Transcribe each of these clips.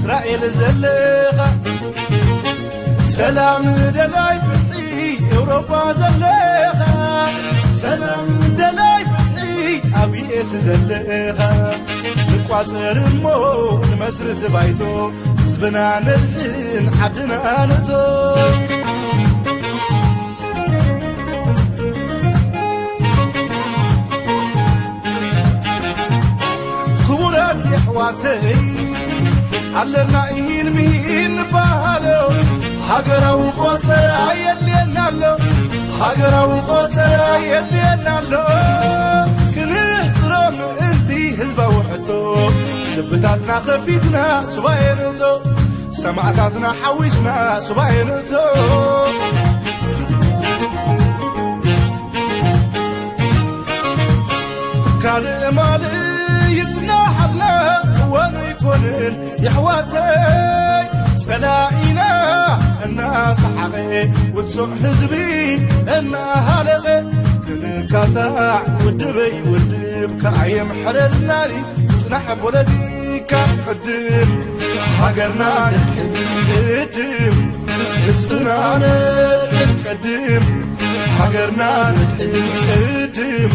እስራኤል ዘለኻ፣ ሰላም ደላይ ፍትሒ ኤውሮጳ ዘለኻ፣ ሰላም ደላይ ፍትሒ ኣብ ዩ ኤስ ዘለኻ፣ ንቋጸር እሞ ንመስርት ባይቶ፣ ህዝብና ነድሕን ዓድና ንእቶ። ክቡራት የሕዋተይ፣ ኣለና ኢሂን ምሂን ንበሃሎ፣ ሃገራዊ ቆጸራ የድልየና ኣሎ፣ ሃገራዊ ቆጸራ የድልየና ኣሎ። ክንሕጽሮ ምእንቲ ህዝባዊ ሕቶ፣ ልብታትና ከፊትና ሱባኤ ንእቶ፣ ሰማእታትና ሓዊስና ሱባኤ ንእቶ። ካልእ ማልእ ይጽናሓልና እዋኑ ኣይኮንን የሕዋተይ፣ ጸላኢና እናሰሓቐ፣ ውጹዕ ህዝቢ እናሃለቐ፣ ክንካታዕ ውድበይ ውድብ ከኣ የምሕረልናኒ፣ ጽናሕ ፖለቲካ ቅድም፣ ሃገርና ንድሕን ቅድም፣ ህዝብና ንድሕን ቅድም፣ ሃገርና ንድሕን ቅድም፣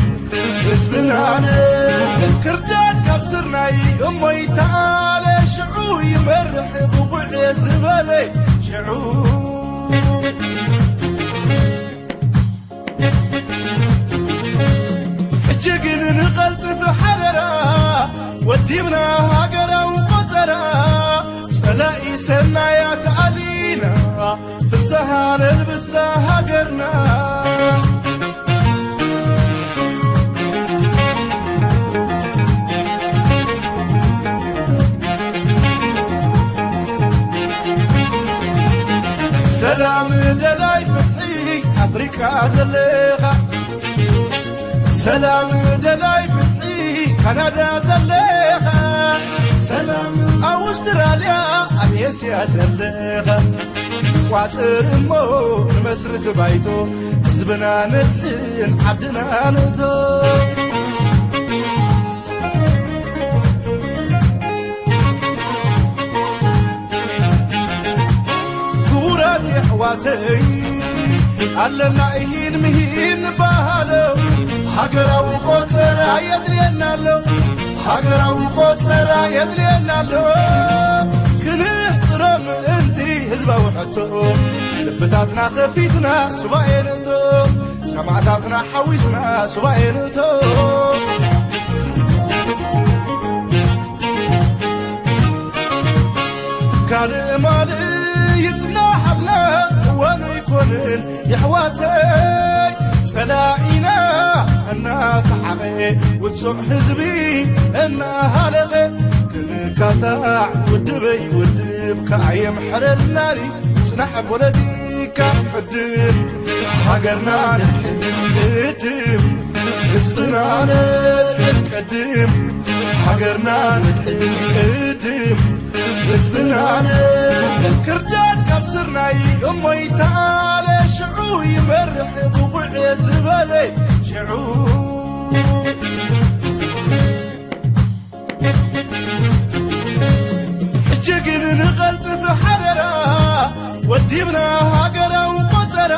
ህዝብና ንድሕን። ክርዳድ ካብ ስርናይ እሞ ይተኣለ፣ ሽዑ ይመርሕ ብቑዕ ዝበለ ሽዑ። ሕጂ ግን ንቐልጥፍ ሓደራ፣ ወዲብና ሃገራዊ ቆጸራ፣ ጸላኢ ሰናያት ኣሊና፣ ፍስሃ ነልብሳ ሃገርና። ሰላም ደላይ ፍትሒ ኣፍሪቃ ዘለኻ፣ ሰላም ደላይ ፍትሒ ካናዳ ዘለኻ፣ ሰላም ኣውስትራልያ ኣብ ኤስያ ዘለኻ፣ ቋጽር እሞ ንመስርት ባይቶ፣ ህዝብና ነድሕን ዓድና ንእቶ። ክቡራት የሕዋተይ፣ ኣለና ኢሂን ምሂን ንበሃሎ፣ ሃገራዊ ቆጸራ የድልየና ኣሎ፣ ሃገራዊ ቆጸራ የድልየና ኣሎ። ክንሕጽሮ ምእንቲ ህዝባዊ ሕቶ፣ ልብታትና ከፊትና ሱባኤ ንእቶ፣ ሰማእታትና ሓዊስና ሱባኤ ንእቶ። ካልእ ማልእ ይጽናሓልና እዋኑ ኣይኮንን የሕዋተይ፣ ጸላኢና እናሰሓቐ፣ ውጹዕ ህዝቢ እናሃለቐ፣ ክንካታዕ ውድበይ ውድብ ከኣ የምሕረልናኒ፣ ጽናሕ ፖለቲካ ቅድም፣ ሃገርና ንድሕን ቅድም፣ ህዝብና ንድሕን ቅድም፣ ሃገርና ንድሕን ቅድም፣ ህዝብና ንድሕን። ክርዳድ ካብ ስርናይ እሞ ይተኣለ፣ ሽዑ ይመርሕ ብቑዕ ዝበለ ሽዑ። ሕጂ ግን ንቐልጥፍ ሓደራ፣ ወዲብና ሃገራዊ ቆጸራ፣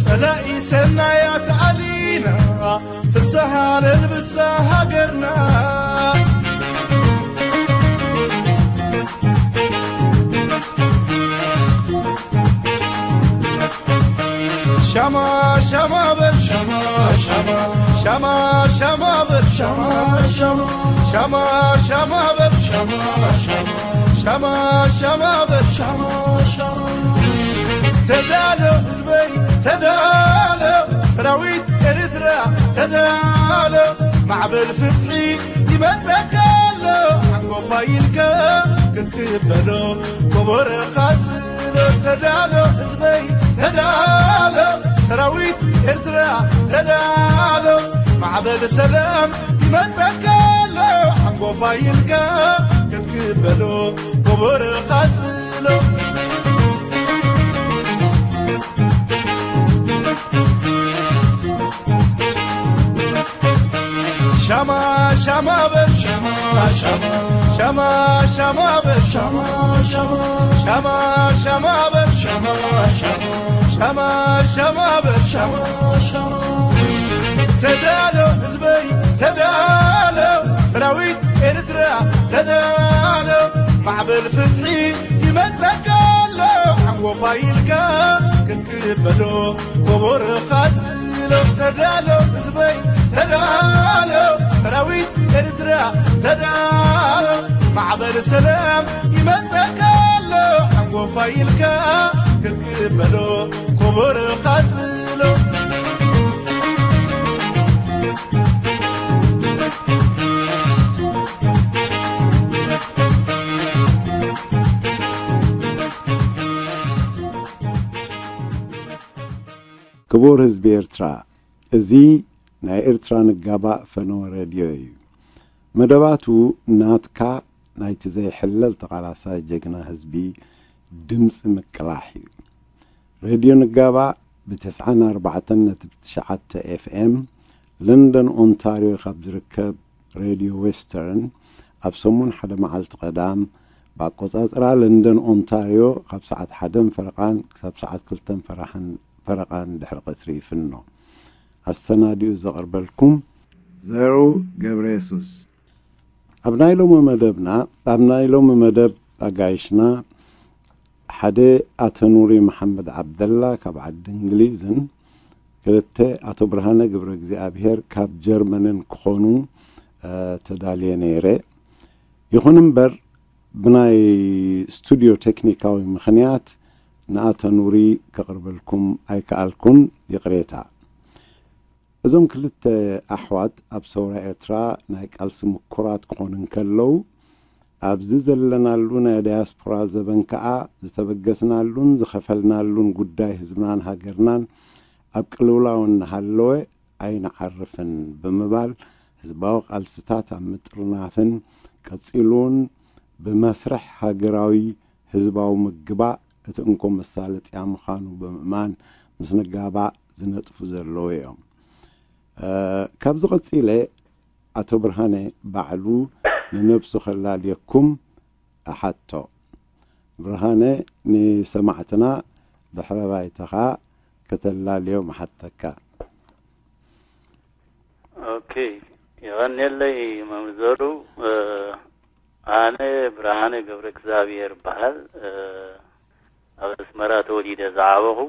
ጸላኢ ሰናያት ኣሊና፣ ፍስሃ ነልብሳ ሃገርና። ሻማ ሻማ በል ሻማ ሻማ ሻማ ሻማ በል ሻማ ሻማ ሻማ ሻማ ሻማ ሻማ ሻማ ሻማ በል ሻማ ሻማ። ተዳሎ ህዝበይ ተዳሎ፣ ሰራዊት ኤርትራ ተዳሎ፣ ማዕበል ፍትሒ ይመጸካ ኣሎ፣ ሓንጎፋይ ኢልካ ክትቅበሎ፣ ጎቦ ረኻጽሎ። ተዳሎ ህዝበይ ተዳሎ፣ ሰራዊት ኤርትራ ተዳሎ፣ ማዕበል ሰላም ይመጸካ ኣሎ፣ ሓንጎፋይ ኢልካ ክትቅበሎ፣ ጎቦ ረኻጽሎ። ሻማ ሻማ በል ሻማ ሻማ ሻማ ሻማ በል ሻማ ሻማ ሻማ ሻማ በል ሻማ ሻማ ሻማ ሻማ በል ሻማ ሻማ ተዳሎ ህዝበይ ተዳሎ ሰራዊት ኤርትራ ተዳሎ ማዕበል ፍትሒ ይመጸካ ኣሎ ሓንጎፋ ኢልካ ክትክበሎ ኮቦርኻ ጽሎ ተዳሎ ህዝበይ ተዳሎ ሰራዊት ኤርትራ ተዳሎ ማዕበል ሰላም ይመጸካ ኣሎ ሓንጎፋ ኢልካ ክትክበሎ ኮቦርኻ ጽሎ ክቡር ህዝቢ ኤርትራ፣ እዚ ናይ ኤርትራ ንጋባእ ፈነወ ሬድዮ እዩ። መደባቱ ናትካ ናይቲ ዘይሕለል ተቓላሳይ ጀግና ህዝቢ ድምጺ ምቅላሕ እዩ። ሬድዮ ንጋባእ ብ ተስዓን ኣርባዕተን ነጥቢ ትሽዓተ ኤፍ ኤም ለንደን ኦንታርዮ ካብ ዝርከብ ሬድዮ ዌስተርን ኣብ ሰሙን ሓደ መዓልቲ ቀዳም ብኣቆጻጽራ ለንደን ኦንታርዮ ካብ ሰዓት ሓደን ፈረቓን ክሳብ ሰዓት ክልተን ፈረቓን ድሕሪ ቀትሪ ይፍኖ። ኣሰናዲኡ ዘቕርበልኩም ዘርኡ ገብረ የሱስ። ኣብ ናይ ሎሚ መደብና ኣብ ናይ ሎሚ መደብ ኣጋይሽና ሓደ ኣቶ ኑሪ መሓመድ ዓብደላ ካብ ዓዲ እንግሊዝን ክልተ ኣቶ ብርሃነ ገብረ እግዚኣብሔር ካብ ጀርመንን ክኾኑ ተዳልየ ነይረ። ይኹን እምበር ብናይ ስቱድዮ ቴክኒካዊ ምኽንያት ንኣቶ ኑሪ ከቕርበልኩም ኣይከኣልኩን፣ ይቕሬታ። እዞም ክልተ ኣሕዋት ኣብ ሰውራ ኤርትራ ናይ ቃልሲ ምኩራት ክኾኑ እንከለዉ ኣብዚ ዘለናሉ ናይ ዳያስፖራ ዘበን ከኣ ዝተበገስናሉን ዝኸፈልናሉን ጉዳይ ህዝብናን ሃገርናን ኣብ ቅልውላው እናሃለወ ኣይንዓርፍን ብምባል ህዝባዊ ቃልስታት ኣብ ምጥርናፍን ቀጺሉ እውን ብመስርሕ ሃገራዊ ህዝባዊ ምግባእ እቲ እንኮ መሳለጥያ ምዃኑ ብምእማን ምስ ንጋባእ ዝነጥፉ ዘለዉ እዮም። ካብዚ ቀጺለ ኣቶ ብርሃነ ባዕሉ ንነብሱ ከላልየኩም እሓቶ። ብርሃነ ንሰማዕትና ድሕረ ባይታኻ ከተላልዮም እሓተካ። ኦኬ፣ የቐንየለይ መምህር ዘሩ። ኣነ ብርሃነ ገብረ እግዚኣብሔር እበሃል። ኣብ ኣስመራ ተወሊደ ዝዓበኹ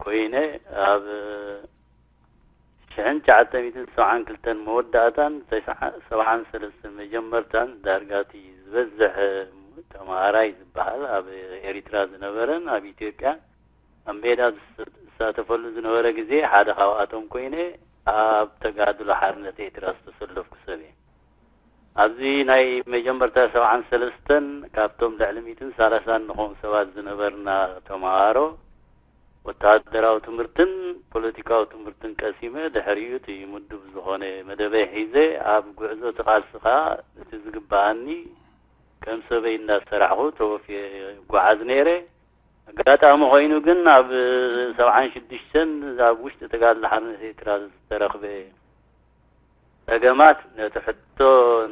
ኮይነ ኣብ ሽሕን ትሽዓተ ሚእትን ሰብዓን ክልተን መወዳእታን ሰብዓን ሰለስተን መጀመርታን ዳርጋ እቲ ዝበዝሕ ተምሃራይ ዝበሃል ኣብ ኤሪትራ ዝነበረን ኣብ ኢትዮጵያ ኣብ ሜዳ ዝሳተፈሉ ዝነበረ ግዜ ሓደ ካብኣቶም ኮይነ ኣብ ተጋድሎ ሓርነት ኤርትራ ዝተሰለፍኩ ሰብ እየ። ኣብዚ ናይ መጀመርታ ሰብዓን ሰለስተን ካብቶም ልዕሊ ሚእትን ሰላሳን ንኾኑ ሰባት ዝነበርና ተምሃሮ ወተሃደራዊ ትምህርትን ፖለቲካዊ ትምህርትን ቀሲመ ድሕሪኡ እቲ ምዱብ ዝኾነ መደበይ ሒዘ ኣብ ጉዕዞ እቲ ቃልሲ ከኣ እቲ ዝግበኣኒ ከም ሰበይ እንዳሰራሕኹ ተወፍየ እጓዓዝ ነይረ። ኣጋጣሚ ኮይኑ ግን ኣብ ሰብዓን ሽዱሽተን ኣብ ውሽጢ ተጋድሎ ሓርነት ኤርትራ ዝተረኽበ ጸገማት ነቲ ሕቶ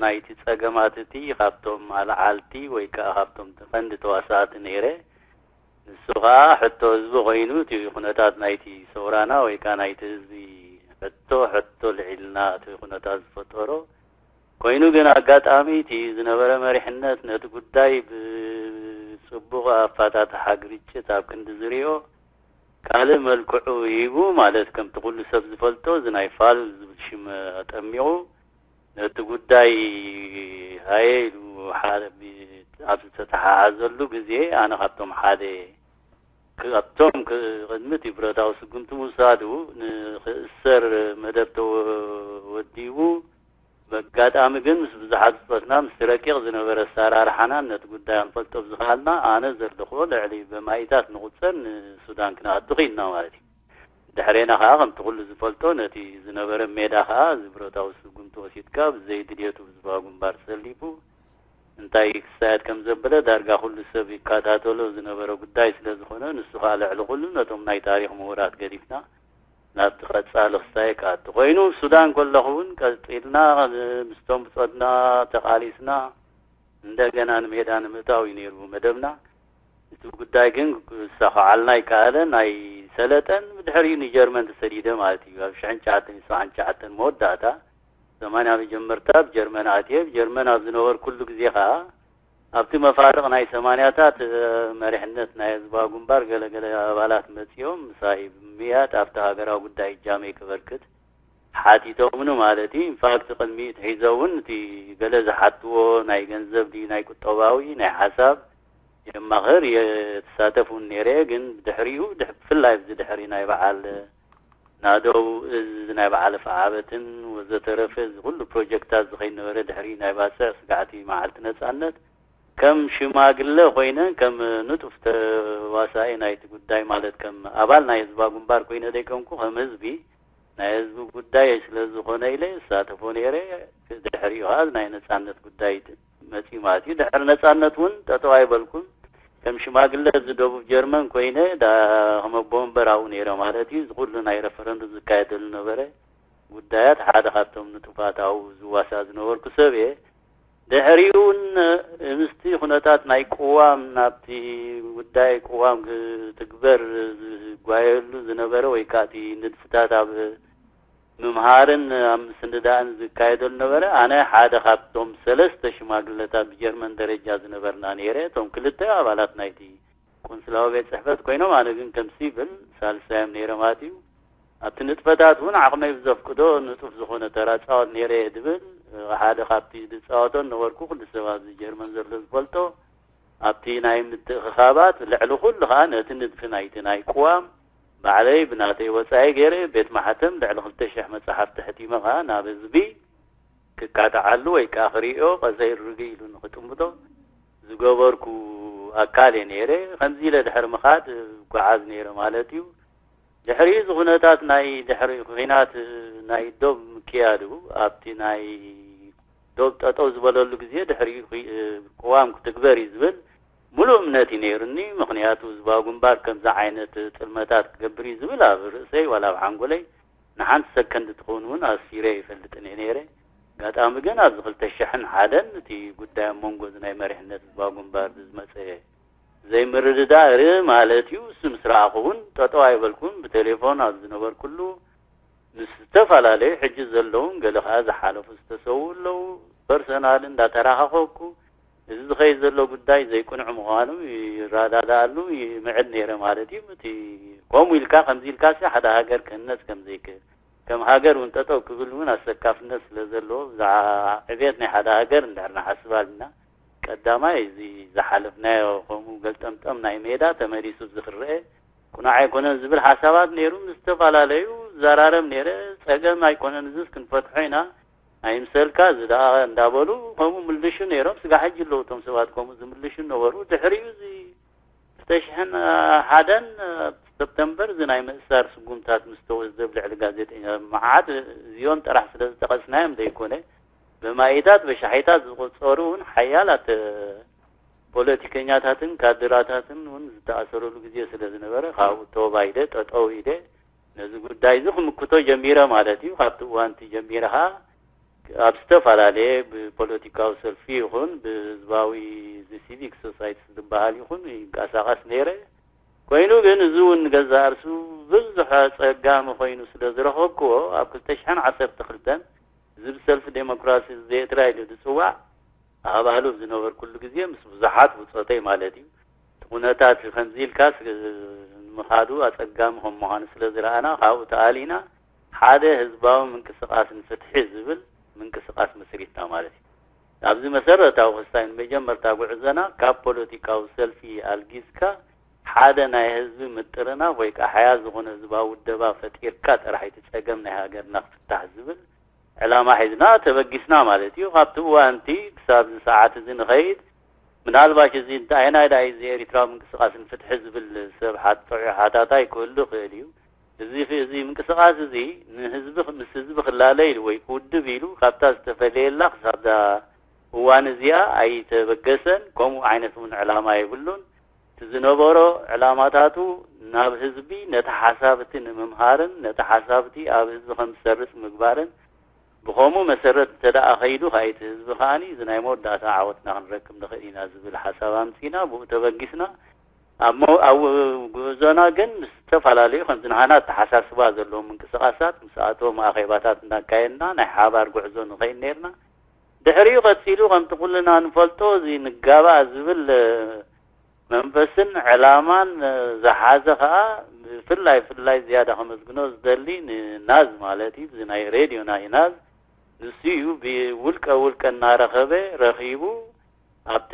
ናይቲ ጸገማት እቲ ካብቶም ኣልዓልቲ ወይ ከኣ ካብቶም ቀንዲ ተዋሳእቲ ነይረ። ንሱ ከኣ ሕቶ ህዝቢ ኮይኑ እቲ ኩነታት ናይቲ ሰውራና ወይ ከኣ ናይቲ ህዝቢ ሕቶ ሕቶ ልዒልና እቲ ኩነታት ዝፈጠሮ ኮይኑ ግን ኣጋጣሚ እቲ ዝነበረ መሪሕነት ነቲ ጉዳይ ብጽቡቕ ኣፋታትሓ ግርጭት ኣብ ክንዲ ዝሪኦ ካልእ መልክዑ ሂቡ ማለት ከምቲ ኩሉ ሰብ ዝፈልጦ እዚ ናይ ፋሉል ዝብል ሽም ኣጠሚቑ ነቲ ጉዳይ ሃየ ኢሉ ኣብ ዝተተሓሓዘሉ ግዜ ኣነ ካብቶም ሓደ ካብቶም ቅድሚ እቲ ብረታዊ ስጉምቲ ምውሳዱ ንክእሰር መደብ ተወዲቡ ብኣጋጣሚ ግን ምስ ብዙሓት ብጾትና ምስቲ ረቂቕ ዝነበረ ኣሰራርሓናን ነቲ ጉዳይ ክንፈልጦ ብዝኸኣልና ኣነ ዘለኽዎ ልዕሊ በማኢታት ንቑጸር ንሱዳን ክንኣቱ ኽኢልና ማለት እዩ። ድሕሬና ኸኣ ከምቲ ኩሉ ዝፈልጦ ነቲ ዝነበረ ሜዳ ኸኣ እዚ ብረታዊ ስጉምቲ ወሲድካ ብዘይ ድልየቱ ብዝባ ግንባር ተሰሊፉ እንታይ ክሳየድ ከም ዘበለ ዳርጋ ኩሉ ሰብ ይከታተሎ ዝነበረ ጉዳይ ስለ ዝኾነ ንሱ ኸኣ ልዕሊ ኩሉ ነቶም ናይ ታሪኽ ምሁራት ገዲፍና ናብቲ ቀጻሊ ክሳየ ክኣቱ ኮይኑ ምስ ሱዳን ከለኹ እውን ቀጺልና ምስቶም ብጾትና ተቓሊስና እንደገና ንሜዳ ንምእታው እዩ ነይሩ መደብና። እቲ ጉዳይ ግን ክሳኸዓልና ይከኣለ ናይ ሰለጠን ብድሕሪኡ ንጀርመን ተሰዲደ ማለት እዩ። ኣብ ሽሕን ትሽዓተን ሰብዓን ትሽዓተን መወዳእታ ሰማንያ መጀመርታ ብጀርመን ኣትየ። ብጀርመን ኣብ ዝነበርኩሉ ግዜ ኸዓ ኣብቲ መፋርቕ ናይ ሰማንያታት መሪሕነት ናይ ህዝባዊ ግንባር ገለገለ ኣባላት መጺኦም ምሳይ ብምምያጥ ኣብቲ ሃገራዊ ጉዳይ እጃመይ ክበርክት ሓቲቶምኒ ማለት እዩ። ኢንፋክት ቅድሚ ትሒዘ እውን እቲ ገለ ዝሓትዎ ናይ ገንዘብ ድዩ ናይ ቁጠባዊ ናይ ሓሳብ የማኽር የተሳተፍ እውን ነይረ። ግን ብድሕሪኡ ድሕ- ብፍላይ ብዚ ድሕሪ ናይ በዓል ናደው እዝ ናይ በዓል ፍዓበትን ወዘተረፈ እዚ ኩሉ ፕሮጀክታት ዝኸይድ ነበረ። ድሕሪ ናይ ባፅዕ ስጋዕቲ መዓልቲ ነፃነት ከም ሽማግለ ኮይነ ከም ንጡፍ ተዋሳኢ ናይቲ ጉዳይ ማለት ከም ኣባል ናይ ህዝባ ግንባር ኮይነ ዘይኮንኩ ከም ህዝቢ ናይ ህዝቢ ጉዳይ ስለ ዝኾነ ኢለ እሳተፎ ነይረ። ድሕሪኡ ከዓ ናይ ነፃነት ጉዳይ መፂኡ ማለት እዩ። ድሕሪ ነፃነት እውን ጠጠው ኣይበልኩን። ከም ሽማግለ እዚ ደቡብ ጀርመን ኮይነ ዳ ከም ኣቦ ወንበር ኣብኡ ነይረ ማለት እዩ። እዚ ኩሉ ናይ ረፈረንዱም ዝካየደሉ ነበረ። ጉዳያት ሓደ ካብቶም ንጡፋት ኣብኡ ዝዋሳእ ዝነበርኩ ሰብ እየ። ድሕሪኡ እውን ምስቲ ኩነታት ናይ ቅዋም ናብቲ ጉዳይ ቅዋም ክትግበር ዝጓየሉ ዝነበረ ወይ ከዓ እቲ ንድፍታት ኣብ ምምሃርን ኣብ ምስንዳእን ዝካየደሉ ነበረ። ኣነ ሓደ ካብቶም ሰለስተ ሽማግለታት ብጀርመን ደረጃ ዝነበርና ነይረ። እቶም ክልተ ኣባላት ናይቲ ቆንስላዊ ቤት ጽሕፈት ኮይኖም፣ ኣነ ግን ከም ሲቪል ሳልሳዮም ነይረ ማለት እዩ። ኣብቲ ንጥፈታት እውን ዓቕመይ ብዘፍቅዶ ንጡፍ ዝኾነ ተራ ጻወት ነይረ እየ ድብል ሓደ ካብቲ ዝጻወቶን ነበርኩ። ኩሉ ሰብ ኣብዚ ጀርመን ዘሎ ዝፈልጦ ኣብቲ ናይ ምትእኽኻባት ልዕሊ ኩሉ ኸዓ ነቲ ንድፊ ናይቲ ናይ ቅዋም ባዕለይ ብናተይ ወጻኢ ገይረ ቤት ማሕተም ልዕሊ ክልተ ሽሕ መጻሕፍቲ ሕቲመ ኸዓ ናብ ህዝቢ ክካትዓሉ ወይ ከዓ ክርእዮ ቀሰይ ርግእ ኢሉ ንኽጥምቶ ዝገበርኩ ኣካል እየ ነይረ። ከምዚ ኢለ ድሕሪ ምኻድ እጓዓዝ ነይረ ማለት እዩ። ድሕሪ እዚ ኩነታት ናይ ድሕሪ ኹናት ናይ ዶብ ምክያዱ ኣብቲ ናይ ዶብ ጠጠው ዝበለሉ ግዜ ድሕሪ ቅዋም ክትግበር እዩ ዝብል ሙሉእ እምነት እዩ ነይሩኒ። ምኽንያቱ ህዝባዊ ግንባር ከምዚ ዓይነት ጥልመታት ክገብር እዩ ዝብል ኣብ ርእሰይ ዋላ ኣብ ሓንጎለይ ንሓንቲ ሰከንድ ትኸውን እውን ኣስፊረ ይፈልጥን እየ ነይረ። ኣጋጣሚ ግን ኣብዚ ክልተ ሽሕን ሓደን እቲ ጉዳይ ኣብ መንጎ እዚ ናይ መሪሕነት ህዝባዊ ግንባር ብዝመፀ ዘይምርድዳእ ርኢ ማለት እዩ። እሱ ምስ ረኣኹ እውን ጠጠው ኣይበልኩን። ብቴሌፎን ኣብ ዝነበርኩሉ ምስ ዝተፈላለዩ ሕጂ ዘለውን ገለ ከዓ ዝሓለፉ ዝተሰዉ ኣለዉ። ፐርሰናል እንዳተራኻኸብኩ እዚ ዝኸይድ ዘሎ ጉዳይ ዘይቅኑዕ ምዃኑ ይረዳዳኣሉ ይምዕድ ነይረ ማለት እዩ። እቲ ከምኡ ኢልካ ከምዚ ኢልካ ሲ ሓደ ሃገር ክህነፅ ከም ዘይክእል ከም ሃገር እውን ጠጠው ክብል እውን ኣሰካፍነት ስለ ዘለዎ ብዛዕባ ዕብየት ናይ ሓደ ሃገር እንድሕር ንሓስብ ኣልና ቀዳማይ እዚ ዝሓለፍናዮ ከምኡ ገልጠምጠም ናይ ሜዳ ተመሊሱ ዝኽረአ ቁኑዕ ኣይኮነን ዝብል ሓሳባት ነይሩ። ምስ ዝተፈላለዩ ዘራረብ ነይረ። ፀገም ኣይኮነን እዝስ ክንፈትሖ ኢና ኣይምሰልካ እዚ ደኣ እንዳበሉ ከምኡ ምልሹ ነይሮም። ስጋ ሕጂ ኣለዉ እቶም ሰባት ከምኡ ዝምልሹ ነበሩ። ድሕሪኡ እዚ ክልተ ሽሕን ሓደን ሰፕተምበር እዚ ናይ ምእሳር ስጉምታት ምስ ተወስደ ኣብ ልዕሊ ጋዜጠኛ መዓት እዚኦም ጥራሕ ስለ ዝጠቐስናዮም ዘይኮነ ብማኢታት በሻሒታት ዝቑፀሩ እውን ሓያላት ፖለቲከኛታትን ካድራታትን እውን ዝተኣሰረሉ ግዜ ስለ ዝነበረ ካብኡ ተባይደ ጠጠው ኢደ ነዚ ጉዳይ እዚ ክምክቶ ጀሚረ ማለት እዩ። ካብቲ እዋን እቲ ጀሚረ ከዓ ኣብ ዝተፈላለየ ብፖለቲካዊ ሰልፊ ይኹን ብህዝባዊ እዚ ሲቪክ ሶሳይቲ ዝበሃል ይኹን ይንቀሳቐስ ነይረ። ኮይኑ ግን እዚ እውን ንገዛእ ርእሱ ብዙሕ ኣፀጋሚ ኮይኑ ስለ ዝረኸብክዎ ኣብ ክልተ ሽሕን ዓሰርተ ክልተን እዚ ብሰልፊ ዴሞክራሲ እዚ ኤርትራ ኢሉ ዝፅዋዕ ኣባሉ ዝነበርኩሉ ግዜ ምስ ብዙሓት ብፆተይ ማለት እዩ እቲ ኩነታት ከምዚ ኢልካስ ንምኻዱ ኣፀጋሚ ከም ምዃኑ ስለ ዝረኣና ካብኡ ተኣሊና ሓደ ህዝባዊ ምንቅስቃስ ንፍትሒ ዝብል ምንቅስቃስ መስሪትና ማለት እዩ። ኣብዚ መሰረታዊ ክስታይ ንመጀመርታ ጉዕዞና ካብ ፖለቲካዊ ሰልፊ ኣልጊዝካ ሓደ ናይ ህዝቢ ምጥርናፍ ወይ ከዓ ሓያል ዝኾነ ህዝባዊ ውደባ ፈጢርካ ጥራሕ እቲ ፀገም ናይ ሃገርና ክፍታሕ ዝብል ዕላማ ሒዝና ተበጊስና ማለት እዩ። ካብቲ እዋን እቲ ክሳብ እዚ ሰዓት እዚ ንኸይድ ምናልባሽ እዚ እንታይ ናይ ዳይ እዚ ኤሪትራዊ ምንቅስቃስ ንፍትሒ ዝብል ሰብ ሓጥዑ ሓታታይ ክህሉ ይኽእል እዩ። እዚ እዚ ምንቅስቃስ እዚ ንህዝቢ ምስ ህዝቢ ክላለ ኢሉ ወይ ክውድብ ኢሉ ካብታ ዝተፈለየላ ክሳብዛ እዋን እዚኣ ኣይተበገሰን። ከምኡ ዓይነት እውን ዕላማ የብሉን። እቲ ዝነበሮ ዕላማታቱ ናብ ህዝቢ ነቲ ሓሳብቲ ንምምሃርን ነቲ ሓሳብቲ ኣብ ህዝቢ ከም ዝሰርጽ ምግባርን ብኸምኡ መሰረት እንተ ደኣ ኸይዱ፣ ከኣ እቲ ህዝቢ ከኣኒ እዚ ናይ መወዳእታ ዓወትና ክንረክብ ንኽእል ኢና ዝብል ሓሳብ ኣምጺና፣ ብኡ ተበጊስና። ኣብ መው-፣ ኣብ ጉዕዞና ግን ምስ ዝተፈላለዩ ከምዚ ንሃና ኣተሓሳስባ ዘለዎም ምንቅስቓሳት ምስኣቶም ኣኼባታት እናካየድና ናይ ሓባር ጉዕዞ ንኸይድ ነርና። ድሕሪኡ ቀጺሉ ከምቲ ኩልና ንፈልጦ እዚ ንጋባእ ዝብል መንፈስን ዕላማን ዝሓዘ ከኣ ብፍላይ ፍላይ ዝያዳ ከመስግኖ ዝደሊ ንናዝ ማለት እዩ። እዚ ናይ ሬድዮና እዩ ናዝ። ንሱ እዩ ብውልቀ ውልቀ እናረኸበ ረኺቡ ኣብቲ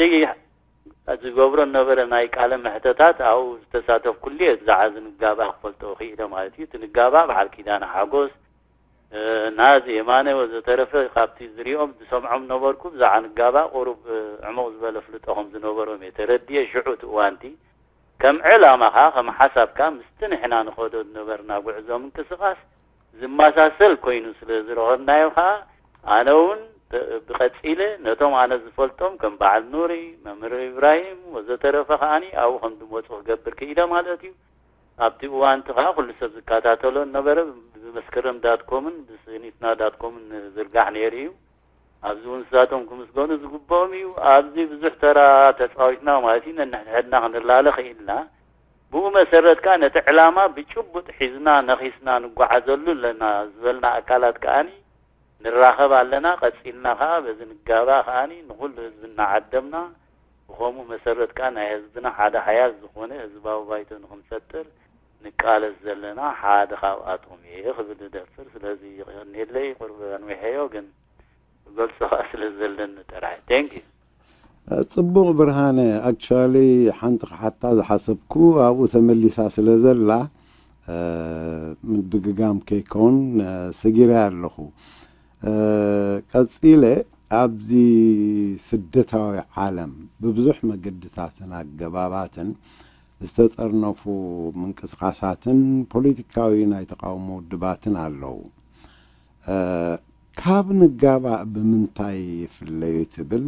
ዝገብሮ ነበረ ናይ ቃለ መሕተታት ኣብኡ ዝተሳተፍኩሉ እየ። ብዛዕባ እዚ ንጋባእ ክፈልጦ ክኢለ ማለት እዩ። እቲ ንጋባእ በዓል ኪዳነ ሓጎስ፣ ናዚ የማነ ወዘተረፈ ካብቲ ዝሪኦም ዝሰምዖም ነበርኩ። ብዛዕባ ንጋባእ ቁሩብ ዕሙቕ ዝበለ ፍልጦ ከም ዝነበሮም እየ ተረዲኤ። ሽዑ እቲ እዋንቲ ከም ዕላማኻ ከም ሓሳብካ ምስቲ ንሕና ንኸዶ ዝነበርና ጉዕዞ ምንቅስቓስ ዝመሳሰል ኮይኑ ስለ ዝረኸብናዮ ከኣ ኣነ እውን ተ-፣ ብቐጺለ ነቶም ኣነ ዝፈልጦም ከም በዓል ኑሪ፣ መምህር ኢብራሂም ወዘተረፈ ከኣኒ ኣብኡ ከም ዝመጹ ክገብር ክኢለ ማለት እዩ። ኣብቲ እዋን እቲ ከኣ ኩሉ ሰብ ዝከታተሎ ነበረ። ብመስከረም ዳትኮምን ብስኒትና ዳትኮምን ዝርጋሕ ነይሩ እዩ። ኣብዚ እውን ንሳቶም ክምስገኑ ዝግብኦም እዩ። ኣብዚ ብዙሕ ተራ ተጻዊትና ማለት እዩ። ነንሕድሕድና ክንላለ ክኢልና። ብኡ መሰረት ከኣ ነቲ ዕላማ ብጭቡጥ ሒዝና ነኺስና ንጓዓዘሉ ኣለና ዝበልና ኣካላት ከኣኒ ንራኸብ ኣለና። ቀጺልና ከኣ በዚ ንጋባእ ከኣኒ ንኹሉ ህዝቢ እናዓደምና ብኸምኡ መሰረት ከኣ ናይ ህዝብና ሓደ ሓያል ዝኾነ ህዝባዊ ባይቶ ንኽንፈጥር ንቃለስ ዘለና ሓደ ካብኣቶም እየ ክብል እደፍር። ስለዚ የቐንየለይ፣ ቁሩብ ኣንዊሐዮ፣ ግን ክገልጾ ከኣ ስለ ዘለኒ ጥራይ። Thank you። ጽቡቕ ብርሃነ፣ ኣክቹዋሊ ሓንቲ ክሓታ ዝሓሰብኩ ኣብኡ ተመሊሳ ስለ ዘላ፣ እ፣ ምድግጋም ከይከውን፣ እ፣ ሰጊረ ኣለኹ። እ፣ ቀጺለ ኣብዚ ስደታዊ ዓለም ብብዙሕ መገድታትን ኣገባባትን ዝተጠርነፉ ምንቅስቓሳትን ፖለቲካዊ ናይ ተቃውሞ ውድባትን ኣለዉ። እ፣ ካብ ንጋባእ ብምንታይ ይፍለዩ ትብል?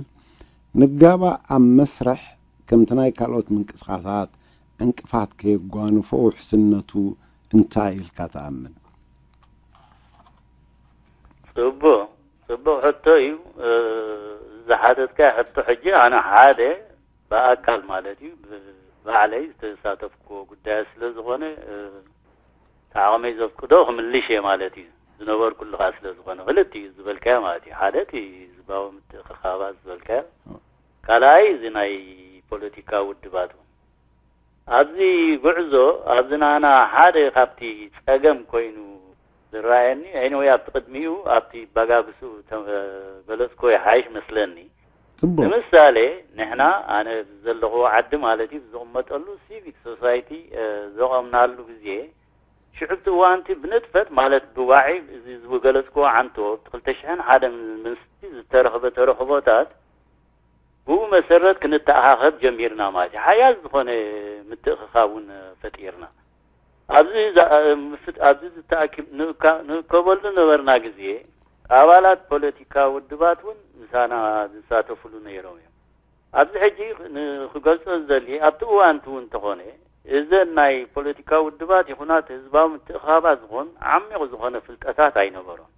ንጋባእ ኣብ መስርሕ ከምቲ ናይ ካልኦት ምንቅስቓሳት ዕንቅፋት ከየጓንፎ ውሕስነቱ እንታይ ኢልካ ትኣምን? ጽቡቕ፣ ጽቡቕ ሕቶ እዩ። እ፣ ዝሓተትካዮ ሕቶ ሕጂ ኣነ ሓደ ብኣካል ማለት እዩ፣ ብ-፣ ባዕለይ ዝተሳተፍኩዎ ጉዳያት ስለ ዝኾነ፣ እ፣ እቲ ዓቕመይ ዘፍቅዶ ክምልሽ እየ ማለት እዩ። ዝነበርኩሉ ከኣ ስለ ዝኾነ፣ ክልቲኡ ዝበልካዮ ማለት እዩ። ሓደ እቲ ህዝባዊ ምትእኽኻባት ዝበልካዮ፣ ካልኣይ እዚ ናይ ፖለቲካ ውድባት እውን። ኣብዚ ጉዕዞ፣ ኣብዚ ናና ሓደ ካብቲ ጸገም ኮይኑ ዝረኣየኒ፣ ኤኒወይ ኣብቲ ቅድሚኡ ኣብቲ ባጋግሱ ተገለጽኩዎ ይሓይሽ መስለኒ። ጽቡቕ። ንምሳሌ፣ ንሕና፣ ኣነ ዘለኹዎ ዓዲ ማለት እዩ፣ ዝቕመጠሉ ሲቪክ ሶሳይቲ፣ እ፣ ዘቐምናሉ ግዜ፣ ሽዑ እቲ እዋንቲ ብንጥፈት ማለት ብዋዒ፣ እዚ ዝገለጽኩዎ ዓንቶ፣ ክልተ ሽሕን ሓደን ምስቲ ዝተረኽበ ተረኽቦታት፣ ብኡ መሰረት ክንተኣኻኸብ ጀሚርና ማለት እዩ። ሓያል ዝኾነ ምትእኽኻብ እውን ፈጢርና። ኣብዚ ዛ-፣ ምፍት-፣ ኣብዚ ዝተኣኪብ-፣ ንእካ-፣ ንእከበሉ ነበርና ግዜ፣ ኣባላት ፖለቲካ ውድባት እውን ምሳና ዝሳተፉሉ ነይሮም እዮም። ኣብዚ ሕጂ ን-፣ ክገልጾ ዝደሊ፣ ኣብቲ እዋንቲ እውን እንተኾነ፣ እዘን ናይ ፖለቲካ ውድባት ይኹና እቲ ህዝባዊ ምትእኽኻባት ዝኾን ዓሚቕ ዝኾነ ፍልጠታት ኣይነበሮም።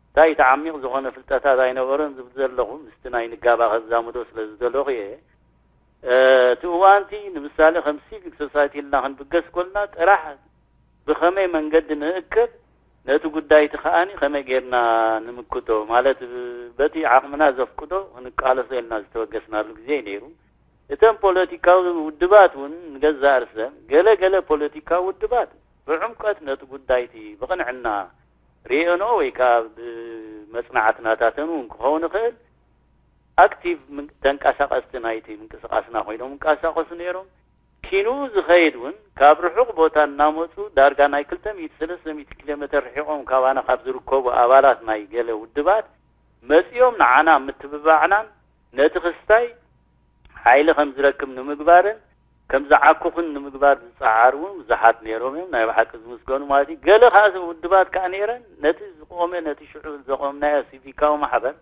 እንታይ እቲ ዓሚቕ ዝኾነ ፍልጠታት ኣይነበሮን ዝብል ዘለኹ፣ ምስቲ ናይ ንጋባ ከዛምዶ ስለ ዝደለኹ እየ። እ፣ እቲ እዋንቲ ንምሳሌ ከም ሲቪክ ሶሳይቲ ኢልና ክንብገስ ኮልና ጥራሕ ብኸመይ መንገዲ ንእክብ፣ ነቲ ጉዳይ እቲ ከኣኒ ከመይ ጌርና ንምክቶ፣ ማለት በቲ ዓቕምና ዘፍቅዶ ክንቃለሶ ኢልና ዝተበገስናሉ ግዜ እዩ ነይሩ። እተን ፖለቲካዊ ውድባት እውን ንገዛእ ርእሰን ገለ ገለ ፖለቲካዊ ውድባት ብዕምቀት ነቲ ጉዳይ እቲ ብቕንዕና ርእየንኦ ወይ ከኣ ብመጽናዕቲ ናታተን እውን ክኸውን ይኽእል፣ ኣክቲቭ ምን-፣ ተንቀሳቐስቲ ናይቲ ምንቅስቓስና ኮይኖም ይንቀሳቐሱ ነይሮም። ኪንኡ ዝኸይድ እውን ካብ ርሑቕ ቦታ እናመጹ ዳርጋ ናይ ክልተ ሚእቲ ሰለስተ ሚእቲ ኪሎ ሜተር ርሒቖም ካባና ካብ ዝርከቡ ኣባላት ናይ ገለ ውድባት መጺኦም ንዓና ምትብባዕናን ነቲ ክስታይ ሓይሊ ከም ዝረክብ ንምግባርን ከም ዝዓኩኽን ንምግባር ዝጸዓሩ እውን ብዙሓት ነይሮም እዮም። ናይ ብሓቂ ዝምስገኑ ማለት እዩ። ገለ ከኣ ውድባት ከኣ ነይረን ነቲ ዝቆመ፣ ነቲ ሽዑ ዘቆምናዮ ሲቪካዊ ማሕበር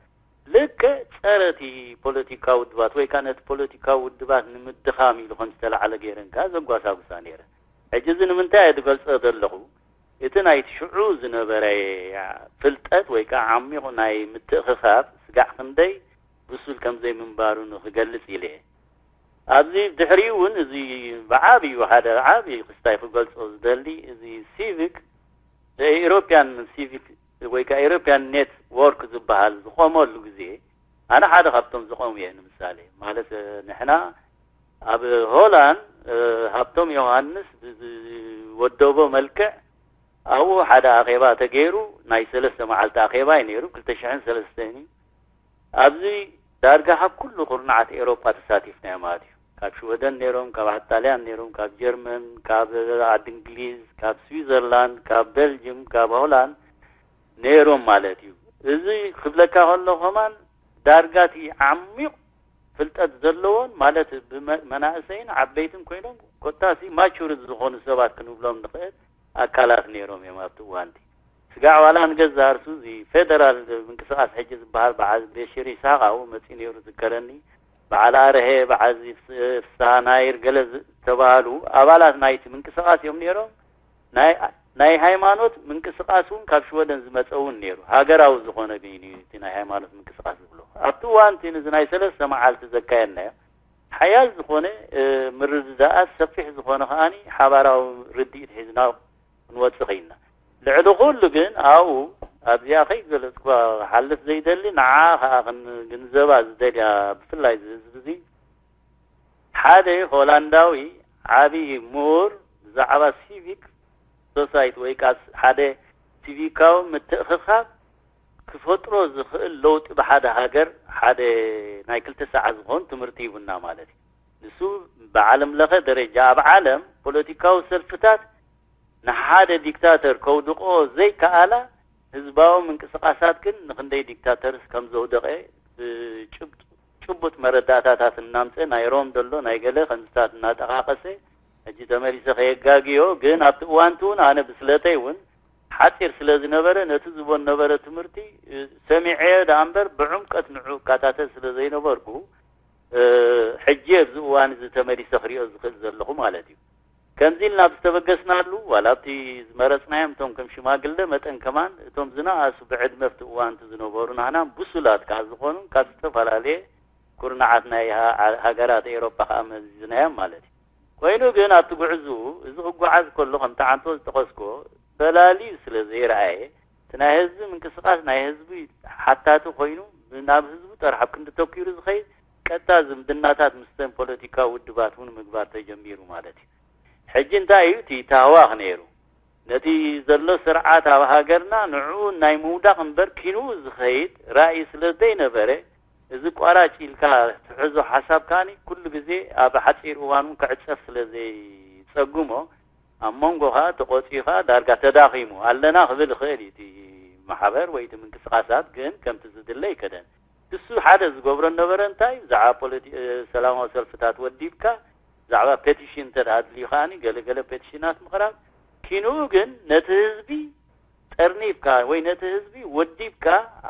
ልክዕ ጸረ እቲ ፖለቲካዊ ውድባት ወይ ከኣ ነቲ ፖለቲካዊ ውድባት ንምድኻም ኢሉ ከም ዝተላዕለ ገይረን ከኣ ዘጓሳጉሳ ነይረን። ሕጂ እዚ ንምንታይ እየ ዝገልጾ ዘለኹ? እቲ ናይቲ ሽዑ ዝነበረ ፍልጠት ወይ ከዓ ዓሚቑ ናይ ምትእኽኻብ ስጋዕ ክንደይ ብሱል ከም ዘይምንባሩ ንኽገልጽ ኢለ እየ። ኣብዚ ድሕሪኡ እውን እዚ ብዓብዩ ሓደ ዓብዪ ክስታይ ክገልጾ ዝደሊ እዚ ሲቪክ፣ ኤውሮፕያን ሲቪክ ወይ ከዓ ኤውሮፕያን ኔትወርክ ዝበሃል ዝቆመሉ ግዜ ኣነ ሓደ ካብቶም ዝቆሙ እየ። ንምሳሌ ማለት ንሕና ኣብ ሆላንድ ሃብቶም ዮሃንስ ብዝወደቦ መልክዕ ኣብኡ ሓደ ኣኼባ ተገይሩ ናይ ሰለስተ መዓልቲ ኣኼባ እዩ ነይሩ። ክልተ ሽሕን ሰለስተን እዩ። ኣብዚ ዳርጋ ካብ ኩሉ ኩርናዓት ኤውሮጳ ተሳቲፍና ማለት እዩ። ካብ ሽወደን ነይሮም፣ ካብ ጣልያን ነይሮም፣ ካብ ጀርመን፣ ካብ ዓዲ እንግሊዝ፣ ካብ ስዊዘርላንድ፣ ካብ ቤልጅም፣ ካብ ሆላንድ ነይሮም ማለት እዩ። እዚ ክብለካ ከሎ ከማን ዳርጋ እቲ ዓሚቕ ፍልጠት ዘለዎን ማለት ብመ- መናእሰይን ዓበይትን ኮይኖም ኮታሲ ማቹርድ ዝኾኑ ሰባት ክንብሎም ንኽእል ኣካላት ነይሮም እዮም ኣብቲ እዋንቲ። ስጋዕ ዋላ ንገዛ እርሱ እዚ ፌደራል ምንቅስቃስ ሕጂ ዝበሃል በዓል ቤሽር ይስሓቅ ኣብኡ መፂኡ ነይሩ ዝከረኒ። በዓል ኣርሀ፣ በዓል ፍስሃ ናይር ገለ ዝተባሃሉ ኣባላት ናይቲ ምንቅስቃስ እዮም ነይሮም። ናይ ናይ ሃይማኖት ምንቅስቃስ እውን ካብ ሽወደን ዝመፀ እውን ነይሩ። ሃገራዊ ዝኾነ ግን እዩ እቲ ናይ ሃይማኖት ምንቅስቃስ ዝብሎ። ኣብቲ እዋን እቲ ነዚ ናይ ሰለስተ መዓልቲ ዘካየድናዮ ሓያል ዝኾነ ምርድዳኣት፣ ሰፊሕ ዝኾነ ከዓኒ ሓባራዊ ርድኢት ሒዝና ክንወፅእ ኽኢልና። ልዕሊ ኩሉ ግን ኣብኡ ኣብዚኣ ከይገለፅኳ ክሓልፍ ዘይደሊ፣ ንዓ ከዓ ክንግንዘባ ዝደልያ ብፍላይ እዚ ህዝቢ እዚ ሓደ ሆላንዳዊ ዓብዪ ምሁር ብዛዕባ ሲቪክ ሶሳይቲ ወይ ከዓ ሓደ ሲቪካዊ ምትእኽኻብ ክፈጥሮ ዝኽእል ለውጢ ብሓደ ሃገር ሓደ ናይ ክልተ ሰዓት ዝኾን ትምህርቲ ሂቡና ማለት እዩ። ንሱ ብዓለም ለኸ ደረጃ ኣብ ዓለም ፖለቲካዊ ሰልፍታት ንሓደ ዲክታተር ከውድቆ ዘይከኣላ ህዝባዊ ምንቅስቃሳት ግን ንክንደይ ዲክታተርስ ከም ዘውደቐ ብጭቡጥ መረዳእታታት እናምፀ ናይ ሮም ዘሎ ናይ ገለ ከምዝታት እናጠቃቀሰ ሕጂ ተመሊሰ ከየጋግዮ ግን ኣብቲ እዋንቲ እውን ኣነ ብስለተይ እውን ሓፂር ስለ ዝነበረ ነቲ ዝቦ ነበረ ትምህርቲ ሰሚዐዮ ደኣ እምበር ብዕምቀት ንዑ እካታተል ስለ ዘይነበርኩ ሕጂ ኣብዚ እዋን እዚ ተመሊሰ ክሪኦ ዝኽእል ዘለኹ ማለት እዩ። ከምዚ ኢልና ብዝተበገስናሉ ዋላ ኣብቲ ዝመረፅናዮም እቶም ከም ሽማግለ መጠን ከማን እቶም ዝነኣሱ ብዕድመ ኣብቲ እዋንቲ ዝነበሩ ናህናን ብሱላት ከዓ ዝኾኑ ካብ ዝተፈላለየ ኩርናዓት ናይ ሃገራት ኤውሮጳ ከዓ መዚዝናዮም ማለት እዩ። ኮይኑ ግን ኣብቲ ጉዕዝኡ እዚ ክጓዓዝ ከሎ ከምቲ ዓንቶ ዝጠቐስኮ ፈላልዩ ስለ ዘይረኣየ እቲ ናይ ህዝቢ ምንቅስቃስ ናይ ህዝቢ ሓታቲ ኮይኑ ናብ ህዝቡ ጥራሕ ኣብ ክንዲ ተኪሩ ዝኸይድ ቀጥታ ዝምድናታት ምስተን ፖለቲካዊ ውድባት እውን ምግባር ተጀሚሩ ማለት እዩ። ሕጂ እንታይ እዩ እቲ ታህዋኽ ነይሩ? ነቲ ዘሎ ስርዓት ኣብ ሃገርና ንዕኡ ናይ ምውዳቕ እምበር ኪንኡ ዝኸይድ ራእይ ስለ ዘይነበረ እዚ ቋራጭ ኢልካ ትሕዞ ሓሳብ ከኣኒ ኩሉ ግዜ ኣብ ሓፂር እዋን እውን ክዕፀፍ ስለ ዘይፀግሞ ኣብ መንጎ ከዓ ተቆፂኡ ከዓ ዳርጋ ተዳኺሙ ኣለና ክብል ይኽእል እዩ እቲ ማሕበር ወይ እቲ ምንቅስቃሳት ግን ከምቲ ዝድለ ይከደን። እሱ ሓደ ዝገብሮ ነበረ እንታይ ብዛዕባ ፖለቲ ሰላማዊ ሰልፍታት ወዲብካ ብዛዕባ ፔቲሽን እንተ ኣድልዩ ከዓኒ ገለገለ ፔቲሽናት ምቕራብ ኪንኡ ግን ነቲ ህዝቢ ጠርኒፍካ ወይ ነቲ ህዝቢ ወዲብካ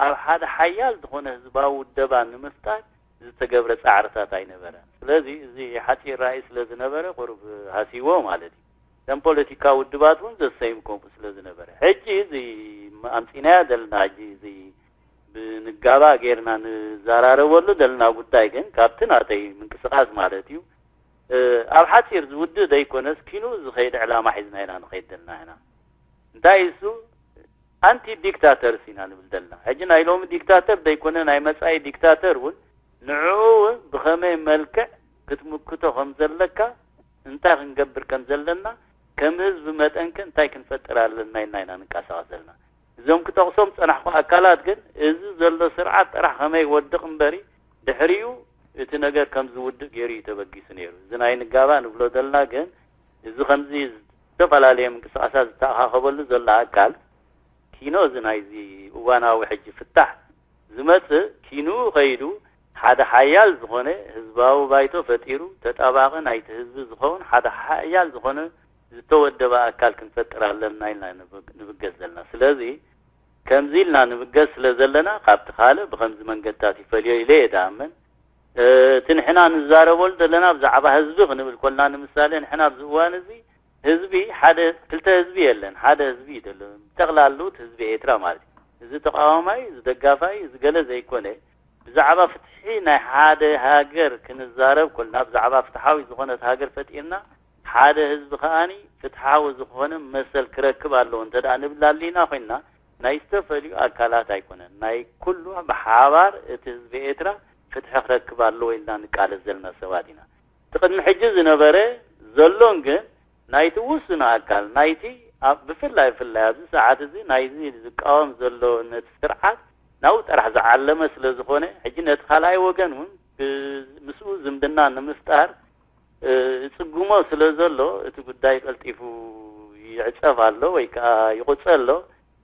ኣብ ሓደ ሓያል ዝኾነ ህዝባዊ ውደባ ንምፍጣር ዝተገብረ ፃዕርታት ኣይነበረን። ስለዚ እዚ ሓፂር ራእይ ስለ ዝነበረ ቁሩብ ሃሲዎ ማለት እዩ። እተን ፖለቲካ ውድባት እውን ዘሰይም ከምኡ ስለ ዝነበረ ሕጂ እዚ ኣምፂናያ ዘለና ሕጂ እዚ ብንጋባ ጌርና ንዘራረበሉ ዘለና ጉዳይ ግን ካብቲ ናተይ ምንቅስቃስ ማለት እዩ ኣብ ሓፂር ዝውድእ ዘይኮነስ ኪኑ ዝኸይድ ዕላማ ሒዝና ኢና ንኸይድ ዘለና ኢና። እንታይ እሱ ኣንቲ ዲክታተርስ ኢና ንብል ዘለና። ሕጂ ናይ ሎሚ ዲክታተር ዘይኮነ ናይ መፃኢ ዲክታተር እውን ንዕኡ እውን ብኸመይ መልክዕ ክትምክቶ ከም ዘለካ እንታይ ክንገብር ከም ዘለና ከም ህዝቢ መጠን ከ እንታይ ክንፈጥር ኣለና ኢልና ኢና ንንቀሳቐስ ዘለና። እዞም ክጠቕሶም ዝፀናሕኩ ኣካላት ግን እዚ ዘሎ ስርዓት ጥራሕ ከመይ ይወድቕ እምበሪ ድሕሪኡ እቲ ነገር ከም ዝውድእ ገይሩ እዩ ተበጊሱ ነይሩ። እዚ ናይ ንጋባ ንብሎ ዘለና ግን እዚ ከምዚ ዝተፈላለየ ምንቅስቃሳት ዝተኣኻኸበሉ ዘሎ ኣካል ኪኖ እዚ ናይዚ እዋናዊ ሕጂ ፍታሕ ዝመፅእ ኪንኡ ከይዱ ሓደ ሓያል ዝኾነ ህዝባዊ ባይቶ ፈጢሩ ተጣባቒ ናይቲ ህዝቢ ዝኸውን ሓደ ሓያል ዝኾነ ዝተወደበ ኣካል ክንፈጥር ኣለና ኢልና ንብገስ ዘለና። ስለዚ ከምዚ ኢልና ንብገስ ስለ ዘለና ካብቲ ካልእ ብከምዚ መንገድታት ይፈልዮ ኢለ እየ ድኣምን። እቲ ንሕና ንዛረበሉ ዘለና ብዛዕባ ህዝቢ ክንብል ኮልና ንምሳሌ ንሕና ኣብዚ እዋን እዚ ህዝቢ ሓደ ክልተ ህዝቢ የለን፣ ሓደ ህዝቢ እዩ ዘሎ። ጠቕላሉ እቲ ህዝቢ ኤርትራ ማለት እዩ። እዚ ተቃዋማይ፣ እዚ ደጋፋይ፣ እዚ ገለ ዘይኮነ፣ ብዛዕባ ፍትሒ ናይ ሓደ ሃገር ክንዛረብ ኮልና፣ ብዛዕባ ፍትሓዊ ዝኾነት ሃገር ፈጢርና፣ ሓደ ህዝቢ ከኣኒ ፍትሓዊ ዝኾነ መሰል ክረክብ ኣለዎ እንተ ደኣ ንብል ኣሊና ኮይንና፣ ናይ ዝተፈልዩ ኣካላት ኣይኮነን፣ ናይ ኩሉ ብሓባር እቲ ህዝቢ ኤርትራ ፍትሒ ክረክብ ኣለዎ ኢልና ንቃለስ ዘለና ሰባት ኢና። እቲ ቅድሚ ሕጂ ዝነበረ ዘሎን ግን ናይቲ ውሱን ኣካል ናይቲ ኣብ ብፍላይ ብፍላይ ኣብዚ ሰዓት እዚ ናይዚ ዝቃወም ዘሎ ነቲ ስርዓት ናብኡ ጥራሕ ዝዓለመ ስለ ዝኾነ፣ ሕጂ ነቲ ካልኣይ ወገን እውን ብ- ምስኡ ዝምድና ንምፍጣር እ፣ ይጽግሞ ስለ ዘሎ እቲ ጉዳይ ቀልጢፉ ይዕጸፍ ኣሎ ወይ ከኣ ይቑጸ ኣሎ።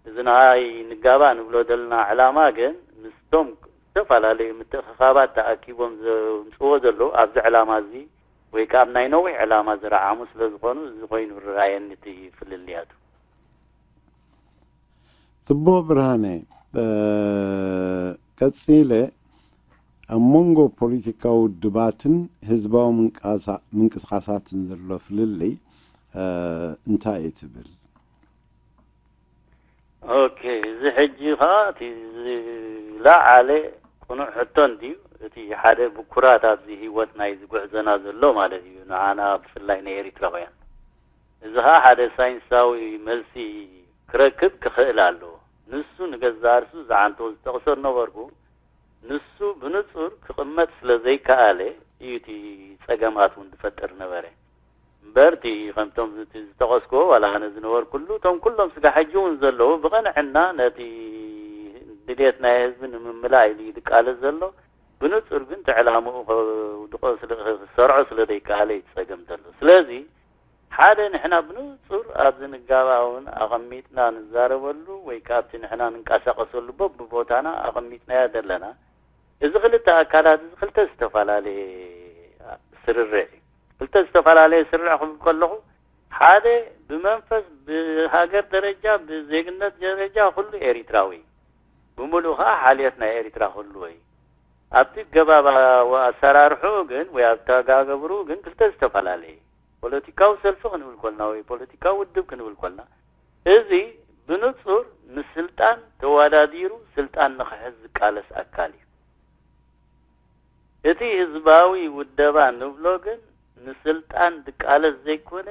እዚ ናይ ንጋባ ንብሎ ዘለና ዕላማ ግን ምስቶም ዝተፈላለዩ ምትእኽኻባት ተኣኪቦም ዘምጽዎ ዘለዉ ኣብዚ ዕላማ እዚ ወይ ከኣ ኣብ ናይ ነዊሕ ዕላማ ዝረዓሙ ስለ ዝኾኑ እዚ ኮይኑ ይረኣየኒ እቲ ፍልልያቱ። ጽቡቕ ብርሃነ፣ ቀጺለ ኣብ መንጎ ፖለቲካዊ ውድባትን ህዝባዊ ምንቅስቃሳትን ዘሎ ፍልልይ እንታይ እዩ ትብል? ኦኬ፣ እዚ ሕጂ ኸዓ እቲ ዝለዓለ ቅኑዕ ሕቶ እንድዩ። እቲ ሓደ ብኩራት ኣብዚ ህይወት ናይ ዝጉዕዘና ዘሎ ማለት እዩ፣ ንዓና ብፍላይ ንኤሪትራውያን። እዚ ኸዓ ሓደ ሳይንሳዊ መልሲ ክረክብ ክኽእል ኣለዎ። ንሱ ንገዛእ ርእሱ ዝዓንቶ ዝጠቕሶ ነበርኩ፣ ንሱ ብንጹር ክቕመጥ ስለ ዘይከኣለ እዩ እቲ ጸገማት እውን ዝፈጥር ነበረ። እምበር እቲ ከምቶም እቲ ዝጠቐስክዎ ዋላ ኣነ ዝነበርኩሉ እቶም ኩሎም ስጋ ሕጂ እውን ዘለዉ ብቐንዕና ነቲ ድሌት ናይ ህዝቢ ንምምላእ ኢሉ እዩ ዝቃለስ ዘሎ። ብንጹር ግን እቲ ዕላምኡ ከውድቆ ስለ ክሰርዖ ስለ ዘይከኣለ እዩ ጸገም ዘሎ። ስለዚ ሓደ ንሕና ብንጹር ኣብዚ ንጋባ እውን ኣቐሚጥና ንዛረበሉ ወይ ካብቲ ንሕና ንንቀሳቐሰሉ በብቦታና ኣቐሚጥናዮ ዘለና እዚ ክልተ ኣካላት እዚ ክልተ ዝተፈላለየ ስርርዕ እዩ። ክልተ ዝተፈላለየ ስርርዕ ክብል ከለኹ ሓደ ብመንፈስ ብሃገር ደረጃ ብዜግነት ደረጃ ኩሉ ኤሪትራዊ ብምሉኡ ከዓ ሓልየት ናይ ኤሪትራ ክህልዎ እዩ። ኣብቲ ገባብ ኣሰራርሕኡ ግን ወይ ኣብ ተጋገብርኡ ግን ክልተ ዝተፈላለየ ፖለቲካዊ ሰልፊ ክንብል ኮልና ወይ ፖለቲካዊ ውድብ ክንብል ኮልና እዚ ብንጹር ንስልጣን ተወዳዲሩ ስልጣን ንክሕዝ ዝቃለስ ኣካል እዩ። እቲ ህዝባዊ ውደባ ንብሎ ግን ንስልጣን ዝቃለስ ዘይኮነ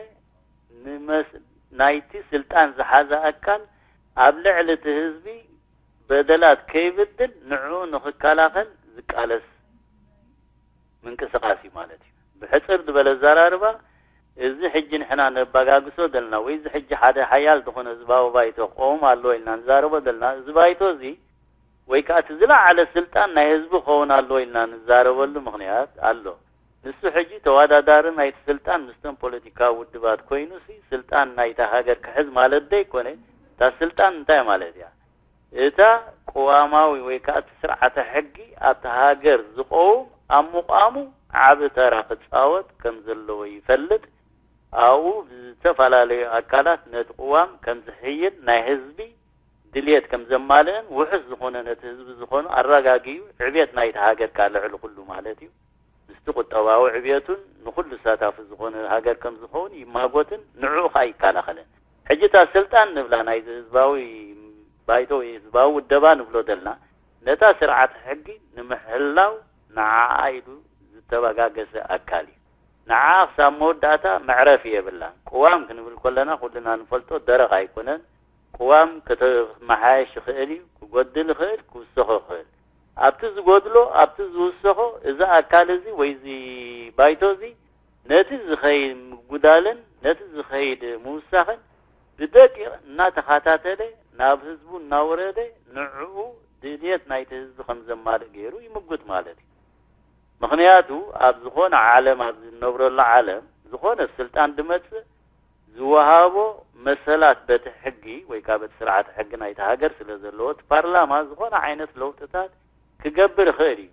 ንመስ ናይቲ ስልጣን ዝሓዘ ኣካል ኣብ ልዕሊ እቲ ህዝቢ በደላት ከይብድል ንዕኡ ንክከላኸል ዝቃለስ ምንቅስቃስ እዩ ማለት እዩ። ብሕፅር ዝበለ ኣዘራርባ እዚ ሕጂ ንሕና ነባጋግሶ ዘለና ወይ እዚ ሕጂ ሓደ ሓያል ዝኾነ ህዝባዊ ባይቶ ክቆም ኣለዎ ኢልና ንዛረቦ ዘለና እዚ ባይቶ እዚ ወይ ከዓ እቲ ዝለዓለ ስልጣን ናይ ህዝቢ ክኸውን ኣለዎ ኢልና ንዛረበሉ ምኽንያት ኣሎ። ንሱ ሕጂ ተወዳዳሪ ናይቲ ስልጣን ምስቶም ፖለቲካዊ ውድባት ኮይኑ ሲ ስልጣን ናይታ ሃገር ክሕዝ ማለት ዶ ኣይኮነ? እታ ስልጣን እንታይ ማለት እያ? እታ ቅዋማዊ ወይ ከዓ እቲ ስርዓተ ሕጊ ኣብቲ ሃገር ዝቐውም ኣብ ምቋሙ ዓቢ ተራ ክፃወት ከም ዘለዎ ይፈልጥ። ኣብኡ ብዝተፈላለዩ ኣካላት ነቲ ቅዋም ከም ዝሕይል ናይ ህዝቢ ድልየት ከም ዘማልእን ውሑስ ዝኾነ ነቲ ህዝቢ ዝኾኑ ኣረጋጊኡ ዕብየት ናይቲ ሃገር ከዓ ልዕሊ ኩሉ ማለት እዩ ምስቲ ቁጠባዊ ዕብየቱን ንኹሉ ተሳታፊ ዝኾነ ሃገር ከም ዝኸውን ይማጎትን ንዕኡ ከዓ ይከላኸልን። ሕጂ እታ ስልጣን ንብላ ናይዚ ህዝባዊ ባይቶ ወይ ህዝባዊ ውደባ ንብሎ ዘለና ነታ ስርዓት ሕጊ ንምሕላው ንዓኣ ኢሉ ዝተበጋገሰ ኣካል እዩ። ንዓኣ ክሳብ መወዳእታ መዕረፊ የብላን። ቅዋም ክንብል ከለና ኩልና ንፈልጦ ደረቕ ኣይኮነን። ቅዋም ከተመሓየሽ ይኽእል እዩ፣ ክጎድል ይኽእል፣ ክውሰኾ ይኽእል። ኣብቲ ዝጎድሎ ኣብቲ ዝውሰኾ እዚ ኣካል እዚ ወይ እዚ ባይቶ እዚ ነቲ ዝኸይድ ምጉዳልን ነቲ ዝኸይድ ምውሳኽን ብደቂቕ እናተኸታተለ ናብ ህዝቡ እናወረደ ንዕኡ ድልየት ናይቲ ህዝቢ ከም ዘማልእ ገይሩ ይምጉት ማለት እዩ። ምኽንያቱ ኣብ ዝኾነ ዓለም ኣብ ዝነብረሉ ዓለም ዝኾነ ስልጣን ድመፅእ ዝወሃቦ መሰላት በቲ ሕጊ ወይ ከዓ በቲ ስርዓተ ሕጊ ናይቲ ሃገር ስለ ዘለዎ እቲ ፓርላማ ዝኾነ ዓይነት ለውጥታት ክገብር ይኽእል እዩ።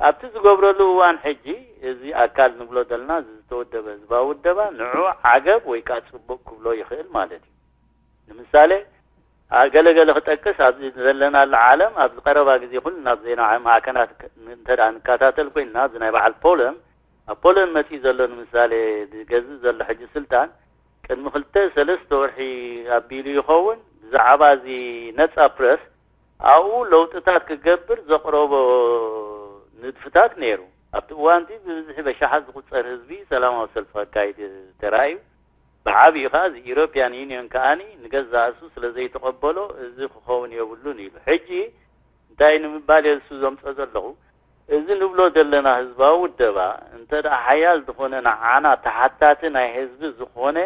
ኣብቲ ዝገብረሉ እዋን ሕጂ እዚ ኣካል ንብሎ ዘለና እዚ ዝተወደበ ህዝባዊ ውደባ ንዑ ዓገብ ወይ ከዓ ፅቡቕ ክብሎ ይኽእል ማለት እዩ። ንምሳሌ ገለገለ ክጠቅስ ኣብዚ ዘለናሉ ዓለም ኣብዚ ቀረባ ግዜ ኩሉ ናብ ዜና ማዕከናት እንተ ንከታተል ኮይንና ኣብዚ ናይ በዓል ፖለን ኣብ ፖለን መፅኡ ዘሎ ንምሳሌ ዝገዝእ ዘሎ ሕጂ ስልጣን ቅድሚ ክልተ ሰለስተ ወርሒ ኣቢሉ ይኸውን፣ ብዛዕባ እዚ ነጻ ፕረስ ኣብኡ ለውጥታት ክገብር ዘቕረቦ ንድፍታት ነይሩ። ኣብቲ እዋንቲ ብብዝሒ በሻሓት ዝቑጸር ህዝቢ ሰላማዊ ሰልፊ ከካይድ ተራእዩ። ብዓቢኡ ከኣ እዚ ኢሮፕያን ዩኒዮን ከኣኒ ንገዛእ ርእሱ ስለ ዘይተቐበሎ፣ እዚ ክኸውን የብሉን ኢሉ። ሕጂ እንታይ ንምባል እየ እሱ ዘምጾ ዘለኹ? እዚ ንብሎ ዘለና ህዝባዊ ውደባ እንተ ደኣ ሓያል ዝኾነ፣ ንዓና ተሓታቲ ናይ ህዝቢ ዝኾነ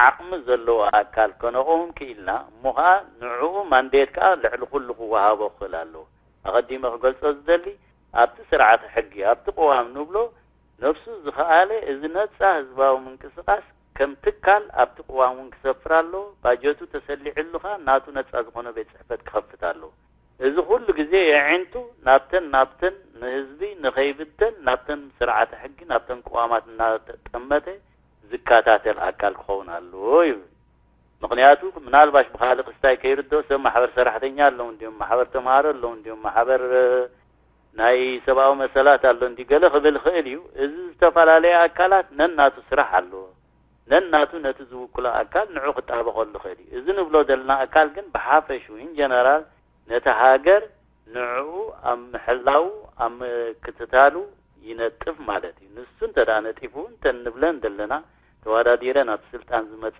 ዓቕሚ ዘለዎ ኣካል ከነቕውም ክኢልና፣ እሞ ኸኣ ንዕኡ ማንዴት ከኣ ልዕሊ ኩሉ ክወሃቦ ክኽእል ኣለዎ። ኣቐዲመ ክገልጾ ዝደሊ፣ ኣብቲ ስርዓተ ሕጊ፣ ኣብቲ ቅዋም ንብሎ፣ ነብሱ ዝኸኣለ እዚ ነጻ ህዝባዊ ምንቅስቓስ ከም ትካል ኣብቲ ቅዋም እውን ክሰፍር ኣለዎ። ባጀቱ ተሰሊዕሉ ኸኣ ናቱ ነጻ ዝኾነ ቤት ጽሕፈት ክኸፍት ኣለዎ። እዚ ኩሉ ግዜ የዒንቱ ናብተን ናብተን ንህዝቢ ንኸይብተን ናብተን ስርዓተ ሕጊ ናብተን ቅዋማት እናጠመተ ዝከታተል ኣካል ክኸውን ኣለዎ ይብል። ምኽንያቱ ምናልባሽ ብኻልእ ክስታይ ከይርድኦ ሰብ ማሕበር ሰራሕተኛ ኣለዉ እንዲዮም፣ ማሕበር ተምሃሮ ኣለዉ እንዲዮም፣ ማሕበር ናይ ሰብኣዊ መሰላት ኣሎ እንዲ ገለ ክብል ይኽእል እዩ። እዚ ዝተፈላለየ ኣካላት ነናቱ ስራሕ ኣለዎ። ነናቱ ነቲ ዝውክሎ ኣካል ንዑ ክጣበቐሉ ይኽእል እዩ። እዚ ንብሎ ዘለና ኣካል ግን ብሓፈሹ ኢን ጀነራል ነቲ ሃገር ንዕኡ ኣብ ምሕላው ኣብ ምክትታሉ ይነጥፍ ማለት እዩ። ንሱ እንተ ደኣ ነጢፉ እንተ እንብለን ዘለና ተወዳዲረን ኣብ ስልጣን ዝመጻ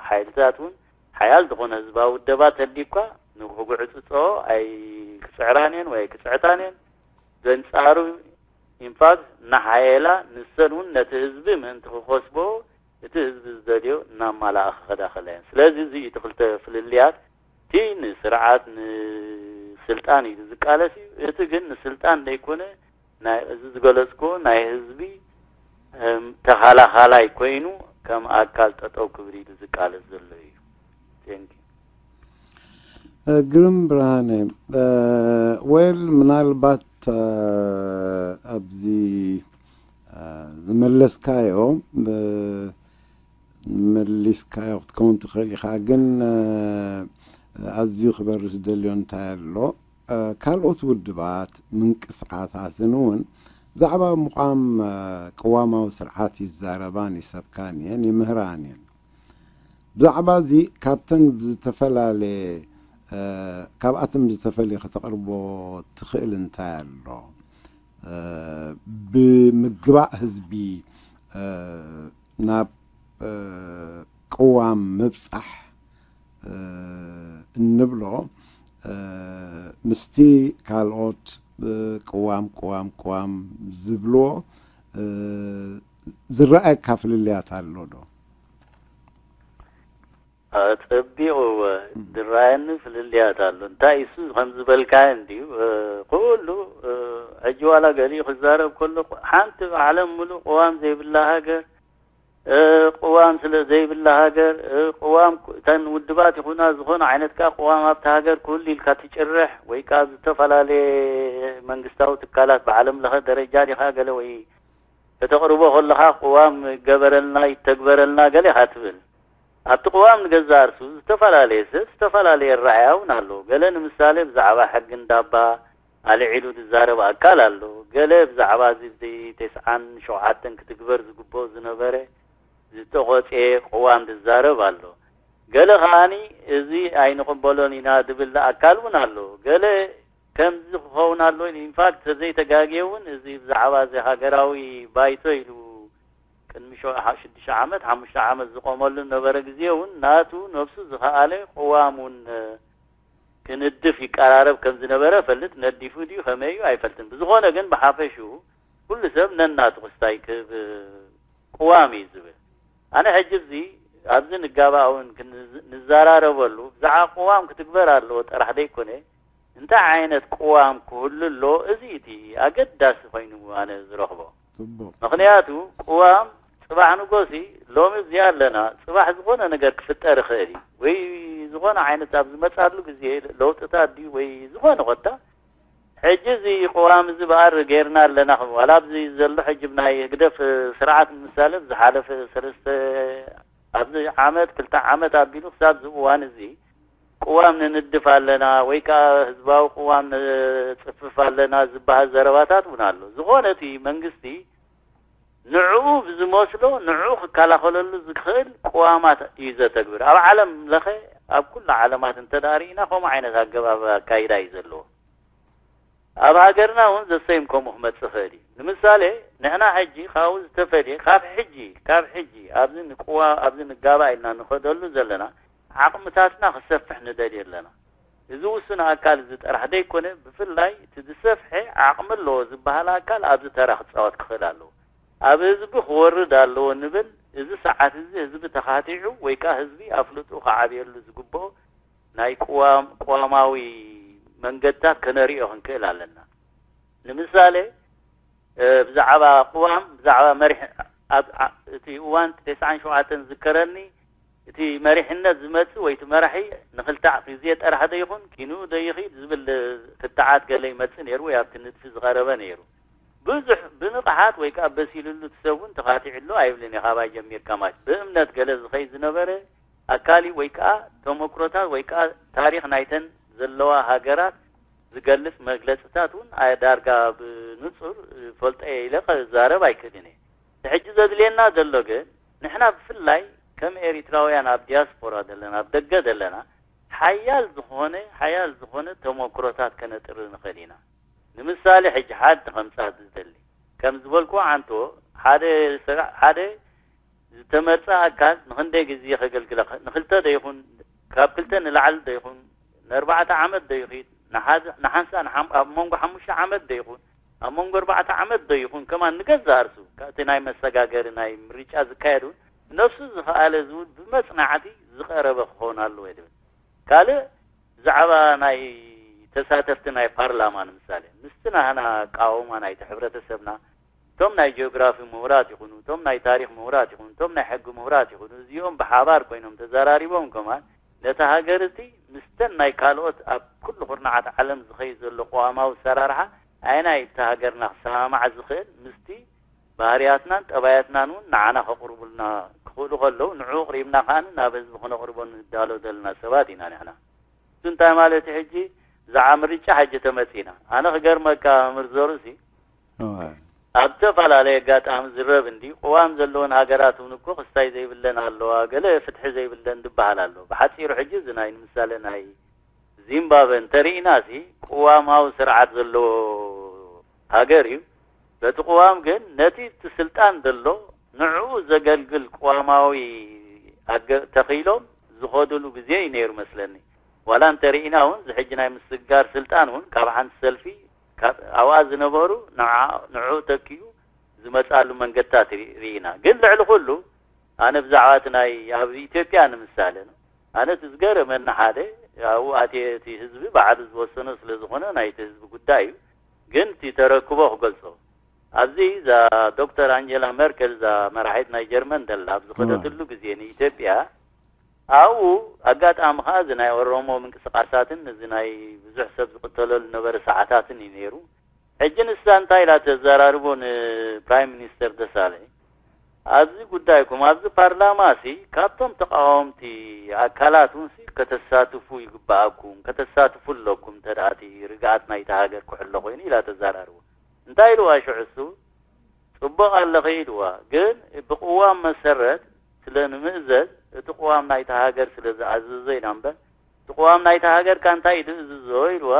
ሓይልታት እውን ሓያል ዝኾነ ህዝባዊ ውደባ ተልዩ እኳ ንክጉዕጽጽኦ ኣይክጽዕራን እየን ወይ ኣይክጽዕታን እየን። በንጻሩ ኢንፋክት እናሓየላ ንሰን እውን ነቲ ህዝቢ ምእንቲ ክኸስቦ እቲ ህዝቢ ዝደልዮ እናማላኣ ክኸዳ ከላ እየን። ስለዚ እዚ እቲ ክልተ ፍልልያት እቲ ንስርዓት ንስልጣን እዩ ዝቃለስ እዩ። እቲ ግን ንስልጣን ዘይኮነ ናይ እዚ ዝገለጽኩዎ ናይ ህዝቢ ተኻላኻላይ ኮይኑ ከም ኣካል ጠጠው ክብል ኢሉ ዝቃለስ ዘሎ እዩ። Thank you። ግርም ብርሃነ፣ ወል ምናልባት ኣብዚ ዝመለስካዮ መሊስካዮ ክትከውን ትኽእል ኢኻ፣ ግን ኣዝዩ ክበርስ ደልዮ እንታይ ኣሎ? ካልኦት ውድባት ምንቅስቃሳትን እውን ብዛዕባ ምቋም ቅዋማዊ ስርዓት ይዛረባን ይሰብካን እየን ይምህራን እየን። ብዛዕባ እዚ ካብተን ብዝተፈላለየ ካብኣተን ብዝተፈልየ ከተቕርቦ ትኽእል እንታይ ኣሎ? ብምግባእ ህዝቢ ናብ ቅዋም ምብፃሕ እንብሎ ምስቲ ካልኦት ቅዋም ቅዋም ቅዋም ዝብልዎ ዝረኣየካ ፍልልያት ኣሎ ዶ? ኣጸቢቑ ዝረኣየኒ ፍልልያት ኣሎ። እንታይ እሱ ከም ዝበልካዮ እንድዩ፣ ኩሉ ሕጂ ዋላ ገሊኡ ክዛረብ ከሎ ሓንቲ ዓለም ሙሉእ ቅዋም ዘይብላ ሃገር፣ ቅዋም ስለ ዘይብላ ሃገር፣ ቅዋም እተን ውድባት ይኹና ዝኾነ ዓይነት ከኣ ቅዋም ኣብታ ሃገር ክህሉ ኢልካ ትጭርሕ ወይ ከኣ ዝተፈላለየ መንግስታዊ ትካላት ብዓለም ለኸ ደረጃ ዲኻ ገለ ወይ ከተቕርቦ ከለኻ ቅዋም ይገበረልና ይተግበረልና ገለ ኢኻ ትብል። ኣብቲ ቅዋም ንገዛእ ርእሱ ዝተፈላለየ ሰብ ዝተፈላለየ ኣረኣእያ እውን ኣለዎ። ገለ ንምሳሌ ብዛዕባ ሕጊ እንዳባ ኣልዒሉ ዝዛረብ ኣካል ኣሎ። ገለ ብዛዕባ እዚ ኣብዚ ተስዓን ሸውዓተን ክትግበር ዝግብኦ ዝነበረ ዝተቖጽየ ቅዋም ዝዛረብ ኣሎ። ገለ ከኣኒ እዚ ኣይንቕበሎን ኢና ዝብል ኣካል እውን ኣሎ። ገለ ከምዚ ክኸውን ኣሎ ኢሉ ኢንፋክት ተዘይተጋግየ እውን እዚ ብዛዕባ እዚ ሃገራዊ ባይቶ ኢሉ ቅድሚ ሽዱሽተ ዓመት ሓሙሽተ ዓመት ዝቆመሉ ነበረ ግዜ እውን ናቱ ነብሱ ዝኸኣለ ቅዋም እውን ክንድፍ ይቀራረብ ከም ዝነበረ ፈልጥ ነዲፉ ድዩ ከመይ እዩ ኣይፈልጥን። ብዝኾነ ግን ብሓፈሽኡ ኩሉ ሰብ ነናቱ ክስታይ ክህብ ቅዋም እዩ ዝብል። ኣነ ሕጂ እዚ ኣብዚ ንጋባእ እውን ንዘራረበሉ ብዛዕባ ቅዋም ክትግበር ኣለዎ ጥራሕ ዘይኮነ እንታይ ዓይነት ቅዋም ክህሉ ኣለዎ እዚ እቲ ኣገዳሲ ኮይኑ ኣነ ዝረኽቦ። ጽቡቕ። ምኽንያቱ ቅዋም ጽባሕ ንጎሲ ሎሚ እዚኣ ኣለና ጽባሕ ዝኾነ ነገር ክፍጠር ይኽእል እዩ ወይ ዝኾነ ዓይነት ኣብ ዝመጻሉ ግዜ ለውጥታት ድዩ ወይ ዝኾነ ኮታ ሕጂ እዚ ቅዋም እዚ በኣር ጌርና ኣለና ዋላ ኣብዚ ዘሎ ሕጂ ብናይ ህግደፍ ስርዓት ንምሳሌ ዝሓለፈ ሰለስተ ኣብዚ ዓመት ክልተ ዓመት ኣቢሉ ክሳብ እዚ እዋን እዚ ቅዋም ንንድፍ ኣለና ወይ ከዓ ህዝባዊ ቅዋም ንፅፍፍ ኣለና ዝበሃል ዘረባታት እውን ኣሎ። ዝኾነ እቲ መንግስቲ ንዕኡ ብዝመስሎ ንዕኡ ክከላኸለሉ ዝኽእል ቅዋማት እዩ ዘተግብር። ኣብ ዓለም ለኸ ኣብ ኩሉ ዓለማት እንተዳርኢና ከምኡ ዓይነት ኣገባብ ኣካይዳ እዩ ዘለዎ። ኣብ ሃገርና እውን ዘሰይም ከምኡ ክመጽእ ይኽእል እዩ። ንምሳሌ ንሕና ሕጂ ካብኡ ዝተፈልየ ካብ ሕጂ ካብ ሕጂ ኣብዚ ንቅዋ ኣብዚ ንጋባእ ኢልና ንኸደሉ ዘለና ዓቕምታትና ክሰፍሕ ንደልዩ ኣለና። እዚ ውሱን ኣካል እዚ ጥራሕ ዘይኮነ ብፍላይ እቲ ዝሰፍሐ ዓቕሚ ኣለዎ ዝበሃል ኣካል ኣብዚ ተራ ክፃወት ክኽእል ኣለዎ። ኣብ ህዝቢ ክወርድ ኣለዎ ንብል። እዚ ሰዓት እዚ ህዝቢ ተኻቲዑ ወይ ከዓ ህዝቢ ኣፍልጡ ክዓብየሉ ዝግብኦ ናይ ቅዋም ቅዋማዊ መንገድታት ከነርእዮ ክንክእል ኣለና። ንምሳሌ ብዛዕባ ቅዋም ብዛዕባ መሪሕ ኣብ እቲ እዋን ተስዓን ሸውዓተን ዝከረኒ እቲ መሪሕነት ዝመጽእ ወይ እቲ መራሒ ንክልተ ግዜ ጠራሕ ዶ ይኹን ኪንኡ ዶ ይኽድ ዝብል ክትዓት ገለ ይመጽእ ነይሩ ወይ ኣብቲ ንድፊ ዝቐረበ ነይሩ። ብዙሕ ብንቕሓት ወይ ከዓ በሲሉሉ እቲ ሰብ እውን ተኻቲዕሉ ኣይብልን እየ። ካባይ ጀሚርካ ማለት ብእምነት ገለ ዝኸይ ዝነበረ ኣካሊ ወይ ከዓ ተመክሮታት ወይ ከዓ ታሪኽ ናይተን ዘለዋ ሃገራት ዝገልጽ መግለጽታት እውን ኣየ ዳርጋ ብንጹር ፈልጠ ኢለ ክዛረብ ኣይክእልን እየ። ሕጂ ዘድልየና ዘሎ ግን ንሕና ብፍላይ ከም ኤሪትራውያን ኣብ ዲያስፖራ ዘለና ኣብ ደገ ዘለና ሓያል ዝኾነ ሓያል ዝኾነ ተመክሮታት ከነጥሪ ንኽእል ኢና። ንምሳሌ ሕጂ ሓድ ከምጻት ዝደሊ ከም ዝበልኩ ዓንቶ ሓደ ስራ ሓደ ዝተመርጸ ኣካል ንኽንደይ ግዜ ከገልግለካ ንኽልተ ዶ ይኹን ካብ ክልተ ንላዕሊ ዶ ይኹን ንኣርባዕተ ዓመት ዶ ይኺድ ንሓንሳ ኣብ መንጎ ሓሙሽተ ዓመት ዶ ይኹን ኣብ መንጎ ኣርባዕተ ዓመት ዶ ይኹን ከማን ንገዛእ ርእሱ ካብቲ ናይ መሰጋገሪ ናይ ምርጫ ዝካየድ እውን ነፍሱ ዝኸኣለ ዝብል ብመጽናዕቲ ዝቐረበ ክኸውን ኣለዎ ይብል። ካልእ ብዛዕባ ናይ ተሳተፍቲ ናይ ፓርላማ ንምሳሌ ምስቲ ናህና ኣቃውማ ናይቲ ሕብረተሰብና እቶም ናይ ጂኦግራፊ ምሁራት ይኹኑ እቶም ናይ ታሪኽ ምሁራት ይኹኑ እቶም ናይ ሕጊ ምሁራት ይኹኑ እዚኦም ብሓባር ኮይኖም ተዘራሪቦም ከማን ነታ ሃገር እቲ ምስተን ናይ ካልኦት ኣብ ኩሉ ኩርናዓት ዓለም ዝኸይድ ዘሎ ቅዋማዊ ኣሰራርሓ ኣየናይ እታ ሃገርና ክሰማማዕ ዝኽእል ምስቲ ባህርያትናን ጠባያትናን እውን ንዓና ከቕርቡልና ክኽእሉ ከለዉ ንዕኡ ኣቕሪብና ከኣ ናብ ህዝቢ ክነቕርቦ ንዳሎ ዘለና ሰባት ኢና ንሕና። እሱ እንታይ ማለት እዩ ሕጂ ብዛዕባ ምርጫ ሕጂ ተመጺና ኣነ ክገርመካ ምርዘሩ ሲ ኣብ ዝተፈላለየ ኣጋጣሚ ዝረብ እንዲ ቅዋም ዘለወን ሃገራት እውን እኮ ክስታይ ዘይብለን ኣለዋ ገለ ፍትሒ ዘይብለን ዝበሃል ኣሎ። ብሓፂሩ ሕጂ እዚ ናይ ንምሳሌ ናይ ዚምባብወ እንተርኢና ሲ ቅዋማዊ ስርዓት ዘለዎ ሃገር እዩ። በቲ ቅዋም ግን ነቲ እቲ ስልጣን ዘሎ ንዕኡ ዘገልግል ቅዋማዊ ኣገ- ተኺሎም ዝኸዱሉ ግዜ እዩ ነይሩ መስለኒ። ዋላ እንተርኢና እውን ዝሕጂ ናይ ምስግጋር ስልጣን እውን ካብ ሓንቲ ሰልፊ ካብ ኣብኣ ዝነበሩ ንዓ- ንዕኡ ተኪኡ ዝመፅኣሉ መንገድታት ርኢ- ርኢና። ግን ልዕሊ ኩሉ ኣነ ብዛዕባ እቲ ናይ ኣብ ኢትዮጵያ ንምሳሌ ኣነ እቲ ዝገረመኒ ሓደ ኣብኡ ኣትየ እቲ ህዝቢ ባዕሉ ዝወሰኖ ስለ ዝኾነ ናይቲ ህዝቢ ጉዳይ እዩ። ግን እቲ ተረክቦ ክገልጾ ኣብዚ እዛ ዶክተር ኣንጀላ መርከል እዛ መራሒት ናይ ጀርመን ደላ ኣብ ዝኸደትሉ ግዜ ንኢትዮጵያ ኣብኡ ኣጋጣሚ ከዓ እዚ ናይ ኦሮሞ ምንቅስቃሳትን እዚ ናይ ብዙሕ ሰብ ዝቅተለሉ ነበረ ሰዓታትን እዩ ነይሩ። ሕጂ ንሳ እንታይ ኢላ ተዘራርቦ ንፕራይም ሚኒስተር ደሳለኝ ኣብዚ ጉዳይኩም ኣብዚ ፓርላማ ሲ ካብቶም ተቃወምቲ ኣካላት እውን ሲ ከተሳትፉ ይግባኣኩም ከተሳትፉ ኣለኩም እንተ ደኣ እቲ ርግኣት ናይታ ሃገር ክሕሎ ኮይኑ ኢላ ተዘራርቦ። እንታይ ኢልዋ ሽዑ እሱ ጽቡቕ ኣለኺ ኢልዋ ግን ብቅዋም መሰረት ስለ ንምእዘዝ እቲ ቅዋም ናይታ ሃገር ስለ ዝኣዘዞ ኢና እምበር እቲ ቅዋም ናይታ ሃገር ካ እንታይ እዩ ዝእዝዞ ኢልዋ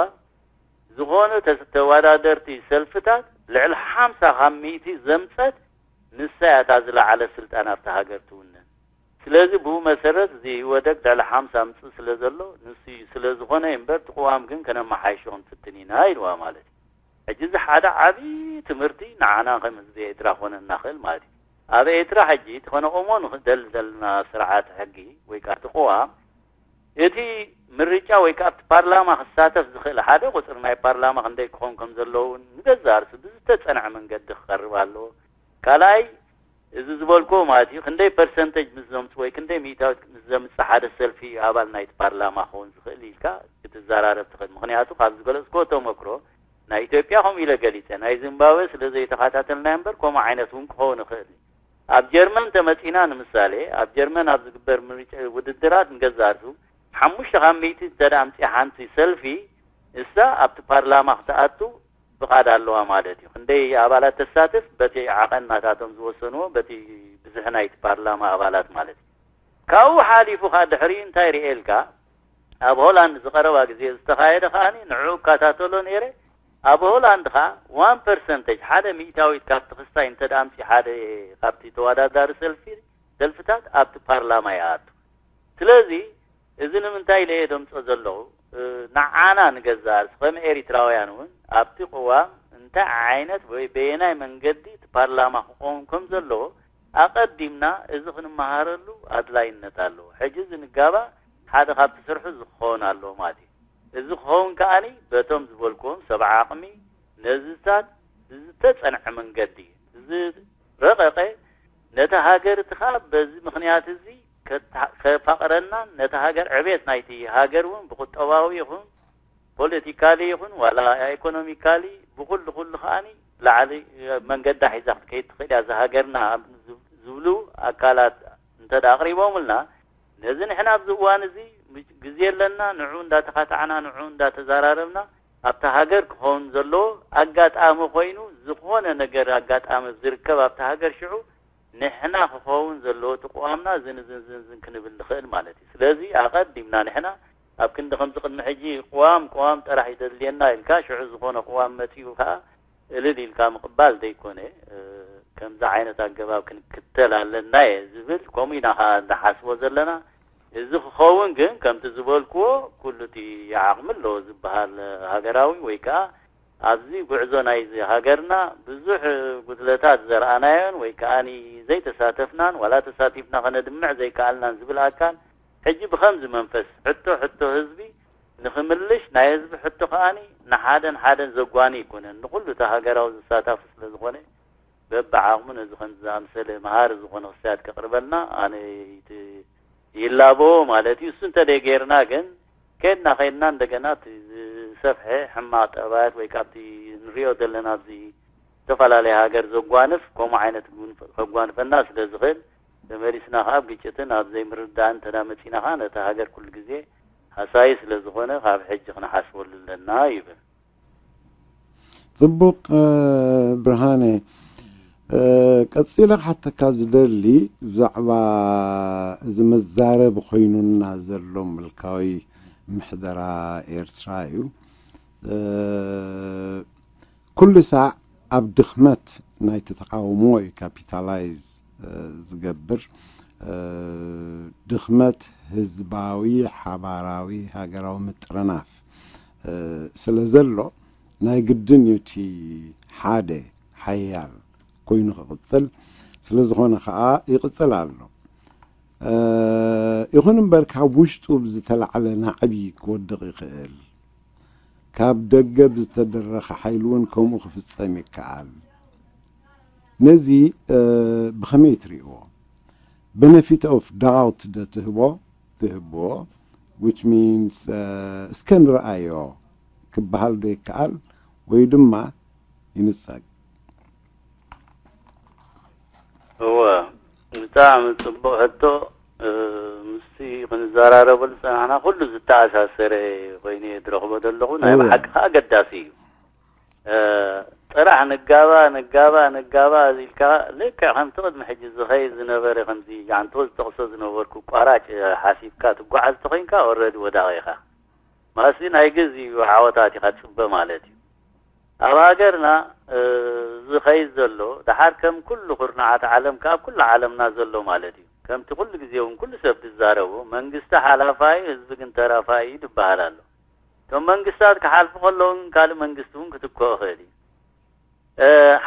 ዝኾነ ተስ- ተወዳደርቲ ሰልፍታት ልዕሊ ሓምሳ ካብ ሚእቲ ዘምጸት ንሳ እያ እታ ዝለዓለ ስልጣን ኣብታ ሃገር ትውንን። ስለዚ ብኡ መሰረት እዚ ኢህወደግ ልዕሊ ሓምሳ ምጽእ ስለ ዘሎ ንሱ እዩ ስለ ዝኾነ እዩ እምበር እቲ ቅዋም ግን ከነመሓይሾ ክንፍትን ኢና ኢልዋ ማለት እዩ። ሕጂ እዚ ሓደ ዓብዪ ትምህርቲ ንዓና ከም ህዝቢ ኤርትራ ክኾነና ይኽእል ማለት እዩ። ኣብ ኤርትራ ሕጂ እቲ ከነቆሞ ንኽእል ዘለና ስርዓት ሕጊ ወይ ከዓ እቲ ቅዋም እቲ ምርጫ ወይ ከዓ ኣብቲ ፓርላማ ክሳተፍ ዝኽእል ሓደ ቁፅሪ ናይ ፓርላማ ክንደይ ክኾን ከም ዘለዎ እውን ንገዛእ ርእሱ ብዝተፀንዐ መንገዲ ክቐርብ ኣለዎ። ካልኣይ እዚ ዝበልክዎ ማለት እዩ ክንደይ ፐርሰንተጅ ምስ ዘምፅ ወይ ክንደይ ሚእታዊት ምስ ዘምፅ ሓደ ሰልፊ እዩ ኣባል ናይቲ ፓርላማ ክኸውን ዝኽእል ኢልካ ክትዘራረብ ትኽእል። ምክንያቱ ካብ ዝገለፅክዎ ተመክሮ ናይ ኢትዮጵያ ከምኡ ኢለ ገሊፀ ናይ ዚምባብወ ስለ ዘይተኸታተልናዮ እምበር ከምኡ ዓይነት እውን ክኸውን ይኽእል እዩ። ኣብ ጀርመን ተመፂና ንምሳሌ ኣብ ጀርመን ኣብ ዝግበር ምርጫ ውድድራት ንገዛእ ርእሱ ሓሙሽተ ካብ ሚእቲ እንተ ኣምፅኣ ሓንቲ ሰልፊ እሳ ኣብቲ ፓርላማ ክትኣቱ ፍቓድ ኣለዋ ማለት እዩ። ክንደይ ኣባላት ተሳትፍ በቲ ዓቐን ናታቶም ዝወሰንዎ፣ በቲ ብዝሒ ናይቲ ፓርላማ ኣባላት ማለት እዩ። ካብኡ ሓሊፉ ኸኣ ድሕሪኡ እንታይ ርእየልካ? ኣብ ሆላንድ ዝቐረባ ግዜ ዝተኻየደ ከኣ ንዑ እከታተሎ ነይረ። ኣብ ሆላንድ ኸኣ ዋን ፐርሰንተጅ፣ ሓደ ሚእታዊት ካብቲ ክስታይ እንተ ደኣ ኣምጺኡ ሓደ ካብቲ ተወዳዳሪ ሰልፊ ሰልፍታት ኣብቲ ፓርላማ ይኣቱ። ስለዚ እዚ ንምንታይ ኢለ እየ ደምጾ ዘለኹ? ንዓና ንገዛእ ርእሲ ከም ኤሪትራውያን እውን ኣብቲ ቅዋም እንታይ ዓይነት ወይ በየናይ መንገዲ እቲ ፓርላማ ክኸውን ከም ዘለዎ ኣቐዲምና እዚ ክንመሃረሉ ኣድላይነት ኣለዎ። ሕጂ እዚ ንጋባእ ሓደ ካብቲ ስርሑ እዚ ክኸውን ኣለዎ ማለት እዩ። እዚ ክኸውን ከኣኒ በቶም ዝበልክዎም ሰብ ዓቕሚ ነዚታት ብዝተጸንዐ መንገዲ ዝረቐቐ ነታ ሃገር እቲ ኸኣ በዚ ምኽንያት እዚ ከፋቕረናን ነታ ሃገር ዕቤት ናይቲ ሃገር እውን ብቁጠባዊ ይኹን ፖለቲካሊ ይኹን ዋላ ኢኮኖሚካሊ ብኩሉ ኩሉ ከኣኒ ላዕሊ መንገዳ ሒዛ ክትከይድ ትኽእል እያ እዛ ሃገርና ዝብሉ ኣካላት እንተ ኣቕሪቦምልና ነዚ ንሕና ኣብዚ እዋን እዚ ግዜ ኣለና፣ ንዑ እንዳተኻታዕና፣ ንዑ እንዳተዛራረብና ኣብታ ሃገር ክኸውን ዘለዎ ኣጋጣሚ ኮይኑ ዝኾነ ነገር ኣጋጣሚ ዝርከብ ኣብታ ሃገር ሽዑ ንሕና ክኸውን ዘለዎ እቲ ቅዋምና ዝንዝንዝንዝን ክንብል ንኽእል ማለት እዩ። ስለዚ ኣቐዲምና ንሕና ኣብ ክንዲ ከምዚ ቅድሚ ሕጂ ቅዋም ቅዋም ጥራሕ ይደልየና ኢልካ ሽዑ ዝኾነ ቅዋም መጺኡ ከዓ እልል ኢልካ ምቕባል ዘይኮነ ከምዚ ዓይነት ኣገባብ ክንክተል ኣለና እየ ዝብል ከምኡ ኢና ከዓ እንዳሓስቦ ዘለና። እዚ ክኸውን ግን ከምቲ ዝበልክዎ ኩሉ እቲ ዓቕሚ ኣለዎ ዝበሃል ሃገራዊ ወይ ከዓ ኣብዚ ጉዕዞ ናይዚ ሃገርና ብዙሕ ጉድለታት ዘርኣናዮን ወይ ከዓ ዘይተሳተፍናን ዋላ ተሳቲፍና ከነድምዕ ዘይከኣልናን ዝብል ኣካል ሕጂ ብኸምዚ መንፈስ ሕቶ ሕቶ ህዝቢ ንኽምልሽ ናይ ህዝቢ ሕቶ ከኣኒ ንሓደን ሓደን ዘጓኒ ኣይኮነን ንኹሉ እቲ ሃገራዊ ዝሳታፉ ስለ ዝኾነ በብዓቕሙ ነዚ ከምዚ ዝኣምሰለ መሃሪ ዝኾነ ክስታት ከቕርበልና ኣነ ይላቦ ማለት እዩ። እሱ እንተ ጌርና ግን ከድና ከድና እንደገና እቲ ዝሰፍሐ ሕማቕ ጠባያት ወይ ካብቲ ንሪኦ ዘለና ኣብዚ ዝተፈላለየ ሃገር ዘጓንፍ ከምኡ ዓይነት ከጓንፈና ስለ ዝኽእል ተመሊስና ከዓ ኣብ ግጭትን ኣብ ዘይምርዳእን እንተ መፂና ከዓ ነቲ ሃገር ኩሉ ግዜ ሃሳዪ ስለ ዝኾነ ካብ ሕጂ ክንሓስበሉ ኣለና ይብል። ጽቡቕ ብርሃነ፣ ቀጺለ ክሓተካ ዝደሊ ብዛዕባ እዚ መዛረቢ ኮይኑና ዘሎ ምልካዊ ምሕደራ ኤርትራ እዩ። ኩሉ ሳዕ ኣብ ድኽመት ናይቲ ተቃውሞ እዩ ካፒታላይዝ ዝገብር። ድኽመት ህዝባዊ ሓባራዊ ሃገራዊ ምጥርናፍ ስለ ዘሎ ናይ ግድን እዩ እቲ ሓደ ሓያል ኮይኑ ክቕጽል። ስለ ዝኾነ ከኣ ይቕጽል ኣሎ። ይኹን እምበር ካብ ውሽጡ ብዝተላዕለ ናዕቢ ክወድቕ ይኽእል። ካብ ደገ ብዝተደረኸ ሓይሊ እውን ከምኡ ክፍጸም ይከኣል። ነዚ ብኸመይ ትርእዎ? Benefit of doubt ዶ ትህቦ ትህብዎ which means እስከ ንርኣዮ ክበሃል ዶ ይከኣል ወይ ድማ ይንጸግ? እወ ብጣዕሚ ጽቡቕ ሕቶ። ምስቲ ክንዘራረበሉ ዝጸናሕና ኩሉ ዝተኣሳሰረ ኮይኑ እየ ዝረኽቦ ዘለኹ። ናይ ብሓቂ ከዓ ኣገዳሲ እዩ። ጥራሕ ንጋባ ንጋባ ንጋባ ኢልካ ልክዕ ከምቲ ቅድሚ ሕጂ ዝኸይድ ዝነበረ ከምዚ ጃንቶ ዝጠቕሶ ዝነበርኩ ቋራጭ ሓሲብካ ትጓዓዝ ተኾይንካ ኦረዲ ወዳቒ ኢኻ። ማሲ ናይ ግዜ እዩ ዓወታት ኢኻ ትጽበ ማለት እዩ። ኣብ ሃገርና ዝኸይድ ዘሎ ደሓር ከም ኩሉ ኩርናዓት ዓለም ካብ ኩሉ ዓለምና ዘሎ ማለት እዩ። ከምቲ ኩሉ ግዜ እውን ኩሉ ሰብ ዝዛረቡ መንግስቲ ሓላፋይ ህዝቢ ግን ተራፋይ እዩ ዝበሃል ኣሎ። እቶም መንግስታት ክሓልፉ ከለዉ ካልእ መንግስቲ እውን ክትክኦ ይኽእል እዩ።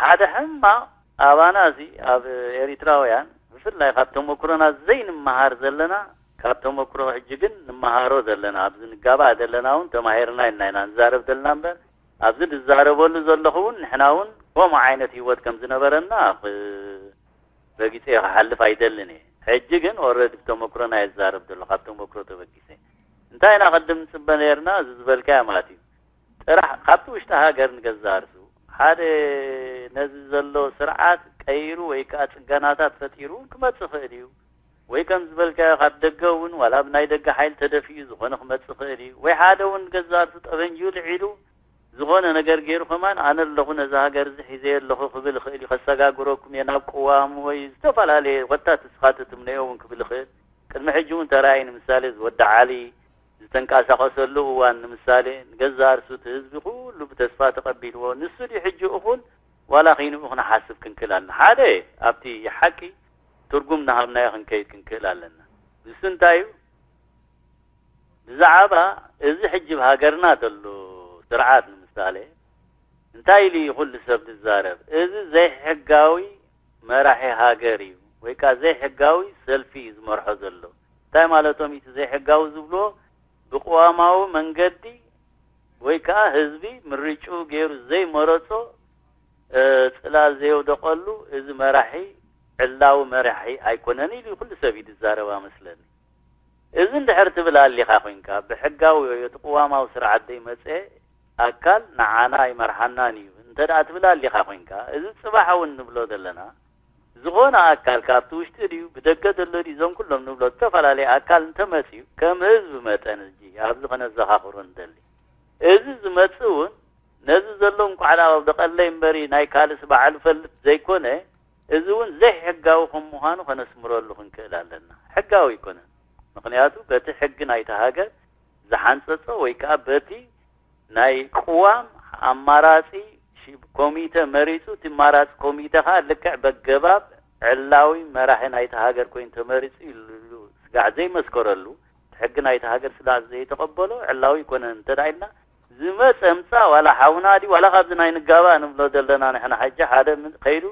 ሓደ ሕማቕ ኣባና እዚ ኣብ ኤሪትራውያን ብፍላይ ካብ ተመክሮና ዘይንመሃር ዘለና ካብ ተመክሮ ሕጂ ግን ንመሃሮ ዘለና ኣብዚ ንጋባእ ዘለና እውን ተማሂርና ኢልና ኢና ንዛረብ ዘለና እምበር ኣብዚ ዝዛረበሉ ዘለኹ እውን ንሕና እውን ከምኡ ዓይነት ህይወት ከም ዝነበረና ረጊፀ ክሓልፍ ኣይደልን እየ። ሕጂ ግን ኦረዲ ብተመክሮና እየ ዝዛረብ ዘሎ ካብ ተመክሮ ተበጊሰ። እንታይ ኢና ቅድም ንፅበ ነይርና እዚ ዝበልካዮ ማለት እዩ። ጥራሕ ካብቲ ውሽጢ ሃገር ንገዛእ ርእሱ ሓደ ነዚ ዘሎ ስርዓት ቀይሩ ወይ ከዓ ፅገናታት ፈጢሩ እውን ክመፅእ ይኽእል እዩ። ወይ ከም ዝበልካዮ ካብ ደገ እውን ዋላ ብናይ ደገ ሓይሊ ተደፊኡ ዝኾነ ክመፅእ ይኽእል እዩ። ወይ ሓደ እውን ንገዛእ ርእሱ ጠበንጅኡ ልዒሉ ዝኾነ ነገር ገይሩ ከማን ኣነ ኣለኹ ነዛ ሃገር እዚ ሒዘ ኣለኹ ክብል ይኽእል እዩ። ከሰጋግረኩም እየ ናብ ቅዋም ወይ ዝተፈላለየ ኮታ ንስኻ ትትምነዮ እውን ክብል ይኽእል። ቅድሚ ሕጂ እውን ተራእዩ ንምሳሌ ዝወዲ ዓሊ ዝተንቀሳቐሰሉ እዋን ንምሳሌ ንገዛእ ርእሱ እቲ ህዝቢ ኩሉ ብተስፋ ተቐቢልዎ ንሱ ድዩ ሕጂ እኹል ዋላ ኺንኡ ክንሓስብ ክንክእል ኣለና። ሓደ ኣብቲ ሓቂ ትርጉም እናሃብናዮ ክንከይድ ክንክእል ኣለና። ንሱ እንታይ እዩ? ብዛዕባ እዚ ሕጂ ኣብ ሃገርና ዘሎ ስርዓት ንምሳሌ እንታይ ኢሉ እዩ ኩሉ ሰብ ዝዛረብ? እዚ ዘይሕጋዊ መራሒ ሃገር እዩ ወይ ከዓ ዘይሕጋዊ ሰልፊ እዩ ዝመርሖ ዘሎ። እንታይ ማለቶም እቲ ዘይሕጋዊ ዝብልዎ? ብቅዋማዊ መንገዲ ወይ ከዓ ህዝቢ ምርጭኡ ገይሩ ዘይመረጾ ጽላል ዘየውደቐሉ እዚ መራሒ ዕላዊ መራሒ ኣይኮነን ኢሉ ኩሉ ሰብ እዩ ዝዛረብ ኣመስለኒ። እዚ እንድሕር ትብል ኣሊኻ ኮይንካ ብሕጋዊ ወይ እቲ ቅዋማዊ ስርዓት ዘይመፀ ኣካል ንዓና ኣይመርሓናን እዩ እንተ ደኣ ትብል ኣሊኻ ኮይንካ እዚ ፅባሕ እውን ንብሎ ዘለና ዝኾነ ኣካል ካብቲ ውሽጢ ድዩ ብደገ ዘሎ ድዩ እዞም ኩሎም ንብሎ ዝተፈላለየ ኣካል እንተመፅዩ ከም ህዝቢ መጠን እዚ ኣብዚ ከነዘኻኽሮ ንደሊ። እዚ ዝመፅእ እውን ነዚ ዘሎ እንቋዕ ደኣ ወዲ ቀለይ እምበሪ ናይ ካልእስ ባዕሉ ፈልጥ ዘይኮነ እዚ እውን ዘይሕጋዊ ከም ምዃኑ ከነስምረሉ ክንክእል ኣለና። ሕጋዊ ኣይኮነን። ምኽንያቱ በቲ ሕጊ ናይቲ ሃገር ዝሓንፀፆ ወይ ከዓ በቲ ናይ ቅዋም ኣማራፂ ኮሚተ መሪፁ እቲ ኣማራፂ ኮሚተ ከዓ ልክዕ በገባብ ዕላዊ መራሒ ናይቲ ሃገር ኮይኑ ተመሪፁ ኢሉ ስጋዕ ዘይመስከረሉ እቲ ሕጊ ናይቲ ሃገር ስጋዕ ዘይተቐበሎ ዕላዊ ይኮነን እንተ ኢልና ዝመፀ ምፃእ ዋላ ሓውና ድዩ ዋላ ካብዚ ናይ ንጋባእ ንብሎ ዘለና ንሕና ሕጂ ሓደ ከይዱ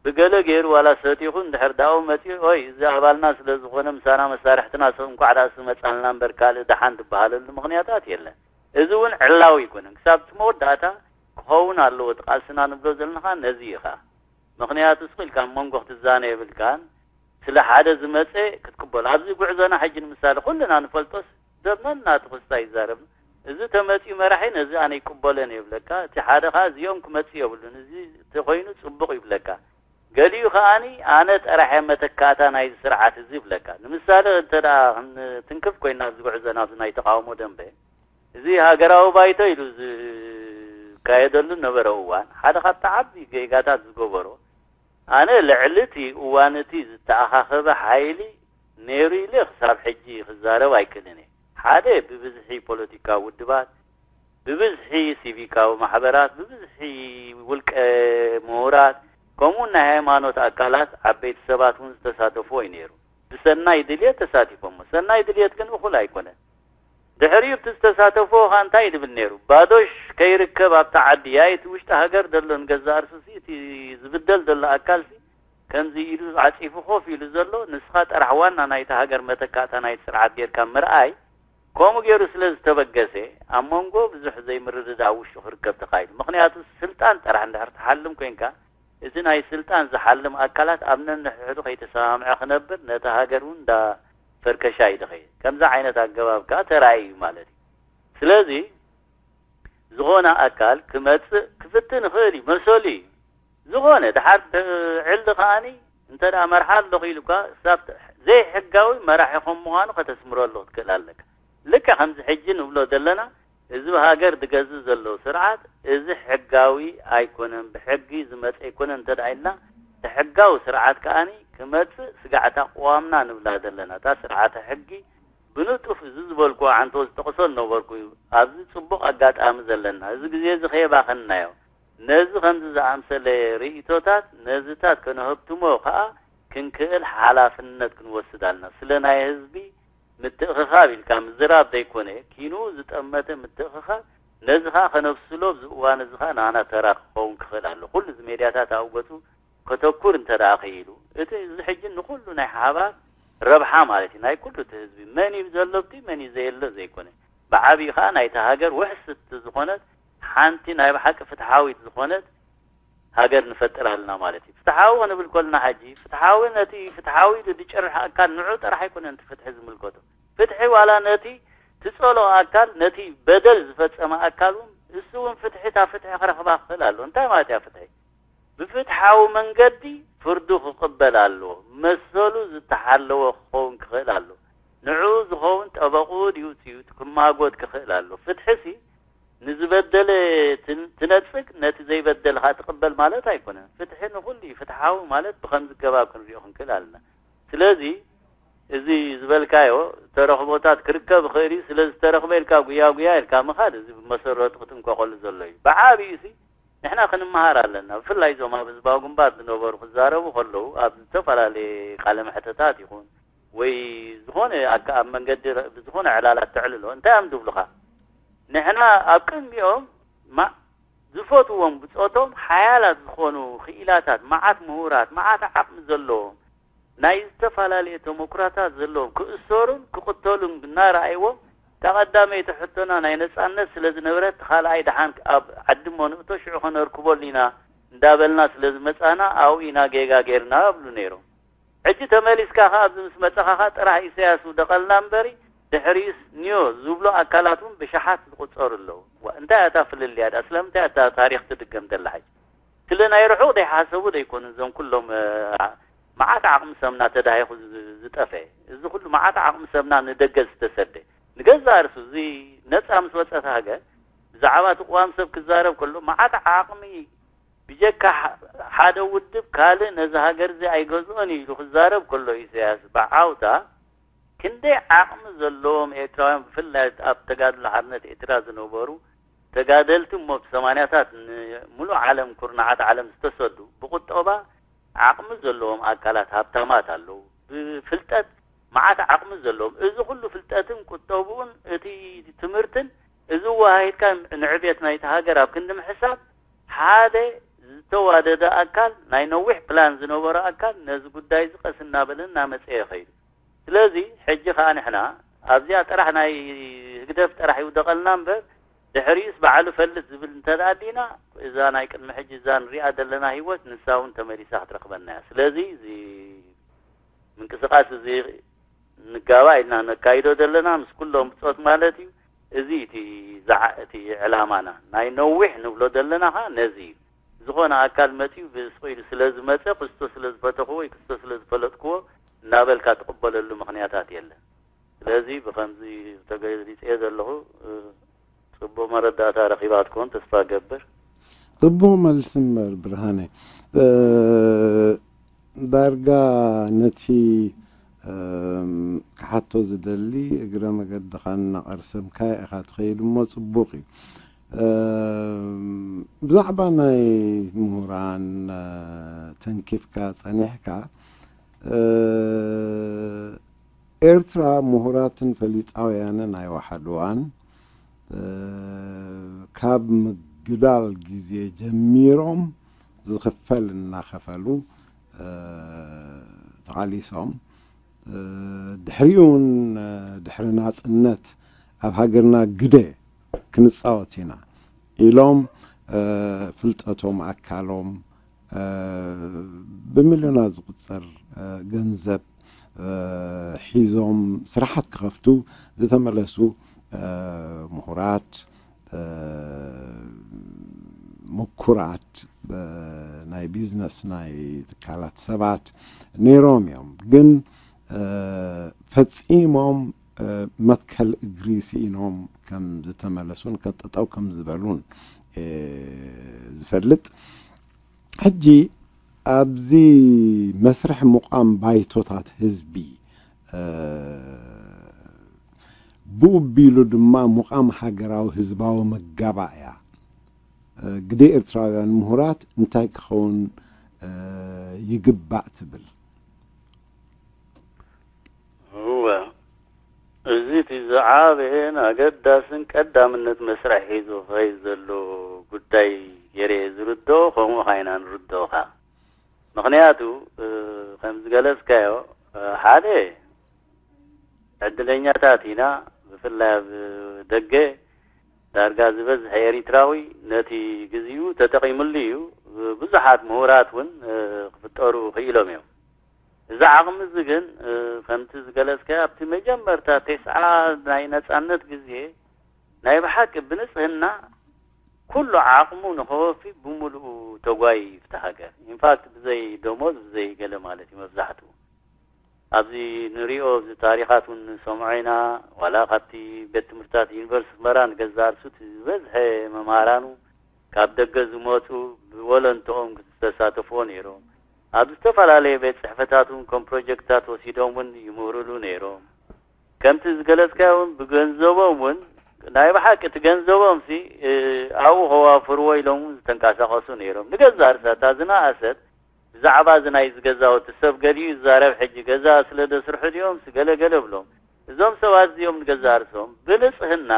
ብገለ ገይሩ ዋላ ሰቲኹ እንድሕር ዳኡ መፂኡ ኦይ እዚ ኣባልና ስለ ዝኾነ ምሳና መሳርሕትና ሰብ እንኳዕ ዳኣ ዝመፃልና እምበር ካልእ ደሓን ዝበሃለሉ ምኽንያታት የለን። እዚ እውን ዕላዊ ኣይኮነን። ክሳብ እቲ መወዳእታ ክኸውን ኣለዎ እቲ ቃልስና ንብሎ ዘለኻ ነዚ ኢኻ። ምኽንያቱ ስቕ ኢልካ ኣብ መንጎ ክትዛነ የብልካን። ስለ ሓደ ዝመፀ ክትቅበሎ ኣብዚ ጉዕዞና ሕጂ ንምሳሌ ኩልና ንፈልጦስ ዘመንና እቲ ክስታ ይዛረብ። እዚ ተመፅኡ መራሒ ነዚ ኣነ ይቅበሎን እየ ይብለካ። እቲ ሓደ ከዓ እዚኦም ክመፅእ የብሉን እዚ ተኮይኑ ፅቡቕ ይብለካ። ገሊኡ ከዓኒ ኣነ ጥራሕ እየ መተካእታ ናይዚ ስርዓት እዚ ይብለካ። ንምሳሌ እንተ ደኣ ክንትንክፍ ኮይና ኣብዚ ጉዕዞ ናብዚ ናይ ተቃውሞ ደንበ እዚ ሃገራዊ ባይቶ ኢሉ ዝካየደሉ ነበረ እዋን ሓደ ካብቲ ዓቢ ጌጋታት ዝገበሮ ኣነ ልዕሊ እቲ እዋን እቲ ዝተኣኻኸበ ሓይሊ ነይሩ ኢለ ክሳብ ሕጂ ክዛረብ ኣይክእልን እየ። ሓደ ብብዝሒ ፖለቲካዊ ውድባት፣ ብብዝሒ ሲቪካዊ ማሕበራት፣ ብብዝሒ ውልቀ ምሁራት ከምኡ ናይ ሃይማኖት ኣካላት ዓበይቲ ሰባት እውን ዝተሳተፍዎ እዩ ነይሩ። ብሰናይ ድልየት ተሳቲፎሞ። ሰናይ ድልየት ግን እኹል ኣይኮነን። ድሕሪኡ እቲ ዝተሳተፍዎ ከዓ እንታይ እዩ ዝብል ነይሩ? ባዶሽ ከይርከብ ኣብታ ዓዲ ያይ እቲ ውሽጢ ሃገር ዘሎ ንገዛእ ርእሱሲ እቲ ዝብደል ዘሎ ኣካልሲ ከምዚ ኢሉ ዓፂፉ ኮፍ ኢሉ ዘሎ ንስኻ ጥራሕ ዋና ናይቲ ሃገር መተካእታ ናይቲ ስርዓት ጌርካ ምርኣይ ከምኡ ገይሩ ስለ ዝተበገሰ ኣብ መንጎ ብዙሕ ዘይምርድዳእ ውሽጡ ክርከብ ተኻኢሉ። ምኽንያቱ ስልጣን ጥራሕ እንድሕር ትሓልም ኮይንካ እቲ ናይ ስልጣን ዝሓልም ኣካላት ኣብ ነንሕድሕዱ ከይተሰማምዐ ክነብር ነታ ሃገር እውን እንዳ ፈርከሻ እዩ ዝኸይድ። ከምዚ ዓይነት ኣገባብ ከዓ ተራእዩ እዩ ማለት እዩ። ስለዚ ዝኾነ ኣካል ክመፅእ ክፍትን ይኽእል እዩ፣ መሰሉ እዩ። ዝኾነ ድሓር ዕሊ ከዓኒ እንተ ደኣ መርሓ ኣለኹ ኢሉ እኳ ክሳብ ዘይሕጋዊ መራሒ ከም ምዃኑ ከተስምረሉ ክትክእል ኣለካ። ልክዕ ከምዚ ሕጂ ንብሎ ዘለና እዚ ብሃገር ዝገዝእ ዘሎ ስርዓት እዚ ሕጋዊ ኣይኮነን፣ ብሕጊ ዝመፀ ኣይኮነን እንተ ደኣ ኢልና እቲ ሕጋዊ ስርዓት ከዓኒ ክመፅእ ስጋዕታ ቅዋምና ንብላ ዘለና እታ ስርዓተ ሕጊ ብንጡፍ እዚ ዝበልኩ ዓንቶ ዝጠቕሶ ዝነበርኩ እዩ። ኣብዚ ፅቡቕ ኣጋጣሚ ዘለና እዚ ግዜ እዚ ከየባኸንናዮ ነዚ ከምዚ ዝኣምሰለ ርእይቶታት ነዚታት ከነህብትሞ ከዓ ክንክእል ሓላፍነት ክንወስድ ኣለና። ስለ ናይ ህዝቢ ምትእኽኻብ ኢልካ ምዝራብ ዘይኮነ ኪንኡ ዝጠመተ ምትእኽኻብ ነዚ ከዓ ከነብስሎ ኣብዚ እዋን እዚ ከዓ ንዓና ተራ ክኸውን ክኽእል ኣሎ። ኩሉ እዚ ሜድያታት ኣብ ገፁ ከተኩር እንተ ደኣ ክኢሉ እቲ እዚ ሕጂ ንኩሉ ናይ ሓባር ረብሓ ማለት እዩ ናይ ኩሉ እቲ ህዝቢ መን እዩ ዘሎ ኣብቲ መን እዩ ዘየሎ ዘይኮነ ብዓብዩ ከዓ ናይታ ሃገር ውሕስቲ ዝኾነት ሓንቲ ናይ ብሓቂ ፍትሓዊት ዝኾነት ሃገር ንፈጥር ኣለና ማለት እዩ። ፍትሓዊ ክንብል ከለና ሕጂ ፍትሓዊ ነቲ ፍትሓዊ ኢሉ ዝጭርሕ ኣካል ንዑ ጥራሕ ኣይኮነን እቲ ፍትሒ ዝምልከቶ። ፍትሒ ዋላ ነቲ ትጸልኦ ኣካል ነቲ በደል ዝፈጸመ ኣካል እውን እሱ እውን ፍትሒ እታ ፍትሒ ክረኽባ ክኽእል ኣለዎ። እንታይ ማለት እያ ፍትሒ? ብፍትሓዊ መንገዲ ፍርዱ ክቕበል ኣለዎ። መሰሉ ዝተሓለወ ክኸውን ክኽእል ኣለዎ። ንዕኡ ዝኸውን ጠበቕኡ ድዩ ውፅኢቱ ክማጎት ክኽእል ኣለዎ። ፍትሒሲ ንዝበደለ ትን- ትነጽግ፣ ነቲ ዘይበደልኻ ትቕበል ማለት ኣይኮነን። ፍትሒ ንኹሉ እዩ። ፍትሓዊ ማለት ብኸምዚ ገባብ ክንሪኦ ክንክእል ኣለና። ስለዚ እዚ ዝበልካዮ ተረኽቦታት ክርከብ ይኽእል እዩ። ስለ ዝተረኽበ ኢልካ ጉያ ጉያ ኢልካ ምኻድ፣ እዚ ብመሰረቱ ክትንቀቐሉ ዘሎ እዩ። ብዓቢኡ ሲ ንሕና ክንመሃር ኣለና። ብፍላይ እዞም ኣብ ህዝባዊ ግንባር ዝነበሩ ክዛረቡ ከለዉ፣ ኣብ ዝተፈላለየ ቃለ መሕተታት ይኹን ወይ ዝኾነ ኣካ- ኣብ መንገዲ ረ- ብዝኾነ ዕላላት ተዕልሎ እንታይ እዮም ዝብሉኻ? ንሕና ኣብ ቅድሚኦም ማ- ዝፈትዎም ብጾቶም ሓያላት ዝኾኑ ክኢላታት፣ መዓት ምሁራት፣ መዓት ዓቕሚ ዘለዎም፣ ናይ ዝተፈላለየ ተመኩራታት ዘለዎም፣ ክእሰሩን ክቕተሉን እናረኣይዎም፣ እታ ቀዳመይቲ ሕቶና ናይ ነጻነት ስለ ዝነበረት፣ እቲ ካልኣይ ደሓን ኣብ ዓዲ እሞ ንእቶ ሽዑ ከነርክበሉ ኢና እንዳበልና ስለ ዝመጻና ኣብኡ ኢና ጌጋ ጌርና ይብሉ ነይሮም። ሕጂ ተመሊስካ ኸኣ ኣብዚ ምስ መጻኻ ኸኣ ጥራሕ ኢሳያስ ውደቐልና እምበሪ ድሕሪኡስ ኒዮ ዝብሉ ኣካላት እውን ብሽሓት ዝቑጸሩ ኣለዉ። ዋ፣ እንታይ እያ እታ ፍልልያ ድኣ? ስለምንታይ እያ እታ ታሪኽ ትድገም ዘላ ሕጂ? ስለ ናይ ርሑቕ ዘይሓሰቡ ዘይኮኑ እዞም ኩሎም፣ እ፣ መዓት ዓቕሚ ሰብና ተዳሂኹ ዝ- ዝጠፍአ። እዚ ኩሉ መዓት ዓቕሚ ሰብና ንደገ ዝተሰደ። ንገዛእ ርእሱ እዚ ነጻ ምስ ወጸት ሃገር ብዛዕባ እቲ ቅዋም ሰብ ክዛረብ ከሎ መዓት ዓቕሚ ብጀካ ሐ- ሓደ ውድብ ካልእ ነዚ ሃገር እዚ ኣይገዝኦን እዩ ኢሉ ክዛረብ ከሎ ኢሳያስ ብዓውታ ክንደይ ዓቕሚ ዘለዎም ኤርትራውያን ብፍላይ ኣብ ተጋድሎ ሓርነት ኤርትራ ዝነበሩ ተጋደልቲ እሞ ብሰማንያታት ንሙሉእ ዓለም ኩርናዓት ዓለም ዝተሰዱ ብቁጠባ ዓቕሚ ዘለዎም ኣካላት ሃብታማት ኣለዉ። ብፍልጠት መዓት ዓቕሚ ዘለዎም። እዚ ኩሉ ፍልጠትን ቁጠብኡን እቲ ትምህርትን እዚ ወሃሂድካ ንዕቤት ናይቲ ሃገር ኣብ ክንዲ ምሕሳብ ሓደ ዝተዋደደ ኣካል ናይ ነዊሕ ፕላን ዝነበሮ ኣካል ነዚ ጉዳይ እዚ ቀስ እናበለ እናመጸ ይኸይዱ። ስለዚ ሕጂ ኸኣ ንሕና ኣብዚኣ ጥራሕ ናይ ህግደፍ ጥራሕ ይውደቐልና እምበር ድሕሪኡስ ባዕሉ ፈልጥ ዝብል እንተ ደኣ ኣዲና እዛ ናይ ቅድሚ ሕጂ እዛ ንሪኣ ዘለና ህይወት ንሳ እውን ተመሊሳ ክትረኽበና እያ። ስለዚ እዚ ምንቅስቃስ እዚ ንጋባእ ኢልና ነካይዶ ዘለና ምስ ኩሎም ብጾት ማለት እዩ። እዚ እቲ ዝዓ- እቲ ዕላማና ናይ ነዊሕ ንብሎ ዘለና ኸኣ ነዚ እዩ። ዝኾነ ኣካል መጺኡ ብስቕ ኢሉ ስለ ዝመጸ ክስቶ ስለ ዝፈተኽዎ ወይ ክስቶ ስለ ዝፈለጥክዎ እናበልካ ትቕበለሉ ምኽንያታት የለን። ስለዚ ብኸምዚ ተገሊጸዮ ዘለኹ፣ እ፣ ጽቡቕ መረዳእታ ረኺባ ክትኮን ተስፋ እገብር። ጽቡቕ መልሲ እምበር ብርሃነ። እ፣ ዳርጋ ነቲ፣ እም፣ ክሓቶ ዝደሊ እግረ መገድኻ እናቐርሰምካዮ ኢኻ ትኸይድ እሞ ጽቡቕ እዩ። እም፣ ብዛዕባ ናይ ምሁራን፣ እ፣ ተንኪፍካ ጸኒሕካ፣ እ፣ ኤርትራ ምሁራትን ፈሊጣውያንን ኣይወሓድዋን። እ፣ ካብ ምግዳል ግዜ ጀሚሮም ዝኽፈል እናኸፈሉ፣ እ፣ ተቓሊሶም። እ፣ ድሕሪኡ እውን፣ እ፣ ድሕሪ ናጽነት ኣብ ሃገርና ግደ ክንጻወት ኢና ኢሎም፣ እ፣ ፍልጠቶም፣ ኣካሎም፣ እ፣ ብሚልዮናት ዝቑጸር፣ እ፣ ገንዘብ፣ እ፣ ሒዞም ስራሓት ክኸፍቱ ዝተመለሱ፣ እ፣ ምሁራት፣ እ፣ ምኩራት፣ እ፣ ናይ ቢዝነስ ናይ ትካላት ሰባት ነይሮም እዮም። ግን፣ እ፣ ፈጺሞም፣ እ፣ መትከል እግሪ ስኢኖም ከም ዝተመለሱን ከም ጠጠው ከም ዝበሉን፣ እ፣ ዝፈልጥ። ሕጂ ኣብዚ መስርሕ ምቋም ባይቶታት ህዝቢ፣ እ፣ ብኡ ኣቢሉ ድማ ምቋም ሃገራዊ ህዝባዊ መጋባእያ፣ እ፣ ግደ ኤርትራውያን ምሁራት እንታይ ክኸውን፣ እ፣ ይግባእ ትብል? እወ፣ እዚ እቲ ዝዓበየን ኣገዳስን ቀዳምነት መስርሕ ሒዙ ክኸይድ ዘሎ ጉዳይ ገይረ እየ ዝርድኦ፣ ከምኡ ኸዓ ኢና ንርድኦ ኸዓ። ምኽንያቱ፣ እ፣ ከም ዝገለጽካዮ፣ እ፣ ሓደ ዕድለኛታት ኢና፣ ብፍላይ ኣብ ደገ ዳርጋ ዝበዝሕ ኤሪትራዊ ነቲ ግዜኡ ተጠቒምሉ እዩ። ብዙሓት ምሁራት እውን፣ እ፣ ክፍጠሩ ክኢሎም እዮም። እዚ ዓቕሚ እዚ ግን፣ እ፣ ከምቲ ዝገለጽካዮ ኣብቲ መጀመርታ ተስዓ ናይ ነጻነት ግዜ ናይ ብሓቂ ብንጽህና ኩሉ ዓቕሙ ንኸወፊ ብምሉኡ ተጓይዩ እዩ ኣብቲ ሃገር። ኢንፋክት ብዘይ ደሞዝ፣ ብዘይ ገለ ማለት እዩ መብዛሕትኡ። ኣብዚ ንሪኦ፣ እዚ ታሪኻት እውን ንሰምዖ ኢና። ዋላ ካብቲ ቤት ትምህርትታት ዩኒቨርሲቲ ኣስመራ ንገዛእ ርእሱ እቲ ዝበዝሐ መምሃራኑ ካብ ደገ ዝመፁ፣ ብወለንትኦም ዝተሳተፍዎ ነይሮም። ኣብ ዝተፈላለየ ቤት ፅሕፈታት እውን ከም ፕሮጀክትታት ወሲዶም እውን ይምህሩሉ ነይሮም። ከምቲ ዝገለፅካዮ እውን ብገንዘቦም እውን፣ ናይ ብሓቂ እቲ ገንዘቦም ሲ ኣብኡ ከዋፍርዎ ኢሎም እውን ዝተንቀሳቐሱ ነይሮም። ንገዛእ ርእሳ እታ ዝነኣሰት ብዛዕባ እዚ ናይ እዚ ገዛውቲ ሰብ ገሊኡ ይዛረብ። ሕጂ ገዛ ስለ ደስርሑ ድዮም ሲ ገለ ገለ ብሎም። እዞም ሰባት እዚኦም ንገዛእ ርእሶም ብንፅህና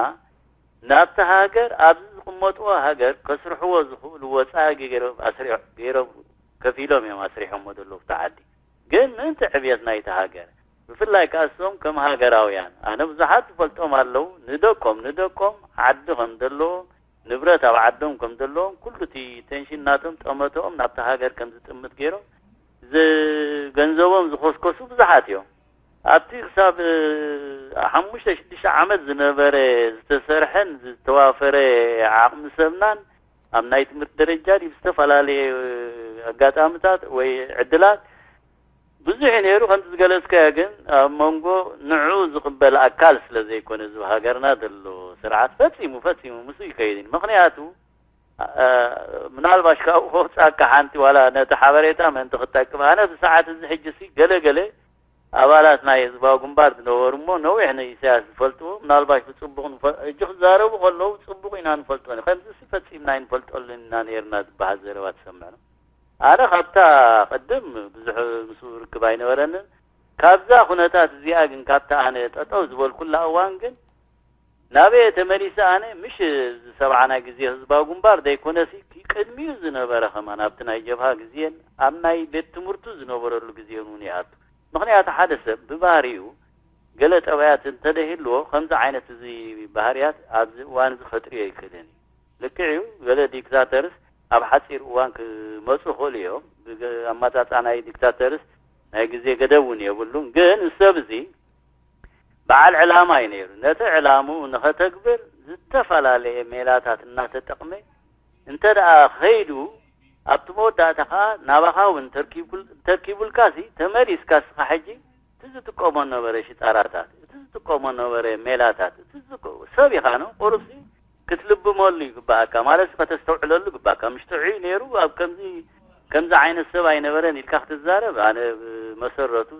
ናብቲ ሃገር፣ ኣብዚ ዝቕመጥዎ ሃገር ከስርሕዎ ዝኽእሉ ወፃኢ ገይሮም ኣስሪሖ-፣ ገይሮም ከፊሎም እዮም ኣስሪሖሞ ዘለዉ ኣብቲ ዓዲ። ግን ምእንቲ ዕብየት ናይቲ ሃገር፣ ብፍላይ ከኣ እሶም ከም ሃገራውያን፣ ኣነ ብዙሓት ዝፈልጦም ኣለዉ፣ ንደቆም፣ ንደቆም ዓዲ ከም ዘለዎም፣ ንብረት ኣብ ዓዶም ከም ዘለዎም፣ ኩሉ እቲ ቴንሽን ናቶም፣ ጠመተኦም ናብቲ ሃገር ከም ዝጥምት ገይሮም ዝ-፣ ገንዘቦም ዝኸስከሱ ብዙሓት እዮም። ኣብቲ ክሳብ፣ እ፣ ሓሙሽተ ሽዱሽተ ዓመት ዝነበረ ዝተሰርሐን ዝተዋፈረ ዓቕሚ ሰብናን ኣብ ናይ ትምህርቲ ደረጃ ድዩ ብዝተፈላለየ ኣጋጣሚታት ወይ ዕድላት ብዙሕ እዩ ነይሩ። ከምቲ ዝገለጽካዮ ግን ኣብ መንጎ ንዕኡ ዝቕበል ኣካል ስለ ዘይኮነ፣ እዚ ኣብ ሃገርና ዘሎ ስርዓት ፈጺሙ፣ ፈጺሙ ምስኡ ይከይድ እዩ። ምኽንያቱ፣ እ፣ ምናልባሽ ካብኡ ከውጻካ ሓንቲ ዋላ ነቲ ሓበሬታ ምእንቲ ክጠቅም፣ ኣነ ብሰዓት እዚ ሕጂ ሲ ገለ ገለ ኣባላት ናይ ህዝባዊ ግንባር ዝነበሩ እሞ ነዊሕ ንኢሳያስ ዝፈልጥዎ፣ ምናልባሽ ብጽቡቕ ንፈ-፣ ሕጂ ክዛረቡ ከለዉ ጽቡቕ ኢና ንፈልጦ ነ-፣ ከምዚ ሲ ፈጺምና ኣይንፈልጠሉን ኢና ነይርና ዝበሃል ዘረባ ትሰምዕ ነው። ኣነ ካብታ ቅድም ብዙሕ ምስኡ ርክብ ኣይነበረንን። ካብዛ ኩነታት እዚኣ ግን፣ ካብታ ኣነ ጠጠው ዝበልኩላ እዋን ግን፣ ናበየ ተመሊሰ ኣነ? ምሽ እዚ ሰብዓ ናይ ግዜ ህዝባዊ ግንባር ዘይኮነሲ፣ ቅድሚኡ ዝነበረ ከማን ኣብቲ ናይ ጀብሃ ግዜን ኣብ ናይ ቤት ትምህርቱ ዝነበረሉ ግዜን እውን ይኣቱ። ምኽንያቱ ሓደ ሰብ ብባህሪኡ ገለ ጠባያት እንተደይህልዎ፣ ከምዚ ዓይነት እዚ ባህርያት ኣብዚ እዋን እዚ ከጥርዮ ኣይክእልን እዩ። ልክዕ እዩ፣ ገለ ዲክታተርስ ኣብ ሓጺር እዋን ክመጹ ይኽእሉ እዮም። ብገ-፣ ኣመጻጽኣ ናይ ዲክታተርስ ናይ ግዜ ገደብ እውን የብሉን። ግን እዚ ሰብ እዚ በዓል ዕላማ እዩ ነይሩ። ነቲ ዕላምኡ ንኸተግብር ዝተፈላለየ ሜላታት እናተጠቕመ እንተ ደኣ ኸይዱ፣ ኣብቲ መወዳእታ ኸኣ ናባኻ እውን ተርኪቡል-፣ ተርኪቡልካሲ፣ ተመሊስካ እስኻ ሕጂ እቲ ዝጥቀሞ ነበረ ሽጣራታት፣ እቲ ዝጥቀሞ ነበረ ሜላታት፣ እቲ ዝጥቀ-፣ ሰብ ኢኻ ነው፣ ቁሩብሲ ክትልብመሉ ይግባኣካ፣ ማለት ከተስተውዕለሉ ይግባኣካ። ምሽ ጥዑይ ነይሩ፣ ኣብ ከምዚ፣ ከምዚ ዓይነት ሰብ ኣይነበረን ኢልካ ክትዛረብ፣ ኣነ ብመሰረቱ፣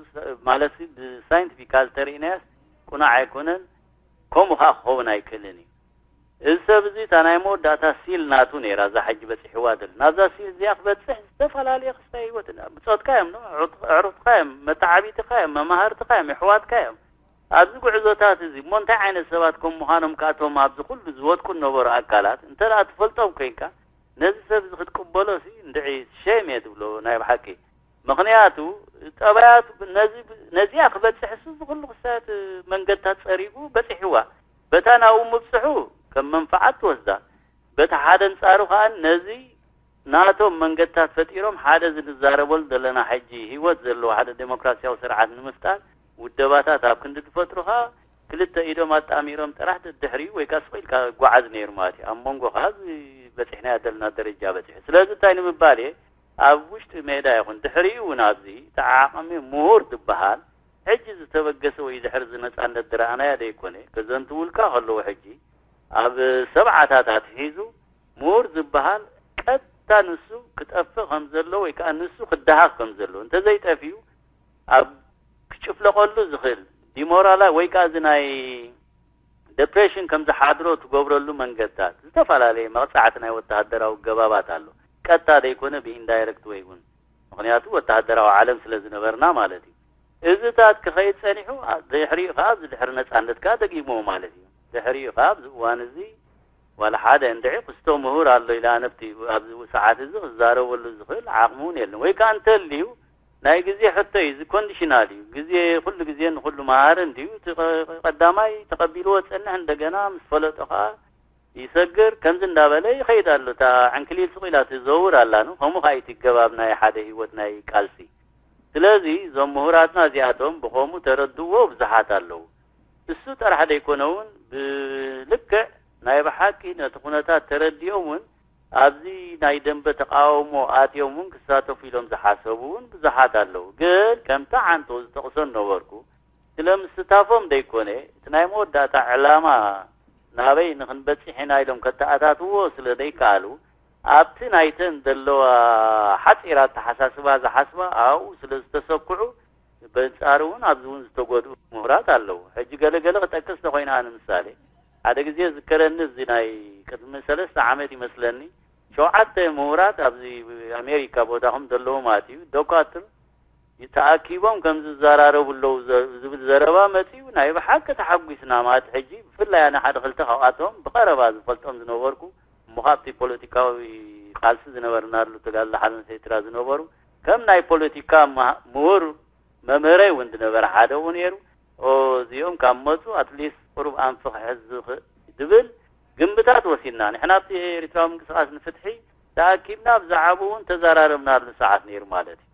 ማለት ብሳይንቲፊካል ተርእናያስ ቁኑዕ ኣይኮነን፣ ከምኡ ኸኣ ክኸውን ኣይክእልን እዩ። እዚ ሰብ እዚ እታ ናይ መወዳእታ ሲል ናቱ ነይራ፣ እዛ ሕጂ በጺሕዋ ዘላ። ናብዛ ሲል እዚኣ ክበጽሕ ዝተፈላለየ ክስታይ ህይወት፣ ብጾትካ እዮም፣ ኣዕሩኽ-፣ ኣዕሩኽትካ እዮም፣ መተዓቢትካ እዮም፣ መማህርትካ እዮም፣ የሕዋትካ እዮም። ኣብዚ ጉዕዞታት እዚ እሞ እንታይ ዓይነት ሰባት ከም ምዃኖም ከኣ እቶም ኣብዚ ኩሉ ዝወድቁ ዝነበሩ ኣካላት እንተ ደኣ ትፈልጦም ኮይንካ፣ ነዚ ሰብ እዚ ክትቅበሎ ሲ እንድዒ ሸም እየ ትብሎ ናይ ብሓቂ። ምኽንያቱ ጠባያቱ ነዚ፣ ነዚኣ ክበጽሕ እሱ እዚ ኩሉ ክስታያት መንገድታት ጸሪጉ በጺሕዋ። በታ ናብኡ ምብጽሑ ከም መንፍዓት ትወስዳ። በቲ ሓደ ኣንጻሩ ከኣ ነዚ ናቶም መንገድታት ፈጢሮም ሓደ እዚ ንዛረበሉ ዘለና ሕጂ ህይወት ዘለዎ ሓደ ዴሞክራሲያዊ ስርዓት ንምፍጣር ውደባታት ኣብ ክንዲ ዝፈጥሩ ከኣ ክልተ ኢዶም ኣጣሚሮም ጥራሕ ደድሕሪኡ ወይ ከኣ ስቕ ኢልካ ክጓዓዝ ነይሩ ማለት እዩ። ኣብ መንጎ ከኣ እዚ በጺሕናዮ ዘለና ደረጃ በጺሑ። ስለዚ እንታይ ንምባል እየ፣ ኣብ ውሽጢ ሜዳ ይኹን ድሕሪኡ እውን ኣብዚ እቲ ዓቕሚ ምሁር ዝበሃል ሕጂ ዝተበገሰ ወይ ድሕሪ እዚ ነጻነት ዝረኣናዮ ዘይኮነ፣ ከዘንትውልካ ከለዉ ሕጂ ኣብ ሰብዓታት ኣትሒዙ ምሁር ዝበሃል ቀጥታ ንሱ ክጠፍእ ከም ዘሎ ወይ ከኣ ንሱ ክደሃኽ ከም ዘሎ፣ እንተዘይጠፊኡ ኣብ ክጭፍለቐሉ ዝኽእል ዲሞራላ ወይ ከኣ እዚ ናይ ደፕሬሽን ከም ዝሓድሮ ትገብረሉ መንገድታት፣ ዝተፈላለየ መቕጻዕቲ ናይ ወተሃደራዊ ገባባት ኣሎ። ቀጥታ ዘይኮነ ብኢንዳይረክት ወይ እውን፣ ምኽንያቱ ወተሃደራዊ ዓለም ስለ ዝነበርና ማለት እዩ። እዚታት ክኸይድ ጸኒሑ፣ ኣ-፣ ድሕሪኡ ከኣ ኣብዚ ድሕሪ ነጻነት ከኣ ደጊምዎ ማለት እዩ። ድሕሪኡ ከኣ ኣብዚ እዋን እዚ ዋላ ሓደ እንድዒ ክስቶ ምሁር ኣሎ ኢለ ኣነ ኣብቲ ኣብዚ ሰዓት እዚ ክዛረበሉ ዝኽእል ዓቕሚ እውን የለን። ወይ ከኣ እንተልዩ ናይ ግዜ ሕቶ እዩ፣ እዚ ኮንዲሽናል እዩ። ግዜ ኩሉ ግዜ ንኹሉ መሃሪ እንድዩ። እቲ ቀ-፣ ቀዳማይ ተቐቢልዎ ዝጸንሕ እንደገና ምስ ፈለጦ ከኣ ይሰግር፣ ከምዚ እንዳበለ ይኸይድ ኣሎ። እታ ዕንክሊል ስቕ ኢላ ትዘውር ኣላ፣ ን-፣ ከምኡ ከኣ እዩ እቲ ገባብ ናይ ሓደ ህይወት ናይ ቃልሲ። ስለዚ እዞም ምሁራትና እዚኣቶም ብኸምኡ ተረድእዎ ብዙሓት ኣለዉ። እሱ ጥራሕ ደይኮነ እውን ብልክዕ ናይ ብሓቂ ነቲ ኩነታት ተረዲኦም እውን ኣብዚ ናይ ደንበ ተቃውሞ ኣትዮም እውን ክሳተፉ ኢሎም ዝሓሰቡ እውን ብዙሓት ኣለዉ። ግን ከምቲ ዓንቶ ዝጠቕሶ ነበርኩ፣ ስለ ምስታፎም ደይኮነ፣ እቲ ናይ መወዳእታ ዕላማ ናበይ ንኽንበጽሕ ኢና ኢሎም ከተኣታትዎ ስለ ደይከኣሉ፣ ኣብቲ ናይተን ዘለዋ ሓጺር ኣተሓሳስባ ዝሓስባ ኣብኡ ስለ ዝተሰኩዑ፣ በንጻሩ እውን ኣብዚ እውን ዝተጎድኡ ምሁራት ኣለዉ። ሕጂ ገለ ገለ ክጠቅስ ተኾይነ፣ ኣነ ምሳሌ፣ ሓደ ግዜ ዝከረኒ፣ እዚ ናይ ቅድሚ ሰለስተ ዓመት ይመስለኒ፣ ሸውዓተ ምሁራት ኣብዚ ኣሜሪካ ቦታኹም ዘለዉ ማለት እዩ፣ ዶካትር ተኣኪቦም ከም ዝዘራረቡ ኣለዉ ዘ-፣ ዝብል ዘረባ መጺኡ፣ ናይ ብሓቂ ተሓጒስና ማለት። ሕጂ ብፍላይ ኣነ ሓደ ክልተ ካብኣቶም ብቐረባ ዝፈልጦም ዝነበርኩ፣ እሞ ካብቲ ፖለቲካዊ ቃልሲ ዝነበርናሉ ተጋድሎ ሓርነት ኤርትራ ዝነበሩ፣ ከም ናይ ፖለቲካ ምሃ-፣ ምሁር መምህረይ እውን ዝነበረ ሓደ እውን ነይሩ። ኦ፣ እዚኦም ካብ መጹ ኣትሊስት ቁሩብ ኣንፊ ክሕዝ ዝኽእል ዝብል ግምታት ወሲድና። ንሕና ኣብቲ ኤርትራዊ ምንቅስቃስ ንፍትሒ ተኣኪብና ብዛዕባኡ እውን ተዘራረብናሉ ሰዓት ነይሩ ማለት እዩ።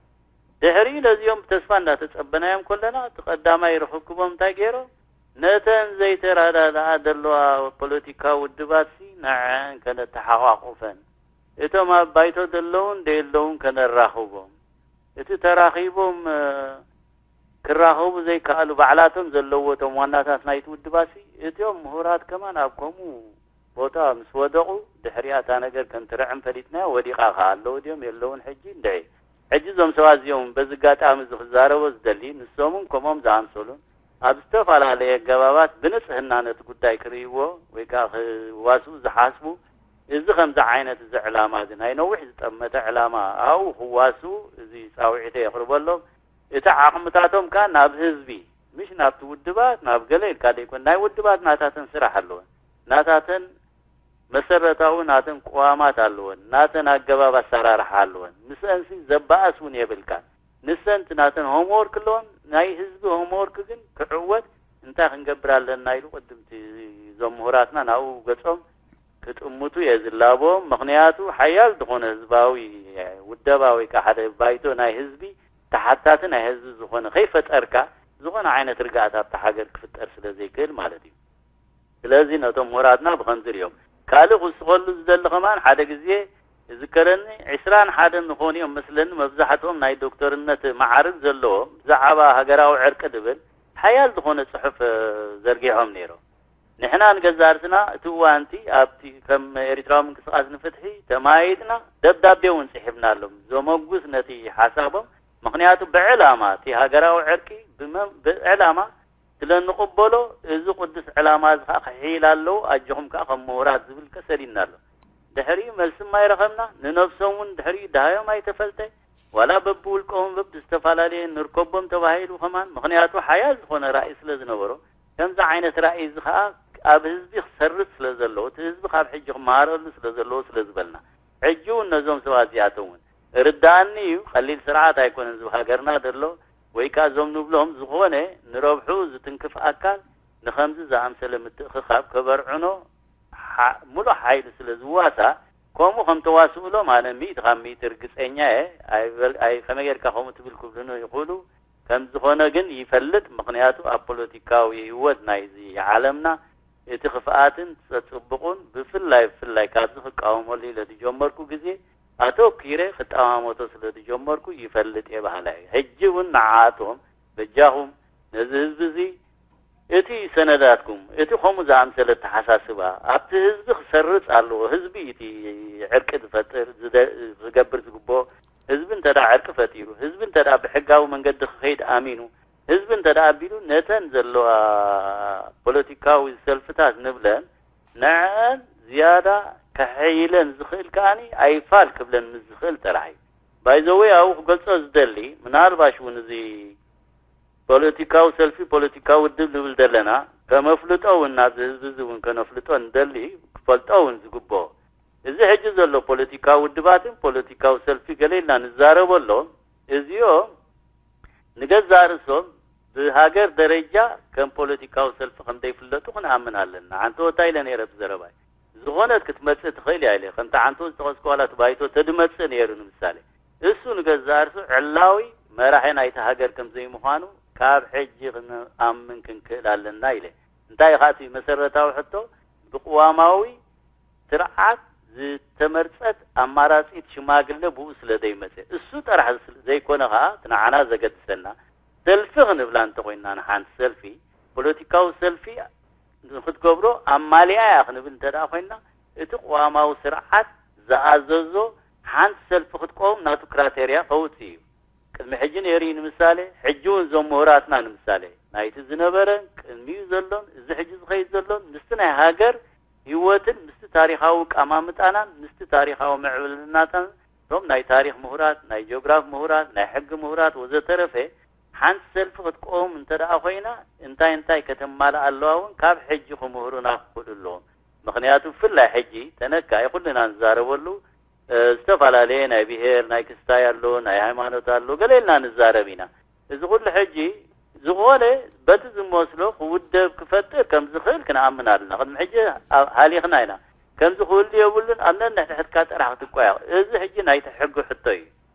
ድሕሪ ነዚኦም ብተስፋ እንዳተጸበናዮም ከለና፣ እቲ ቀዳማይ ርኽክቦም እንታይ ገይሮም? ነተን ዘይተረዳድኣ ዘለዋ ፖለቲካዊ ውድባትሲ ንዐን ከነተሓቋቁፈን፣ እቶም ኣብ ባይቶ ዘለውን ደየለውን ከነራኽቦም፣ እቲ ተራኺቦም፣ እ፣ ክራኸቡ ዘይከኣሉ ባዕላቶም ዘለዎ እቶም ዋናታት ናይቲ ውድባሲ፣ እቲኦም ምሁራት ከማን ኣብ ከምኡ ቦታ ምስ ወደቑ፣ ድሕሪኣ እታ ነገር ከም ትርዕም ፈሊጥናዮ፣ ወዲቓ ከኣ። ኣለዉ ድዮም የለውን ሕጂ? እንድዒ። ሕጂ እዞም ሰባት እዚኦም በዚ ኣጋጣሚ እዚ ክዛረቦ ዝደሊ፣ ንሶምን ከምኦም ዝኣምሰሉን ኣብ ዝተፈላለየ ኣገባባት ብንጽህና ነቲ ጉዳይ ክርእይዎ ወይ ከኣ ክዋስኡ ዝሓስቡ፣ እዚ ከምዚ ዓይነት እዚ ዕላማ እዚ ናይ ነዊሕ ዝጠመተ ዕላማ ኣብኡ ክዋስኡ እዚ ጻውዒተይ የቕርበሎም። እቲ ዓቕምታቶም ከኣ ናብ ህዝቢ፣ ምሽ ናብቲ ውድባት፣ ናብ ገለ ኢልካ ደይኮን፣ ናይ ውድባት ናታተን ስራሕ ኣለወን። ናታተን መሰረታዊ ናተን ቅዋማት ኣለወን፣ ናተን ኣገባብ ኣሰራርሓ ኣለወን። ምስአንሲ ዘባእስ እውን የብልካን። ንሰን እቲ ናተን ሆምወርክ ኣለወን፣ ናይ ህዝቢ ሆምወርክ ግን ክዕወት እንታይ ክንገብር ኣለና ኢሉ ቅድምቲ እዞም ምሁራትና ናብኡ ገጾም ክጥምቱ እየ ዝላቦም። ምኽንያቱ ሓያል ዝኾነ ህዝባዊ ውደባ ወይ ከዓ ሓደ ባይቶ ናይ ህዝቢ ተሓታቲ ናይ ህዝቢ ዝኾነ ከይፈጠርካ ዝኾነ ዓይነት ርግኣት ኣብታ ሃገር ክፍጠር ስለ ዘይክእል ማለት እዩ። ስለዚ ነቶም ምሁራትና ብኸምዚ ሪኦም። ካልእ ክውስኸሉ ዝደሊ ከማን ሓደ ግዜ ዝከረኒ ዕስራን ሓደን ዝኾኑ እዮም መስለኒ መብዛሕትኦም ናይ ዶክተርነት መዓርግ ዘለዎም ብዛዕባ ሃገራዊ ዕርቂ ድብል ሓያል ዝኾነ ጽሑፍ፣ እ፣ ዘርጊሖም ነይሮም። ንሕና ንገዛእ ርእስና እቲ እዋንቲ ኣብቲ ከም ኤርትራዊ ምንቅስቃስ ንፍትሒ ተማይጥና ደብዳቤ እውን ጽሒፍናሎም ዘመጉስ ነቲ ሓሳቦም። ምኽንያቱ ብዕላማ እቲ ሃገራዊ ዕርቂ ብመ-፣ ብዕላማ ስለ እንቕበሎ፣ እዚ ቅዱስ ዕላማ እዚ ኸኣ ክሕይል ኣለዎ፣ ኣጆኹም ከኣ ከም ምሁራት ዝብል ከ ሰዲድና ኣሎ። ድሕሪኡ መልሲ ማይረኸብና፣ ንነብሶም እውን ድሕሪኡ ደሃዮም ኣይተፈልጠ፣ ዋላ በብውልቆም በብዝተፈላለየ ንርከቦም ተባሂሉ ከማን፣ ምኽንያቱ ሓያል ዝኾነ ራእይ ስለ ዝነበሮ፣ ከምዚ ዓይነት ራእይ እዚ ኸኣ ኣብ ህዝቢ ክሰርጽ ስለ ዘለዎ፣ እቲ ህዝቢ ካብ ሕጂ ክመሃረሉ ስለ ዘለዎ ስለ ዝበልና፣ ሕጂ እውን ነዞም ሰባት እዚኣቶም እውን ርዳእኒ እዩ፣ ቀሊል ስርዓት ኣይኮነን ዝብ ሃገርና ዘሎ፣ ወይ ከኣ እዞም ንብሎም ዝኾነ ንረብሑ ዝትንክፍ ኣካል ንኸምዚ ዝኣምሰለ ምትእኽኻብ ከበርዕኖ ሓ-፣ ምሉእ ሓይሉ ስለ ዝዋሳእ፣ ከምኡ ከም ተዋስኡሎም ኣነ ሚእቲ ካብ ሚእቲ ርግጸኛ እየ። ኣይበል-፣ ኣይ-፣ ከመይ ጌርካ ከምኡ ትብል ክብሉኒ ይኽእሉ። ከም ዝኾነ ግን ይፈልጥ፣ ምኽንያቱ ኣብ ፖለቲካዊ ህይወት ናይዚ ዓለምና እቲ ክፍኣትን ጸጽብቑን ብፍላይ፣ ብፍላይ ካብዚ ክቃወመሉ ኢለ ዝጀመርኩ ግዜ ኣተኲረ ክጠማመቶ ስለ ዝጀመርኩ ይፈልጥ እየ በሃላይ እየ። ሕጂ እውን ንዓኣቶም በጃኹም ነዚ ህዝቢ እዚ እቲ ሰነዳትኩም፣ እቲ ከምኡ ዝኣምሰለ ኣተሓሳስባ ኣብቲ ህዝቢ ክሰርጽ ኣለዎ። ህዝቢ እቲ ዕርቂ ዝፈጥር፣ ዝደ-፣ ዝገብር ዝግብኦ። ህዝቢ እንተ ደኣ ዕርቂ ፈጢሩ፣ ህዝቢ እንተ ደኣ ብሕጋዊ መንገዲ ክኸይድ ኣሚኑ፣ ህዝቢ እንተ ደኣ ኣቢሉ፣ ነተን ዘለዋ ፖለቲካዊ ሰልፍታት ንብለን፣ ንዐን ዝያዳ ከሐይለን ዝኽእል ከኣኒ ኣይፋል ክብለን ምስ ዝኽእል ጥራሕ እዩ። ባይ ዘ ወይ ኣብኡ ክገልጾ ዝደሊ፣ ምናልባሽ እውን እዚ ፖለቲካዊ ሰልፊ፣ ፖለቲካዊ ውድብ ንብል ዘለና፣ ከመፍልጦ እውን ናብዚ ህዝቢ እዚ እውን ከነፍልጦ ንደሊ፣ ክፈልጦ እውን ዝግብኦ። እዚ ሕጂ ዘሎ ፖለቲካዊ ውድባትን ፖለቲካዊ ሰልፊ ገለ ኢልና ንዛረበሎም፣ እዚኦም ንገዛእ ርእሶም ብሃገር ደረጃ ከም ፖለቲካዊ ሰልፊ ከም ዘይፍለጡ ክንኣምን ኣለና። ዓንተወታ ኢለ ነይረ ብዘረባይ። ዝኾነት ክትመጽእ ትኽእል እያ ኢለ። ከምቲ ዓንተወ ዝጠቐስኩ ዋላ እቲ ባይቶ ተድመጽእ ነይሩ ንምሳሌ። እሱ ንገዛእ ርእሱ ዕላዊ መራሒ ናይቲ ሃገር ከም ዘይምዃኑ ካብ ሕጂ ክንኣምን ክንክእል ኣለና ኢለ። እንታይ እዩ ኸኣ እቲ መሰረታዊ ሕቶ? ብቅዋማዊ ስርዓት ዝተመርጸት ኣማራጺት ሽማግለ ብኡ ስለ ዘይመጸ፣ እሱ ጥራሕ ስለ ዘይኮነ ከኣ እቲ ንዓና ዘገድሰና ሰልፊ ክንብላ እንተኾይንና፣ ንሓንቲ ሰልፊ፣ ፖለቲካዊ ሰልፊ ንክትገብሮ ኣማሊኣ እያ ክንብል እንተ ደኣ ኮይንና፣ እቲ ቅዋማዊ ስርዓት ዝኣዘዞ ሓንቲ ሰልፊ ክትቀውም ናቱ ክራቴርያ ከውጽእ እዩ። ቅድሚ ሕጂ ነይሩ እዩ ንምሳሌ፣ ሕጂ እውን እዞም ምሁራትና ንምሳሌ፣ ናይቲ ዝነበረን ቅድሚኡ ዘሎን እዚ ሕጂ ዝኸይድ ዘሎን ምስቲ ናይ ሃገር ህይወትን ምስቲ ታሪኻዊ ቀማምጣናን ምስቲ ታሪኻዊ ምዕብልናታን፣ እቶም ናይ ታሪኽ ምሁራት፣ ናይ ጂኦግራፍ ምሁራት፣ ናይ ሕጊ ምሁራት ወዘተረፈ፣ ሓንቲ ሰልፊ ክትቀውም እንተ ደኣ ኮይና እንታይ እንታይ ከተማልእ ኣለዋ እውን ካብ ሕጂ ክምህሩና ክኽእሉ ኣለዎም። ምኽንያቱ ብፍላይ ሕጂ ተነካኢ ኩልና ንዛረበሉ፣ እ፣ ዝተፈላለየ ናይ ብሄር፣ ናይ ክስታይ ኣሎ፣ ናይ ሃይማኖት ኣሎ፣ ገለ ኢልና ንዛረብ ኢና። እዚ ኩሉ ሕጂ ዝኾነ በቲ ዝመስሎ ክውደብ ክፈጥር ከም ዝኽእል ክንኣምን ኣለና። ቅድሚ ሕጂ ኣብ-፣ ሃሊኽና ኢና። ከምዚ ክህሉ የብሉን፣ ኣብ ነንሕድሕድካ ጥራሕ ክትቆያቕ። እዚ ሕጂ ናይቲ ሕጊ ሕቶ እዩ።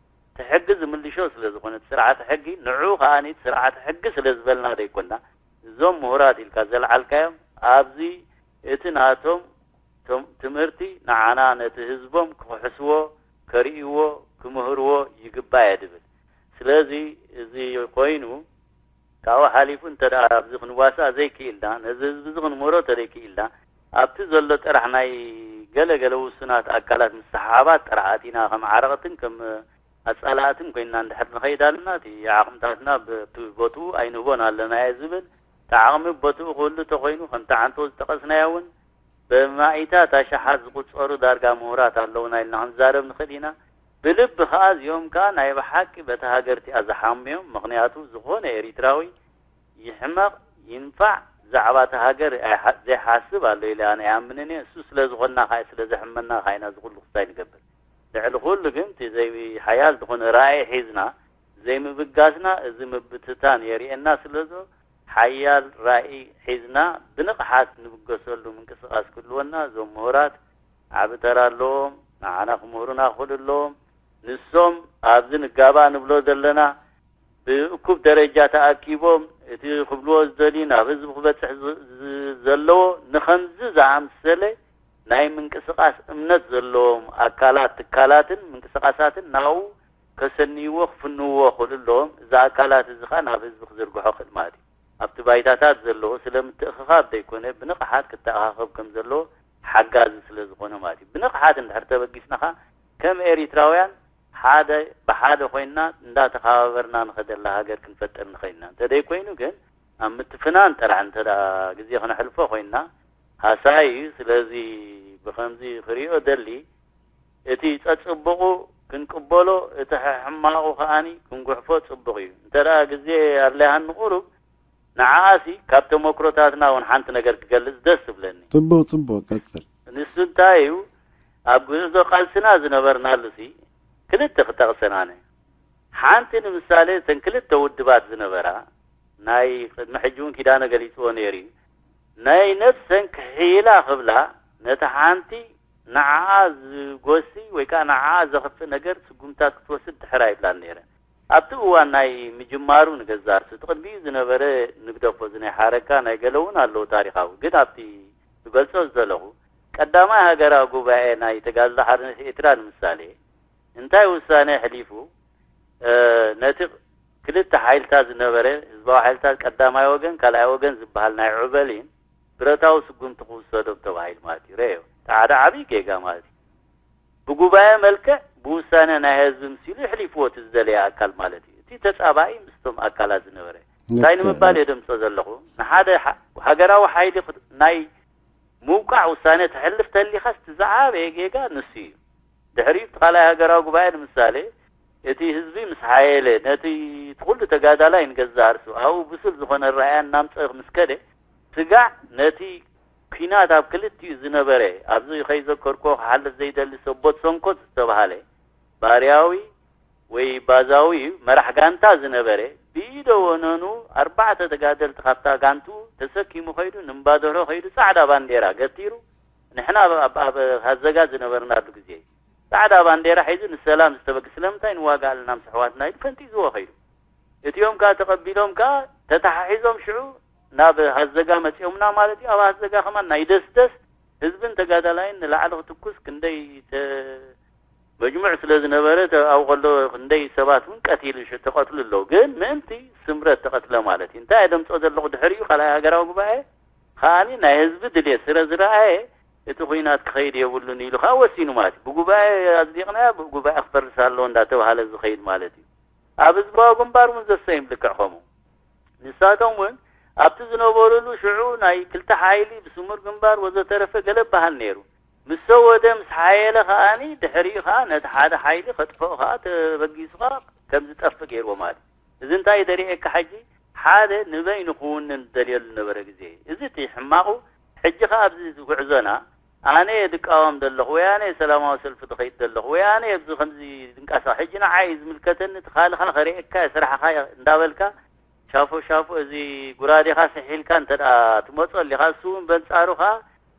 እቲ ሕጊ ዝምልሾ ስለ ዝኾነ፣ እቲ ስርዓተ ሕጊ፣ ንዑ ከኣ እቲ ስርዓተ ሕጊ ስለ ዝበልና ዘይኮና፣ እዞም ምሁራት ኢልካ ዘልዓልካዮም፣ ኣብዚ እቲ ናቶም ቶም-፣ ትምህርቲ ንዓና ነቲ ህዝቦም ክኽሕስዎ፣ ከርእይዎ፣ ክምህርዎ ይግባእ እየ ድብል። ስለዚ እዚ ኮይኑ፣ ካብኡ ሓሊፉ እንተ ደኣ ኣብዚ ክንዋሳእ ዘይክኢልና፣ ነዚ ህዝቢ እዚ ክንምህሮ እንተ ዘይክኢልና፣ ኣብቲ ዘሎ ጥራሕ ናይ ገለ ገለ ውሱናት ኣካላት ምስሕሓባት ጥራሕ ኣቲና ከም ዓረቕትን ከም ኣጻላእትን ኮይንና እንድሕር ንኸይድ ኣለና፣ እቲ ዓቕምታትና ብ-፣ ብቦትኡ ኣይንህቦን ኣለና እየ ዝብል። እቲ ዓቕሚ ቦትኡ ክህሉ እንተኾይኑ፣ ከምቲ ዓንቶ ዝጠቐስናዮ እውን፣ ብማኢታት ኣሽሓት ዝቑጸሩ ዳርጋ ምሁራት ኣለዉና ኢልና ክንዛረብ ንኽእል ኢና። ብልቢ ኸኣ እዚኦም ከኣ ናይ ብሓቂ በታ ሃገር እቲኣ ዝሓምዮም። ምኽንያቱ ዝኾነ ኤሪትራዊ ይሕመቕ ይንፋዕ ብዛዕባ እታ ሃገር ኣይሓ-፣ ዘይሓስብ ኣሎ ኢለ ኣነ ኣይኣምንን እየ። እሱ ስለ ዝኾንና ኸኣ ስለ ዘሕመና ኸኣ ኢና እዚ ኩሉ ክስታይ ንገብር። ልዕሊ ኩሉ ግን እቲ ዘይሓያል ዝኾነ ራእይ ሒዝና ዘይምብጋስና እዚ ምብትታን የርእየና ስለ ዘሎ ሓያል ራእይ ሒዝና ብንቕሓት ንብገሰሉ ምንቅስቓስ ክህልወና እዞም ምሁራት ዓቢ ተራ ኣለዎም። ንዓና ክምህሩና ክኽእሉ ኣለዎም። ንሶም ኣብዚ ንጋባእ ንብሎ ዘለና ብእኩብ ደረጃ ተኣኪቦም እቲ ክብልዎ ዝደልዩ ናብ ህዝቢ ክበጽሕ ዝ-፣ ዝ-፣ ዘለዎ ንኸምዚ ዝኣምሰለ ናይ ምንቅስቓስ እምነት ዘለዎም ኣካላት፣ ትካላትን ምንቅስቓሳትን ናብኡ ከሰንይዎ ክፍንውዎ ክኽእሉ ኣለዎም። እዚ ኣካላት እዚ ኸኣ ናብ ህዝቢ ክዝርግሖ ክእል ማለት እዩ። ኣብቲ ባይታታት ዘለዎ ስለ ምትእኽኻብ ዘይኮነ ብንቕሓት ክተኣኻኸብ ከም ዘለዎ ሓጋዚ ስለ ዝኾነ ማለት እዩ። ብንቕሓት እንድሕር ተበጊስና ኸኣ ከም ኤሪትራውያን ሓደ ብሓደ ኮይንና እንዳተኸባበርና ንኸደላ ሃገር ክንፈጥር ንኽእል ኢና። እንተ ደይኮይኑ ግን ኣብ ምትፍናን ጥራሕ እንተ ደኣ ግዜ ክነሕልፎ ኮይንና ሃሳይ እዩ። ስለዚ ብኸምዚ ክሪኦ ደሊ እቲ ጸጽቡቑ ክንቅበሎ፣ እቲ ሕማቑ ከኣኒ ክንጉሕፎ ጽቡቕ እዩ። እንተ ደኣ ግዜ ኣድለያኒ ቁሩብ ንዓኣሲ ካብ ተመክሮታትና እውን ሓንቲ ነገር ክገልጽ ደስ ትብለኒ። ጽቡቕ፣ ጽቡቕ፣ ቀጽል። ንሱ እንታይ እዩ፣ ኣብ ጉዕዞ ቃልስና ዝነበርናሉሲ ክልተ ክጠቕሰን ኣነ። ሓንቲ ንምሳሌ እተን ክልተ ውድባት ዝነበራ፣ ናይ ቅድሚ ሕጂ እውን ኪዳነ ገሊጽዎ ነይሩ እዩ። ናይ ነፍሰን ክሕይላ ክብላ ነቲ ሓንቲ ንዓኣ ዝጎሲ ወይ ከኣ ንዓኣ ዘኽፍእ ነገር ስጉምታት ክትወስድ ድሕር ኣይብላን ነይረን። ኣብቲ እዋን ናይ ምጅማሩ ንገዛእ ርእሱ፣ እቲ ቅድሚኡ ዝነበረ ንግደፎ፣ እዚ ናይ ሓረካ ናይ ገለ እውን ኣለዎ ታሪኻዊ። ግን ኣብቲ ክገልጾ ዝደለኹ፣ ቀዳማይ ሃገራዊ ጉባኤ ናይ ተጋድሎ ሓርነት ኤርትራ ንምሳሌ፣ እንታይ ውሳኔ ኣሕሊፉ? እ፣ ነቲ ክልተ ሓይልታት ዝነበረ፣ ህዝባዊ ሓይልታት ቀዳማይ ወገን፣ ካልኣይ ወገን ዝበሃል ናይ ዑበሊን ብረታዊ ስጉምቲ ክውሰዶም ተባሂሉ ማለት እዩ። ረዮ፣ እቲ ሓደ ዓብዪ ጌጋ ማለት እዩ። ብጉባኤ መልክዕ፣ ብውሳኔ ናይ ህዝቢ ምሲሉ የሕሊፍዎ እቲ ዝደለየ ኣካል ማለት እዩ። እቲ ተጻባኢ ምስቶም ኣካላት ዝነበረ። እንታይ ልክዕ። ንምባል እየ ደምጾ ዘለኹ? ንሓደ ሓ-፣ ሃገራዊ ሓይሊ ክት-፣ ናይ ምውቃዕ ውሳኔ ተሕልፍ ተሊኻስ እቲ ዝዓበየ ጌጋ ንሱ እዩ። ድሕሪኡ እቲ ካልኣይ ሃገራዊ ጉባኤ ንምሳሌ፣ እቲ ህዝቢ ምስ ሓየለ፣ ነቲ እቲ ኩሉ ተጋዳላይ ንገዛእ ርእሱ ኣብኡ ብሱል ዝኾነ ኣረኣእያ እናምጸእ ምስ ከደ፣ ስጋዕ ነቲ ኲናት ኣብ ክልቲኡ ዝነበረ፣ ኣብዚ ከይዘከርኩዎ ክሓልፍ ዘይደሊ ሰቦት ሰንኮት ዝተባህለ ባርያዊ ወይ ባዛዊ መራሕ ጋንታ ዝነበረ፣ ብኢደ ወነኑ ኣርባዕተ ተጋደልቲ ካብታ ጋንትኡ ተሰኪሙ ከይዱ፣ ንእምባደሮ ከይዱ ጻዕዳ ባንዴራ ገቲሩ፣ ንሕና ኣብ፣ ኣብ፣ ኣብ ሃዘጋ ዝነበርናሉ ግዜ ጻዕዳ ባንዴራ ሒዙ ንሰላም ዝተበግ-፣ ስለምንታይ ንዋጋእ ኣለና ምስ ኣሕዋትና ኢሉ ፈንጢዝዎ ከይዱ። እቲኦም ከኣ ተቐቢሎም ከኣ ተተሓሒዞም ሽዑ ናብ ሃዘጋ መጺኦምና ማለት እዩ። ኣብ ሃዘጋ ከማን ናይ ደስደስ ህዝብን ተጋዳላይን ንላዕሊ ክትኩስ ክንደይ ተ- መጅሙዕ ስለ ዝነበረ፣ ተ- ኣብኡ ከሎ ክንደይ ሰባት እውን ቀቲሉ ሽ- ተቐትሉ ኣለዉ። ግን ምእንቲ ስምረት ተቐትለ ማለት እዩ። እንታይ ደምፆ ዘለኹ ድሕሪኡ ካልኣይ ሃገራዊ ጉባኤ ከኣኒ ናይ ህዝቢ ድልየት ስለ ዝረኣየ እቲ ኩናት ክኸይድ የብሉን ኢሉ ከዓ ወሲኑ ማለት እዩ። ብጉባኤ ኣጽዲቕናያ ብጉባኤ ክፈርስ ኣለዎ እንዳተባሃለ ዝኸይድ ማለት እዩ። ኣብ ህዝባዊ ግንባር እውን ዘሰይም ልክዕ ከምኡ። ንሳቶም እውን ኣብቲ ዝነበሩሉ ሽዑ ናይ ክልተ ሓይሊ ብስሙር ግንባር ወዘተረፈ ገለ በሃል ነይሩ። ምስ ሰወደ ምስ ሓየለ ከኣኒ ድሕሪኡ ከዓ ነቲ ሓደ ሓይሊ ከጥፍኦ ከዓ ተበጊሱ ከዓ ከም ዝጠፍእ ገይርዎ ማለት እዩ። እዚ እንታይ ደሪኤካ ሕጂ ሓደ ንበይኑ ክውንን ዝደልየሉ ነበረ ግዜ እዩ። እዚ እቲ ሕማቑ ሕጂ ከዓ ኣብዚ ጉዕዞና ኣነ እየ ዝቃወም ዘለኹ ወይ ኣነ እየ ሰላማዊ ሰልፊ ዝኸይድ ዘለኹ ወይ ኣነ እየ ኣብዚ ከምዚ ዝንቀሳቐስ ሕጂ ንዓይ እዩ ዝምልከተኒ እቲ ካልኻ ከርእየካ እየ ስራሕኻ እየ እንዳበልካ ሻፎ ሻፎ እዚ ጉራዴኻ ስሒልካ እንተ ደኣ ትመጾ ኣሊኻ እሱ እውን በንጻሩ ኸኣ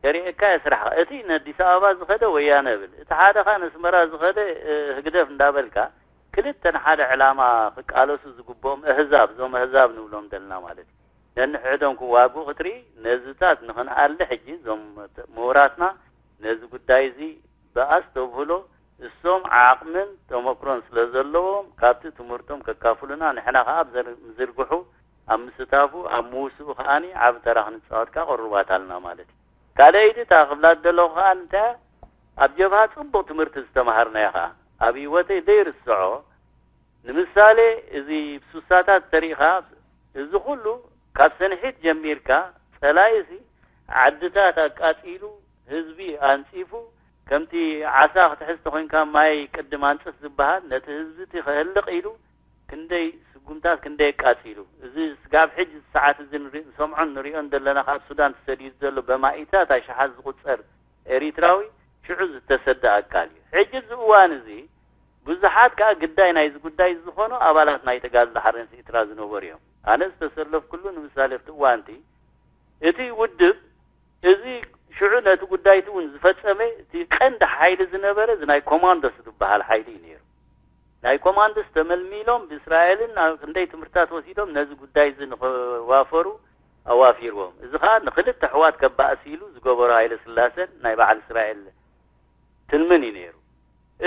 ከርእየካ እየ ስራሕኻ። እቲ ነዲስ ኣበባ ዝኸደ ወያነ እብል፣ እቲ ሓደ ኸኣ ነስመራ ዝኸደ ህግደፍ እንዳበልካ ክልተ ንሓደ ዕላማ ክቃለሱ ዝግብኦም ኣህዛብ፣ እዞም ኣህዛብ ንብሎም ዘለና ማለት እዩ። ነንሕድሕዶም ክዋግኡ ክትርኢ ነዝታት ንኽንኣሊ ሕጂ እዞም ምሁራትና ነዚ ጉዳይ እዚ ብኣስተብህሎ እሶም ዓቕምን ተመክሮን ስለ ዘለዎም ካብቲ ትምህርቶም ከካፍሉና ንሕና ከኣ ኣብ ዘር- ምዝርግሑ ኣብ ምስታፉ ኣብ ምውስኡ ከኣኒ ዓቢ ተራ ክንጻወት ከኣ ቅሩባት ኣለና ማለት እዩ። ካልኣይቲ እታ ክብላ ዝደለኹ ከኣ እንታይ እያ? ኣብ ጀብሃ ጽቡቕ ትምህርቲ ዝተማሃርናዮ ከኣ ኣብ ህይወተይ ዘይርስዖ ንምሳሌ እዚ ብሱሳታት ተሪእኻ እዚ ኩሉ ካብ ሰንሒት ጀሚርካ ጸላኢሲ ዓድታት ኣቃጺሉ ህዝቢ ኣንጺፉ ከምቲ ዓሳ ክትሕዝ ተኾይንካ ማይ ቅድም ኣንጽፍ ዝበሃል ነቲ ህዝቢ እቲ ከህልቕ ኢሉ ክንደይ ስጉምታት ክንደይ ኣቃጺሉ እዚ ስጋብ ሕጂ ሰዓት እዚ ንሪ- ንሰምዖን ንሪኦን ዘለና ካብ ሱዳን ተሰዲዱ ዘሎ በማኢታት ኣሽሓት ዝቁጸር ኤሪትራዊ ሽዑ ዝተሰደ ኣካል እዩ። ሕጂ እዚ እዋን እዚ ብዙሓት ከኣ ግዳይ ናይዚ ጉዳይ ዝኾኑ ኣባላት ናይ ተጋድሎ ሓርነት ኤርትራ ዝነበሩ እዮም። ኣነ ዝተሰለፍኩሉ ንምሳሌ ኣብቲ እዋንቲ እቲ ውድብ እዚ ሽዑ ነቲ ጉዳይ እቲ እውን ዝፈጸመ እቲ ቀንዲ ሓይሊ ዝነበረ እዚ ናይ ኮማንዶስ ዝበሃል ሓይሊ እዩ ነይሩ። ናይ ኮማንዶስ ተመልሚሎም ብእስራኤልን ኣብ ክንደይ ትምህርትታት ወሲዶም ነዚ ጉዳይ እዚ ንኸዋፈሩ ኣዋፊርዎም። እዚ ኸኣ ንክልተ ኣሕዋት ከባእስ ኢሉ ዝገበሮ ሃይለ ስላሰን ናይ በዓል እስራኤል ትልምን እዩ ነይሩ።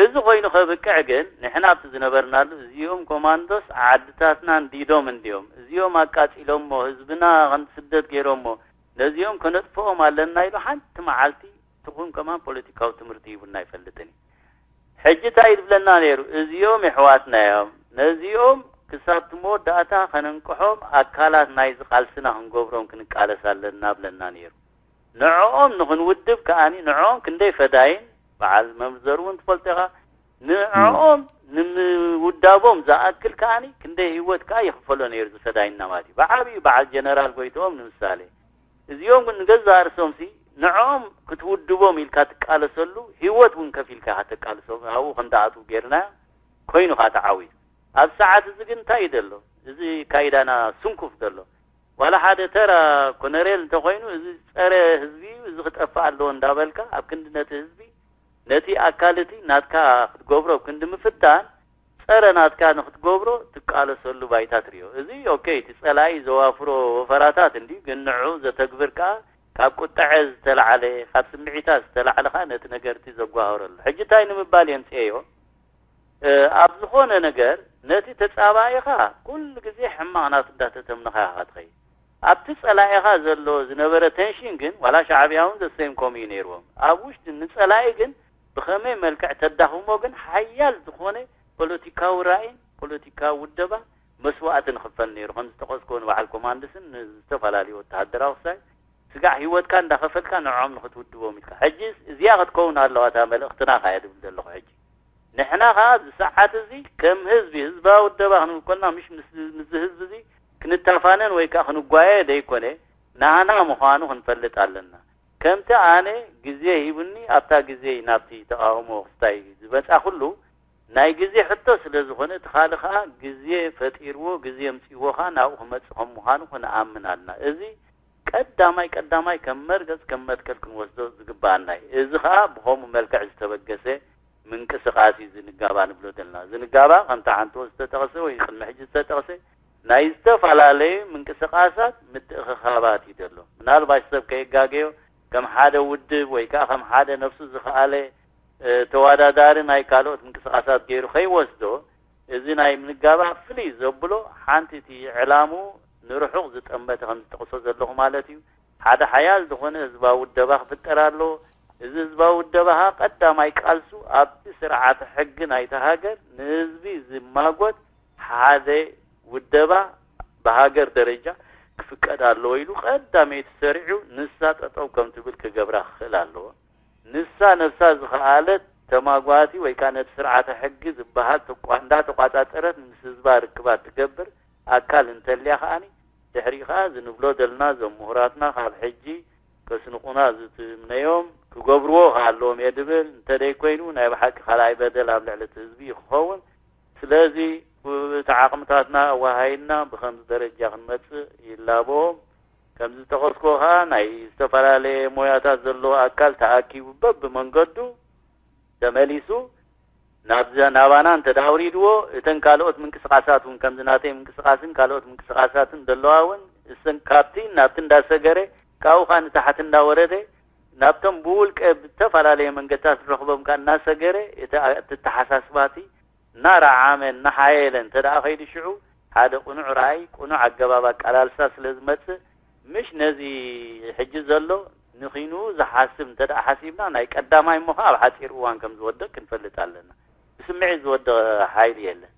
እዚ ኮይኑ ከብቅዕ ግን ንሕና ኣብቲ ዝነበርናሉ እዚኦም ኮማንዶስ ዓድታትና እንዲዶም እንዲዮም፣ እዚኦም ኣቃጺሎሞ ህዝብና ከም ስደት ገይሮሞ ነዚኦም ከነጥፍኦም ኣለና ኢሉ ሓንቲ መዓልቲ ትኹን ከማን ፖለቲካዊ ትምህርቲ ሂቡና ኣይፈልጥን እዩ። ሕጂ እንታይ ዝብለና ነይሩ? እዚኦም የሕዋትና እዮም፣ ነዚኦም ክሳብ እቲ መወዳእታ ከነንቅሖም ኣካላት ናይዚ ቃልስና ክንገብሮም ክንቃለስ ኣለና ብለና ነይሩ። ንዕኦም ንኽንውድብ ከኣኒ ንዕኦም ክንደይ ፈዳይን በዓል መምህር ዘርኡ እውን ትፈልጦ ኢኻ። ንዕኦም ንምውዳቦም ዝኣክል ከኣኒ ክንደይ ህይወት ከኣ ይኽፈሎ ነይሩ ዝፈዳይና ማለት እዩ። ብዓብዩ በዓል ጀነራል ጎይትኦም ንምሳሌ እዚኦም ግን ንገዛእ ርእሶምሲ ንዕኦም ክትውድቦም ኢልካ ትቃለሰሉ ህይወት እውን ከፊልካ ኢኻ ተቃልሶም ኣብኡ ከም ዝኣትዉ ጌርና ኮይኑ ኸዓ ተዓዊቱ። ኣብ ሰዓት እዚ ግን እንታይ እዩ ዘሎ? እዚ ካይዳና ስንኩፍ ዘሎ ዋላ ሓደ ተራ ኮነሬል እንተኾይኑ እዚ ጸረ ህዝቢ እዩ፣ እዚ ክጠፍእ ኣለዎ እንዳበልካ ኣብ ክንዲ ነቲ ህዝቢ ነቲ ኣካል እቲ ናትካ ክትገብሮ ኣብ ክንዲ ምፍታን ጸረ ናትካ ንክትገብሮ ትቃለሰሉ ባይታ ትሪኦ። እዚ ኦኬ እቲ ጸላኢ ዘዋፍሮ ወፈራታት እንድዩ፣ ግን ንዑ ዘተግብር ከኣ ካብ ቁጠዐ ዝተላዕለ ካብ ስምዒታት ዝተላዕለ ከኣ ነቲ ነገርቲ ዘጓህረሉ። ሕጂ እንታይ ንምባል የምጽኤዮ? ኣብ ዝኾነ ነገር ነቲ ተጻባኢኻ ኩሉ ግዜ ሕማቕ ናቱ እንዳተተምነኻ ኢኻ ትኸይድ። ኣብቲ ጸላኢኻ ዘሎ ዝነበረ ተንሽን ግን ዋላ ሻዕብያ እውን ዘሰይም ከምኡ እዩ ነይርዎም። ኣብ ውሽጢ ንጸላኢ ግን ብኸመይ መልክዕ ተዳኽሞ ግን ሓያል ዝኾነ ፖለቲካዊ ራእይን ፖለቲካዊ ውደባ መስዋእቲ ንኽፈል ነይሩ። ከም ዝጠቐስኮ ንበዓል ኮማንድስን ንዝተፈላለዩ ወተሃደራዊ ክሳይ ስጋዕ ህይወትካ እንዳኸፈልካ ንዕኦም ንኽትውድቦም ኢልካ። ሕጂ እዚኣ ክትከውን ኣለዋ እታ መልእኽትና ከኣ እየ ዝብል ዘለኹ ሕጂ። ንሕና ኸኣ ኣብዚ ሰዓት እዚ ከም ህዝቢ ህዝባዊ ውደባ ክንብል ከለና ምሽ ምስ ምስዚ ህዝቢ እዚ ክንተፋነን ወይ ከኣ ክንጓየ ዘይኮነ ናህና ምዃኑ ክንፈልጥ ኣለና። ከምቲ ኣነ ግዜ ሂቡኒ ኣብታ ግዜ ናብቲ ተቓውሞ ክስታይ ዝመጻ ኩሉ ናይ ግዜ ሕቶ ስለ ዝኾነ እቲ ካልእ ኸኣ ግዜ ፈጢርዎ ግዜ ኣምጺእዎ ኸኣ ናብኡ ክመጽእ ከም ምዃኑ ክንኣምን ኣለና። እዚ ቀዳማይ ቀዳማይ ከም መርገጽ ከም መትከል ክንወስዶ ዝግባኣና እዩ። እዚ ኸኣ ብኸምኡ መልክዕ ዝተበገሰ ምንቅስቃስ እዩ ዝንጋባ ንብሎ ዘለና። ዝንጋባ ከምቲ ሓንትዎ ዝተጠቕሰ ወይ ቅድሚ ሕጂ ዝተጠቕሰ ናይ ዝተፈላለዩ ምንቅስቃሳት ምትእኽኻባት እዩ ዘሎ። ምናልባሽ ሰብ ከየጋገዮ ከም ሓደ ውድብ ወይ ከዓ ከም ሓደ ነፍሱ ዝኸኣለ ተዋዳዳሪ ናይ ካልኦት ምንቅስቃሳት ገይሩ ከይወስዶ፣ እዚ ናይ ምንጋባእ ፍልይ ዘብሎ ሓንቲ እቲ ዕላሙ ንርሑቕ ዝጠመተ ከም ዝጠቕሶ ዘለኹ ማለት እዩ። ሓደ ሓያል ዝኾነ ህዝባዊ ውደባ ክፍጠር ኣለዎ። እዚ ህዝባዊ ውደባ ኸኣ ቀዳማይ ቃልሱ ኣብቲ ስርዓተ ሕጊ ናይታ ሃገር ንህዝቢ ዝማጎት ሓደ ውደባ ብሃገር ደረጃ ክፍቀድ ኣለዎ ኢሉ ቀዳመይቲ ሰሪዑ ንሳ ጠጠው ከም ትብል ክገብራ ክኽእል ኣለዎ። ንሳ ነብሳ ዝኸኣለት ተማጓቲ ወይ ከዓ ነቲ ስርዓተ ሕጊ ዝበሃል ተቋ- እንዳተቋጻጸረት ምስ ህዝባ ርክባት ትገብር ኣካል እንተልያ ከኣኒ ድሕሪኡ ከኣ ዝንብሎ ደልና እዞም ምሁራትና ካብ ሕጂ ከስንቑና ዝትምነዮም ክገብርዎ ከኣ ኣለዎም እየ ድብል። እንተደይኮይኑ ናይ ብሓቂ ካልኣይ በደል ኣብ ልዕሊ እቲ ህዝቢ እዩ ክኸውን። ስለዚ እቲ ዓቕምታትና ኣወሃሂድና ብኸምዚ ደረጃ ክንመጽእ ይላቦ። ከም ዝጠቐስኩዎ ከኣ ናይ ዝተፈላለየ ሞያታት ዘለዎ ኣካል ተኣኪቡ በብመንገዱ ተመሊሱ ናብዛ ናባና እንተ ደኣ ኣውሪድዎ እተን ካልኦት ምንቅስቃሳት እውን ከምዚ ናተይ ምንቅስቃስን ካልኦት ምንቅስቃሳትን ዘለዋ እውን እሰን ካብቲ ናብቲ እንዳሰገረ ካብኡ ከዓ ንታሕቲ እንዳወረደ ናብቶም ብውልቀ ብዝተፈላለየ መንገድታት ዝረኽቦም ከዓ እናሰገረ እቲ ኣተሓሳስባቲ እናረዓመ እናሓየለ እንተ ደኣ ከይዱ ሽዑ ሓደ ቅኑዕ ራእይ ቅኑዕ ኣገባብ ኣቀላልሳ ስለ ዝመፅእ ምሽ ነዚ ሕጂ ዘሎ ንኺኑ ዝሓስብ እንተ ደኣ ሓሲብና ናይ ቀዳማይ እሞ ከዓ ኣብ ሓፂር እዋን ከም ዝወድቕ ክንፈልጥ ኣለና። ብስምዒት ዝወድቕ ሓይሊ የለን።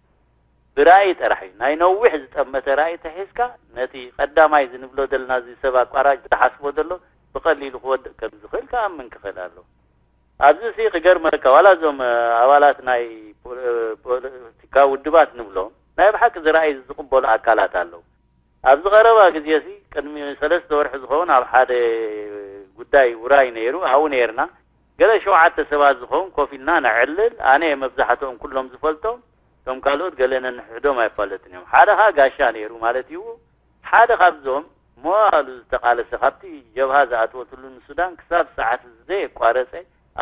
ብራእይ ጥራሕ እዩ። ናይ ነዊሕ ዝጠመተ ራእይ ተሒዝካ ነቲ ቀዳማይ ዝንብሎ ዘለና እዚ ሰብ ኣቋራጭ ዝሓስቦ ዘሎ ብቐሊሉ ክወድቕ ከም ዝኽእል ክኣምን ክኽእል ኣለዎ። ኣብዚ ሲ ክገርመካ ዋላ እዞም ኣባላት ናይ ፖለቲካ ውድባት ንብሎም ናይ ብሓቂ ዝረኣይ ዝቕበሉ ኣካላት ኣለዉ። ኣብዚ ቀረባ ግዜ ሲ ቅድሚ ሰለስተ ወርሒ ዝኸውን ኣብ ሓደ ጉዳይ ውራይ ነይሩ ኣብኡ ነይርና። ገለ ሸውዓተ ሰባት ዝኸውን ኮፍ ኢልና ነዕልል። ኣነ እየ መብዛሕትኦም ኩሎም ዝፈልጦም፣ እቶም ካልኦት ገለ ነንሕሕዶም ኣይፋለጥን እዮም። ሓደ ኸኣ ጋሻ ነይሩ ማለት እዩ። ሓደ ካብዞም መዋእሉ ዝተቓለሰ፣ ካብቲ ጀብሃ ዝኣተወትሉ ንሱዳን ክሳብ ሰዓት ዘየቋረጸ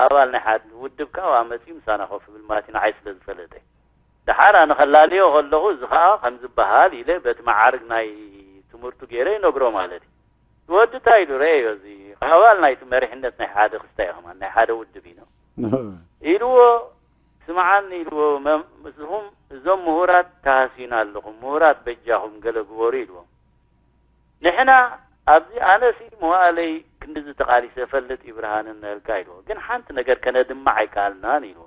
ኣባል ናይ ሓደ ውድብ ካብኣ መጺኡ ምሳና ኮፍ ይብል ማለት እዩ፣ ንዓይ ስለ ዝፈለጠ። ደሓር ኣነ ከላልዮ ከለኹ፣ እዚ ኸኣ ከም ዝበሃል ኢለ በቲ መዓርግ ናይ ትምህርቱ ገይረ ይነግሮ ማለት እዩ። እቲ ወዲ እንታይ ኢሉ፣ ረኣዮ፣ እዚ ኣባል ናይቲ መሪሕነት ናይ ሓደ ክስታይ ከማን ናይ ሓደ ውድብ እዩ ኢልዎ። ስምዓኒ ኢልዎ፣ መም-፣ ንስኹም እዞም ምሁራት ተሃስዩና ኣለኹም፣ ምሁራት በጃኹም ገለ ግበሩ ኢልዎም። ንሕና ኣብዚ ኣነሲ መዋእለይ ክንድዚ ተቓሊሰ እፈልጥ እዩ ብርሃነ እናበልካ ኢልዎ። ግን ሓንቲ ነገር ከነድምዕ ኣይከኣልናን ኢልዎ።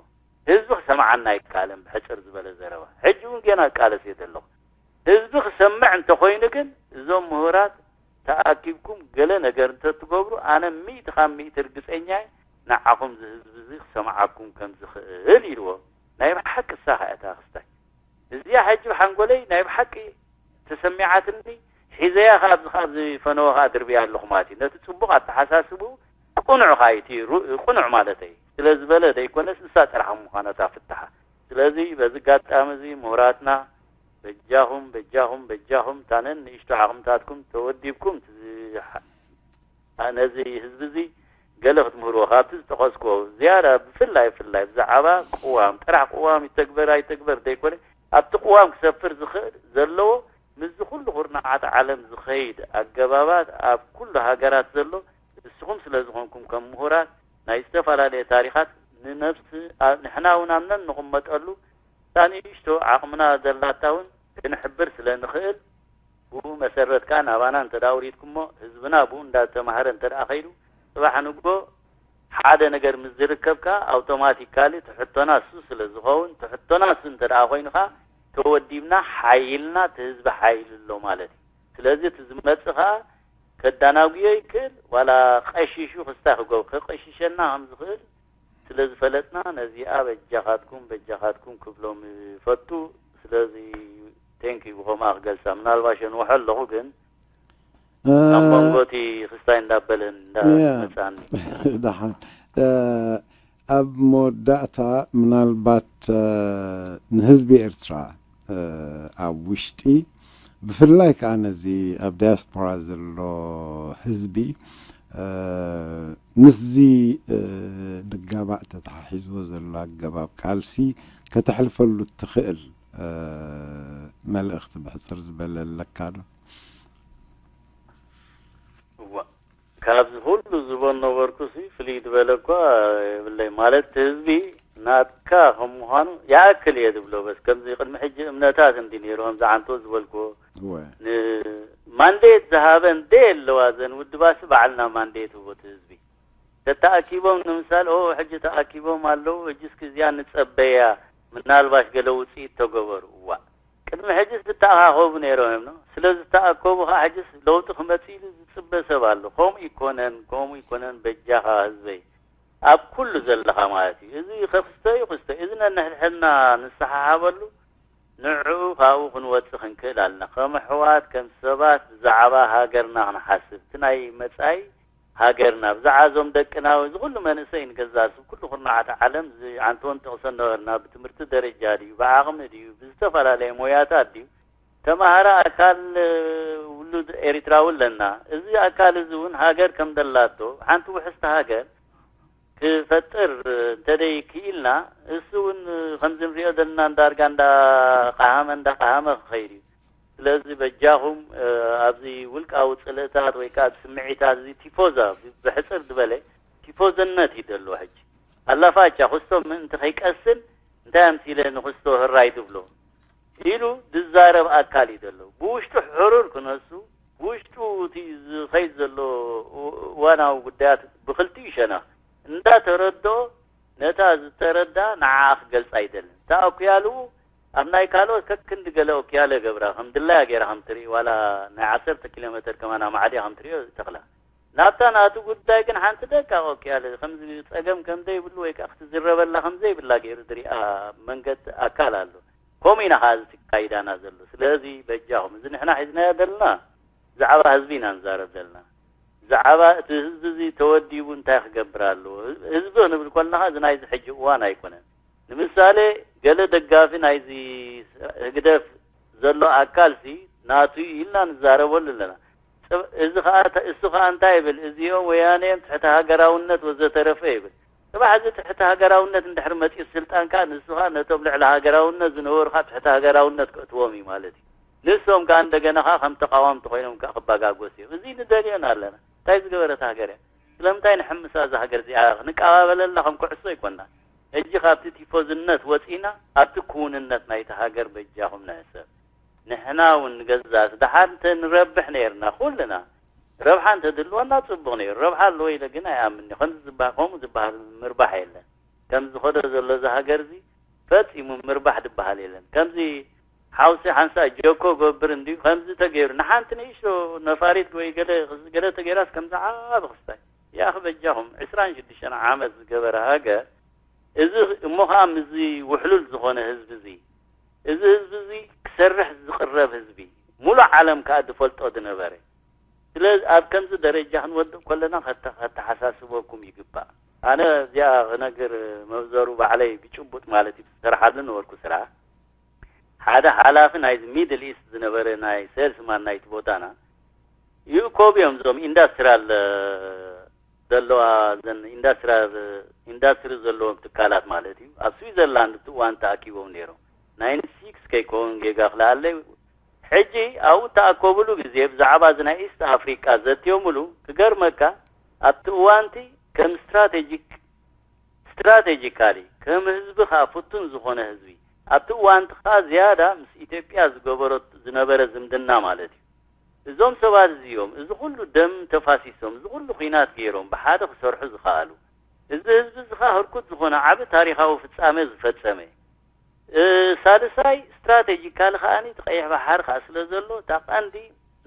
ህዝቢ ክሰምዓና ኣይከኣለን ብሕጽር ዝበለ ዘረባ። ሕጂ እውን ጌና እቃለስ እየ ዘለኹ። ህዝቢ ክሰምዕ እንተኾይኑ ግን እዞም ምሁራት ተኣኪብኩም ገለ ነገር እንተትገብሩ ኣነ ሚእቲ ካብ ሚእቲ ርግጸኛ እየ ንዓኹም እዚ ህዝቢ እዚ ክሰምዓኩም ከም ዝኽእል ኢልዎ። ናይ ብሓቂ እሳ ኸኣ እታ ክስታይ እዚኣ ሕጂ ብሓንጎለይ ናይ ብሓቂ ተሰሚዓትኒ ሒዘያ ከኣ ኣብዚ ከኣ ኣብዚ ፈነወ ከኣ ድርብያ ኣለኹ ማለት እዩ። ነቲ ጽቡቕ ኣተሓሳስብኡ ቅኑዕ ከኣ እዩ እቲ ሩ- ቅኑዕ ማለተይ ስለ ዝበለ ዘይኮነስ ንሳ ጥራሕ ምዃና እታ ፍታሓ። ስለዚ በዚ ኣጋጣሚ እዚ ምሁራትና በጃኹም በጃኹም በጃኹም እታ ነንእሽቶ ዓቕምታትኩም ተወዲብኩም እቲ ዝሓ- ነዚ ህዝቢ እዚ ገለ ክትምህርዎ ካብቲ ዝጠቐስክዎ ዝያዳ ብፍላይ ብፍላይ ብዛዕባ ቅዋም ጥራሕ ቅዋም ይተግበር ኣይተግበር ዘይኮነ ኣብቲ ቅዋም ክሰፍር ዝኽእል ዘለዎ ምስዚ ኩሉ ኩርናዓት ዓለም ዝኸይድ ኣገባባት ኣብ ኩሉ ሃገራት ዘሎ ንስኹም ስለ ዝኾንኩም ከም ምሁራት ናይ ዝተፈላለየ ታሪኻት ንነብሲ ንሕና እውን ኣብ ነንቕመጠሉ እታ ንእሽቶ ዓቕምና ዘላታ እውን ክንሕብር ስለ ንኽእል ብኡ መሰረት ከኣ ናባና እንተ ደኣ ኣውሪድኩሞ ህዝብና ብኡ እንዳተማህረ እንተ ደኣ ከይዱ ጽባሕ ንግሆ ሓደ ነገር ምስ ዝርከብ ከኣ ኣውቶማቲካሊ እቲ ሕቶና እሱ ስለ ዝኸውን እቲ ሕቶና እሱ እንተ ደኣ ኮይኑ ከኣ ተወዲብና ሓይልና እቲ ህዝቢ ሓይል ኣሎ ማለት እዩ። ስለዚ እቲ ዝመጽእ ከኣ ከዳናጉዮ ይክእል ዋላ ቀሺሹ ክስታይ ክገብር ክቅሽሸና ከም ዝኽእል ስለ ዝፈለጥና ነዚኣ በጃኻትኩም በጃኻትኩም ክብሎም ይፈቱ። ስለዚ ቴንክ ዩ ብኸምኣ ክገልጻ ምናልባሽ የንውሖ ኣለኹ ግን ኣብ መንጎ እቲ ክስታይ እንዳበለ እንዳመጻኒ ደሓን ኣብ መወዳእታ ምናልባት ንህዝቢ ኤርትራ ኣብ ውሽጢ ብፍላይ ከዓ ነዚ ኣብ ዳያስፖራ ዘሎ ህዝቢ ምስዚ ንጋባእ ተተሓሒዝዎ ዘሎ ኣገባብ ቃልሲ ከተሕልፈሉ እትኽእል መልእኽቲ ብሕፅር ዝበለ ኣለካ ዶ? ካብዚ ኩሉ ዝቦን ነበርኩ ሲ ፍልይ ዝበለ እኳ የብለይ። ማለት እቲ ህዝቢ ናትካ ከም ምዃኑ ይኣክል እየ ዝብሎ። በስ ከምዚ ቅድሚ ሕጂ እምነታት እንዲ ነይሩ፣ ከምዚ ዓንቶ ዝበልክዎ። እወ። ንማንዴት ዝሃበን ደየለዋ ዘን ውድባሲ ባዕልና ማንዴት ህቦ እቲ ህዝቢ። ተተኣኪቦም ንምሳል፣ ኦ፣ ሕጂ ተኣኪቦም ኣለዉ፣ ሕጂ እስኪ እዚኣ ንጸበያ፣ ምናልባሽ ገለ ውጽኢት ተገበሩ። እዋ፣ ቅድሚ ሕጂስ ዝተኣኻኸቡ ነይሮም እዮም፣ ኖ? ስለ ዝተኣከቡ ኸዓ ሕጂስ ለውጢ ክመጽእ ኢሉ ዝጽበ ሰብ ኣሎ። ከምኡ ይኮነን፣ ከምኡ ይኮነን፣ በጃኻ ህዝበይ። ኣብ ኩሉ ዘለኻ ማለት እዩ። እዚ ክስተ እዩ፣ ክስተ እዩ። እዚ ነንሕድሕድና ንሰሓሓበሉ፣ ንዕኡ ካብኡ ክንወጽእ ክንክእል ኣለና። ከም ኣሕዋት፣ ከም ሰባት ብዛዕባ ሃገርና ክንሓስብ፣ እቲ ናይ መጻኢ ሃገርና፣ ብዛዕባ እዞም ደቅና፣ እዚ ኩሉ መንእሰይ ንገዛእ፣ እዚ ኩሉ ኩርናዓት ዓለም፣ እዚ ዓንቶን ጥቕስን ነበርና፣ ብትምህርቲ ደረጃ ድዩ፣ ብዓቕሚ ድዩ፣ ብዝተፈላለየ ሞያታት ድዩ፣ ተማሃራ ኣካል፣ እ፣ ውሉድ ኤሪትራዊ ኣለና። እዚ ኣካል እዚ እውን ሃገር ከም ደላቶ፣ ሓንቲ ውሕስቲ ሃገር ክፈጥር፣ እ፣ እንተደይ ክኢልና፣ እሱ እውን፣ እ፣ ከምዚ ንሪኦ ዘለና እንዳርጋ እንዳቀሃመ፣ እንዳቀሃመ ክኸይድ እዩ። ስለዚ በጃኹም፣ እ፣ ኣብዚ ውልቃዊ ጽልእታት ወይ ከኣ ስምዒታት፣ እዚ ቲፎዛ፣ ብ-፣ ብሕጽር ዝበለ ቲፎዝነት እዩ ደሎ ሕጂ። ኣላፋቻ ክስቶ ምእንቲ ከይቀስን፣ እንታይ ኣምሲለ ንክስቶ ህራይ ትብሎ? ኢሉ ዝዛረብ ኣካል እዩ ዘሎ። ብውሽጡ ሕሩር ክነሱ፣ ብውሽጡ እቲ ዝኸይድ ዘሎ እ-፣ እዋናዊ ጉዳያት ብኽልቲኡ ሸነኽ እንዳተረድኦ፣ ነታ ዝተረዳ ንዓኣ ክገልጻ ኣይደልን። እታ ኣኩያልኡ ኣብ ናይ ካልኦት ከክንዲ ገለ ኣኩያለ ገብራ፣ ከም ድላያ ገይራ ከም ትርኢ፣ ዋላ ናይ ዓሰርተ ኪሎ ሜተር ከማን ኣማዕድያ ከም ትሪኦ ተኽላ። ናብታ ናቱ ጉዳይ ግን ሓንቲ ደቃቕ ኣኩያለ፣ ከምዚ ጸገም ከም ዘይብሉ ወይ ከኣ ክትዝረበላ ከም ዘይብላ ገይሩ ዝሪኣ መንገዲ ኣካል ኣሎ። ከምኡ ኢና ኸዓ እዚ ተካይዳና ዘሎ። ስለዚ በጃኹም፣ እዚ ንሕና ሒዝናዮ ዘለና ብዛዕባ ህዝቢ ኢና ንዛረብ ዘለና። ብዛዕባ እቲ ህዝቢ እዚ ተወዲቡ እንታይ ክገብር ኣለዎ? ህዝቢ ክንብል ከለና፣ እዚ ናይዚ ሕጂ እዋን ኣይኮነን። ንምሳሌ፣ ገለ ደጋፊ ናይዚ ህግደፍ ዘሎ ኣካልሲ ናቱ እዩ ኢልና ንዛረበሉ ኣለና። ጽብ-፣ እዚ ኸኣ፣ እሱ ኸኣ እንታይ ይብል? እዚኦም ወያነ እዮም፣ ትሕቲ ሃገራውነት ወዘተረፈ ይብል። ጽባሕ እዚ ትሕቲ ሃገራውነት እንድሕር መጺኡ ስልጣን ከኣ፣ ንሱ ኸኣ ነቶም ልዕሊ ሃገራውነት ዝነበሩ ኸኣ ትሕቲ ሃገራውነት ከእትዎም እዩ ማለት እዩ። ንሶም ከኣ እንደገና ኸኣ ከም ተቃወምቲ ኮይኖም ከኣ ክባጋጎስ እዮም። እዚ ንደልዮን ኣለና። እንታይ ዝገበረት ሃገር እያ? ስለምንታይ ንሕምሳ እዛ ሃገር እዚኣ? ክንቀባበለላ ከም ኩዕሶ ኣይኮና። ሕጂ ካብቲ ቲፎዝነት ወጺና ኣብቲ ክውንነት ናይቲ ሃገር በጃኹም ንሕሰብ። ንሕና እውን ንገዛእ ደሓር እንተ ንረብሕ ነይርና ኩልና፣ ረብሓ እንተ ድልወና ጽቡቕ ነይሩ። ረብሓ ኣለዎ ኢለ ግን ኣይኣምን። ከምዚ ዝበሃል፣ ከምኡ ዝበሃል ምርባሕ የለን። ከምዚ ዝኸዶ ዘሎ እዚ ሃገር እዚ ፈጺሙ ምርባሕ ዝበሃል የለን። ከምዚ ሓውሲ ሓንሳእ ጀኮ ገብር እንድዩ፣ ከምዚ ተገይሩ ንሓንቲ ንእሽቶ ነፋሪት ወይ ገለ፣ ገለ ተገይራስ ከምዚ ዓቢ ክስታይ። ያኺ በጃኹም፣ ዕስራን ሽዱሽተን ዓመት ዝገበረ ሃገር፣ እዚ እሞ ኸኣ ምስዚ ውሕሉል ዝኾነ ህዝቢ እዚ፣ እዚ ህዝቢ እዚ ክሰርሕ ዝቕረብ ህዝቢ፣ ሙሉእ ዓለም ከኣ ዝፈልጦ ዝነበረ። ስለዚ ኣብ ከምዚ ደረጃ ክንወድቕ ከለና ከተ-፣ ከተሓሳስበኩም ይግባእ። ኣነ እዚኣ ክነግር መብዘሩ ባዕለይ ብጭቡጥ ማለት እዩ፣ ዝሰርሓሉ ነበርኩ ስራሕ። ሓደ ሓላፊ ናይዚ ሚድል ኢስት ዝነበረ ናይ ሴልስማን ናይቲ ቦታና ይእከቡ እዮም፣ እዞም ኢንዳስትሪያል፣ እ፣ ዘለዋ፣ ዘን ኢንዳስትሪያል፣ ኢንዳስትሪ ዘለዎም ትካላት ማለት እዩ። ኣብ ስዊዘርላንድ እቲ እዋን ተኣኪቦም ነይሮም። ናይንቲ ሲክስ ከይከውን ጌጋ ክልኣለይ። ሕጂ ኣብኡ እተኣከቡሉ ግዜ ብዛዕባ እዚ ናይ ኢስት ኣፍሪቃ ዘትዮምሉ፣ ክገርመካ ኣብቲ እዋንቲ ከም ስትራቴጂክ፣ ስትራቴጂካሊ ከም ህዝቢ ከኣ ፍቱን ዝኾነ ህዝቢ፣ ኣብቲ እዋንቲ ከኣ ዝያዳ ምስ ኢትዮጵያ ዝገበሮ ዝነበረ ዝምድና ማለት እዩ። እዞም ሰባት እዚኦም እዚ ኩሉ ደም ተፋሲሶም፣ እዚ ኩሉ ኲናት ገይሮም ብሓደ ክሰርሑ ዝኸኣሉ፣ እዚ ህዝቢ እዚ ከኣ ህርኩት ዝኾነ ዓቢ ታሪኻዊ ፍጻመ ዝፈጸመ፣ እ፣ ሳልሳይ ስትራቴጂካሊ ከኣኒ እቲ ቀይሕ ባሕሪ ከኣ ስለ ዘሎ፣ እታ ቀንዲ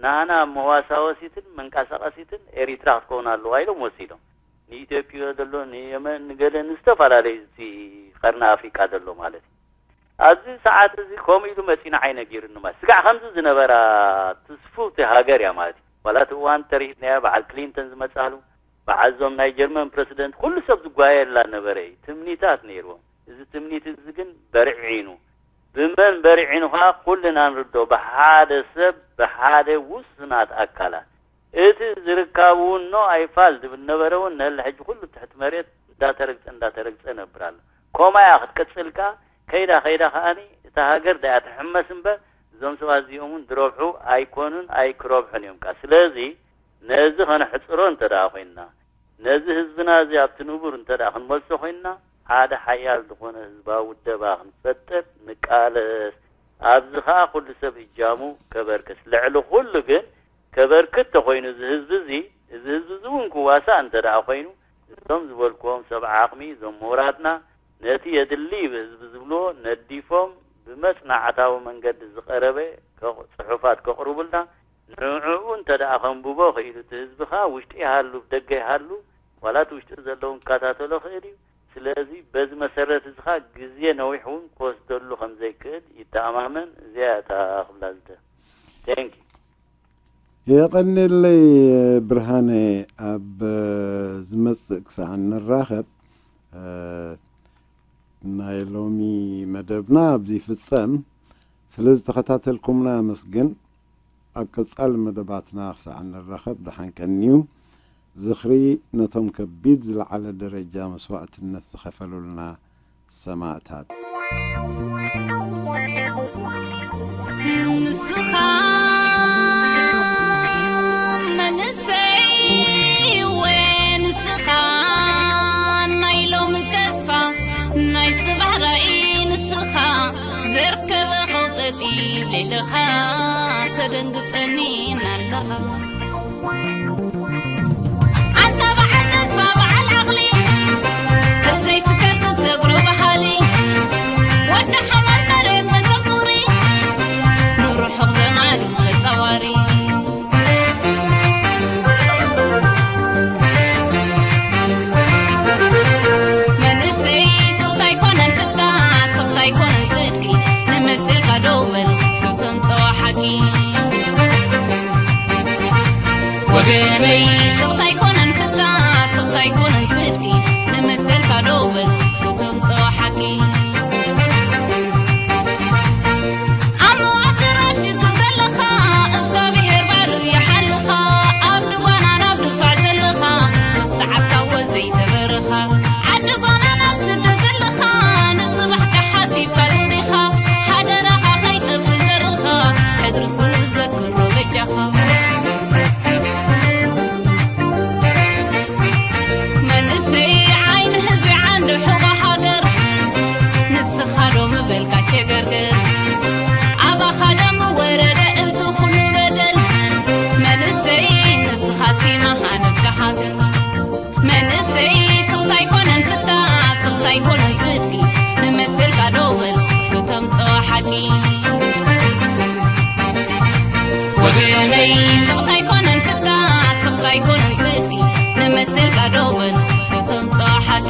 ናህና መዋሳወሲትን መንቀሳቐሲትን ኤሪትራ ክትከውን ኣለዋ ኢሎም ወሲዶም። ንኢትዮጵያ ዘሎ፣ ንየመን፣ ንገለ፣ ንዝተፈላለዩ እቲ ቀርኒ ኣፍሪቃ ዘሎ ማለት እዩ። ኣብዚ ሰዓት እዚ ከምኡ ኢሉ መጺኡ ንዓይ ነጊሩኒ ማለት። ስጋዕ ከምዚ ዝነበራ ትስፍውቲ ሃገር እያ ማለት እዩ። ዋላ እቲ እዋን ተሪኢትናያ በዓል ክሊንተን ዝመጻሉ፣ በዓል እዞም ናይ ጀርመን ፕረሲደንት፣ ኩሉ ሰብ ዝጓየላ ነበረ እዩ። ትምኒታት ነይርዎም። እዚ ትምኒት እዚ ግን በርዒኑ። ብመን በርዒኑ ከኣ ኩልና ንርዶ፣ ብሓደ ሰብ፣ ብሓደ ውሱናት ኣካላት። እቲ ዝርካቡ እውን ኖ ኣይፋል ዝብል ነበረ እውን፣ ንህለ ሕጂ ኩሉ ትሕቲ መሬት እንዳተረግጸ፣ እንዳተረግጸ ነብር ኣሎ። ኮማያ ክትቅጽል ከኣ፣ ከይዳ ከይዳ ከኣኒ እታ ሃገር ደኣ ትሕመስ እምበር፣ እዞም ሰባት እዚኦም እውን ዝረብሑ ኣይኮኑን፣ ኣይክረብሑን እዮም ከኣ። ስለዚ ነዚ ከነሕጽሮ እንተ ደኣ ኮይንና፣ ነዚ ህዝብና እዚ ኣብቲ ንቡር እንተ ደኣ ክንመልሶ ኮይንና፣ ሓደ ሓያል ዝኾነ ህዝባዊ ውደባ ክንፈጥር ንቃለስ። ኣብዚ ኸኣ ኩሉ ሰብ እጃሙ ከበርክት። ልዕሊ ኩሉ ግን ከበርክት ተኾይኑ እዚ ህዝቢ እዚ፣ እዚ ህዝቢ እዚ እውን ክዋሳእ እንተ ደኣ ኮይኑ፣ እዞም ዝበልክዎም ሰብ ዓቕሚ፣ እዞም ምሁራትና፣ ነቲ የድሊ ብህዝቢ ዝብልዎ ነዲፎም ብመጽናዕታዊ መንገዲ ዝቐረበ ከቕ-፣ ጽሑፋት ከቕርቡልና፣ ንዕኡ እንተ ደኣ ከንብቦ ኽኢሉ፣ እቲ ህዝቢ ኸኣ ውሽጢ ይሃሉ፣ ደገ ይሃሉ፣ ዋላ እቲ ውሽጢ ዘለዉ ክከታተሎ ኽእል እዩ። ስለዚ በዚ መሰረት እዚ ኸኣ ግዜ ነዊሕ እውን ክወስደሉ ከም ዘይክእል ይተኣማመን። እዚኣ እያ እታ ክብላ ዝደ-፣ Thank you። የቐንየለይ ብርሃነ። ኣብ ዝመጽእ ክሳዕ ንራኸብ፣ እ፣ ናይ ሎሚ መደብና ኣብዚ ይፍጸም። ስለ ዝተኸታተልኩምና ኣመስግን። ኣብ ቀጻሊ መደባትና ክሳዕ ንራኸብ ደሓን ቀንዩ። ዝኽሪ ነቶም ከቢድ ዝለዓለ ደረጃ መስዋእትነት ዝኸፈሉልና ሰማእታት። ንስኻ መንእሰይ እወ፣ ንስኻ ናይ ሎሚ ተስፋ፣ ናይ ጽባሕ ራእይ፣ ንስኻ ዘርከበ ኸውጠጢ ሌለኻ ተደንግጸኒ እናለኻ። ኣንታ በዓል ተስፋ በዓል ዓቕሊ፣ ተዘይስከር ክሰግሮ በሃሊ፣ ወዲ ሓላል መሬት መዘሙሪ፣ ንርሑቕ ዘማሪ ተጻዋሪ። መንእሰይ ስቕታ ኣይኮነን ፍታ፣ ስቕታ ኣይኮነን ጽድቂ፣ ንመሰልካ ደው በል፣ ክተምጽኦ ሓቂ። ወገነይ ስቕታ ኣይኮነን ፍታ፣ ስቕታ ኣይኮነን ጽድቂ፣ ንመሰልካ ደው በል፣ ክተምጽኦ ሓቂ። ኣብ መዋትራ ሽግር ዘለኻ፣ እግዚኣብሄር ባዕሉ ይሓልኻ። ኣብ ድጓና ናብ ድፋዕ ዘለኻ፣ ምስ ሰዓትካ ወዘይ ተበረኻ። ዓዲ ጓና ናብ ስደት ዘለኻ፣ ንጽባሕካ ሓሲብካ ዶ ዲኻ? ሓደራኻ ከይጠፍእ ዘርኻ፣ ሕድሪ ስውእ ዘክሮ በጃኻ። መንእሰይ ዓይኒ ህዝቢ ዓንዲ ሕቖ ሃገር፣ ንስኻ ዶ ምበልካ ሸገርገር? ኣባኻ ዶ ምወረደ እዚ ኩሉ በደል? መንእሰይ ንስኻ ሲማኻ ነዝጋ ሃገር። መንእሰይ ስቕታ ኣይኮነን ፍታ፣ ስቕታ ኣይኮነን ጽድቂ፣ ንመሰልካ ዶ በል ክተምጽኦ ሓቂ። ወገነይ ስቕታ ኣይኮነን ፍታ፣ ስቕታ ኣይኮነን ጽድቂ፣ ንመሰልካ ዶ በል ክተምጽኦ ሓቂ።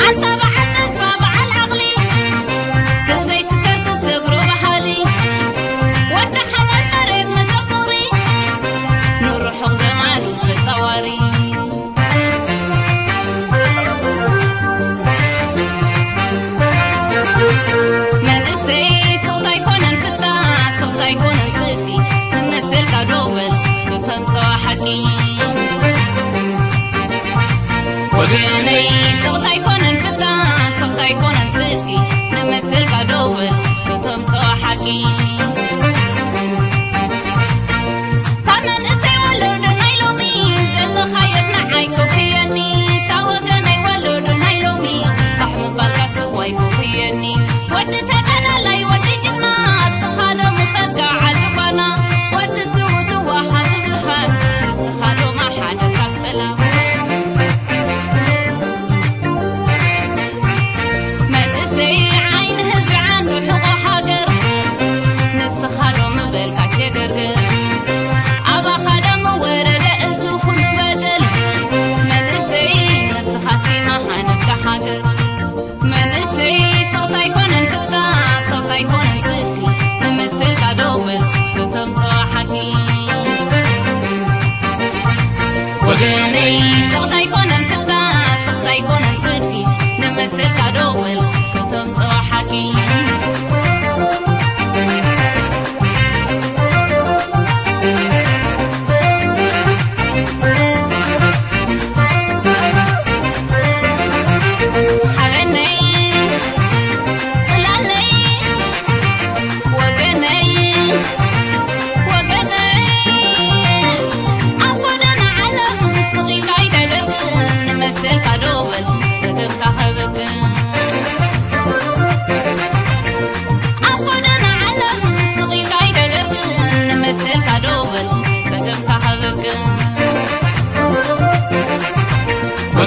ኣንታ በዓል ተስፋ በዓል ዓቕሊ፣ ተዘይስከር ክሰግሮ በሃሊ፣ ወዲ ሓላል መሬት መዘሙሪ፣ ንርሑቕ ዘማሪ ተጻዋሪ። መንእሰይ ስቕታ ኣይኮነን ፍታ፣ ስቕታ ኣይኮነን ጽድቂ፣ ንመሰልካ ዶ በል ክተምጽኦ ሓቂ። ወገነይ ስቕታ ኣይኮነን ፍታ፣ ስቕታ ኣይኮነን ጽድቂ፣ ንመሰልካ ዶ በል ክተምጽኦ ሓቂ። እታ መንእሰይ ወለዶ ናይ ሎሚ ዘለኻዮስ ንዓይ ኮፍየኒ፣ እታ ወገነይ ወለዶ ናይ ሎሚ ፋሕ ምባልካ ስዋይ ኮፍየኒ። ወዲ ተጋዳላይ ወዲ ጅግና፣ እስኻ ዶ ምኸድካ ዓዲ ጓና፣ ወዲ ስሙ ትወሃብ ብርሃን፣ ንስኻ ዶ ማሓደርካ ሰላም። መንእሰይ ዓይኒ ህዝቢ ዓንዲ ሕቖ ሃገር፣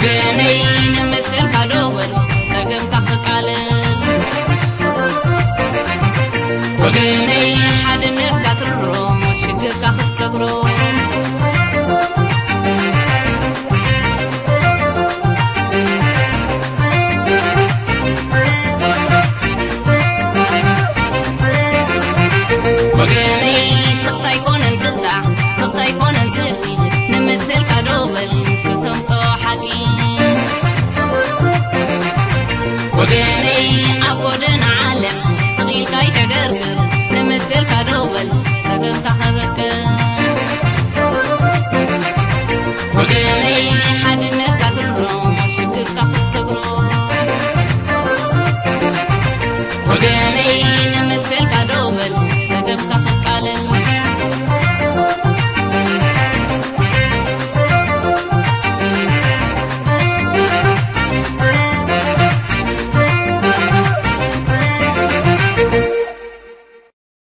ወገነይ ንምስልካ ደወል ጸገምካ ክቃለል፣ ወገነይ ሓድነትካ ትርሮ ሽግርካ ክሰግሮ። ወገነይ ስኽታ ኣይኮነን ፍታሕ፣ ስኽታ ኣይኮነን ጽድቂ፣ ንምስልካ ደወል ከተምጽኦ ሓቂ። ወገነይ ኣብ ጎደና ዓለም ስቕ ኢልካ ኣይተገርግር፣ ንምስልካ ደወል ጸገምካ ከበቅዕ። ወገነይ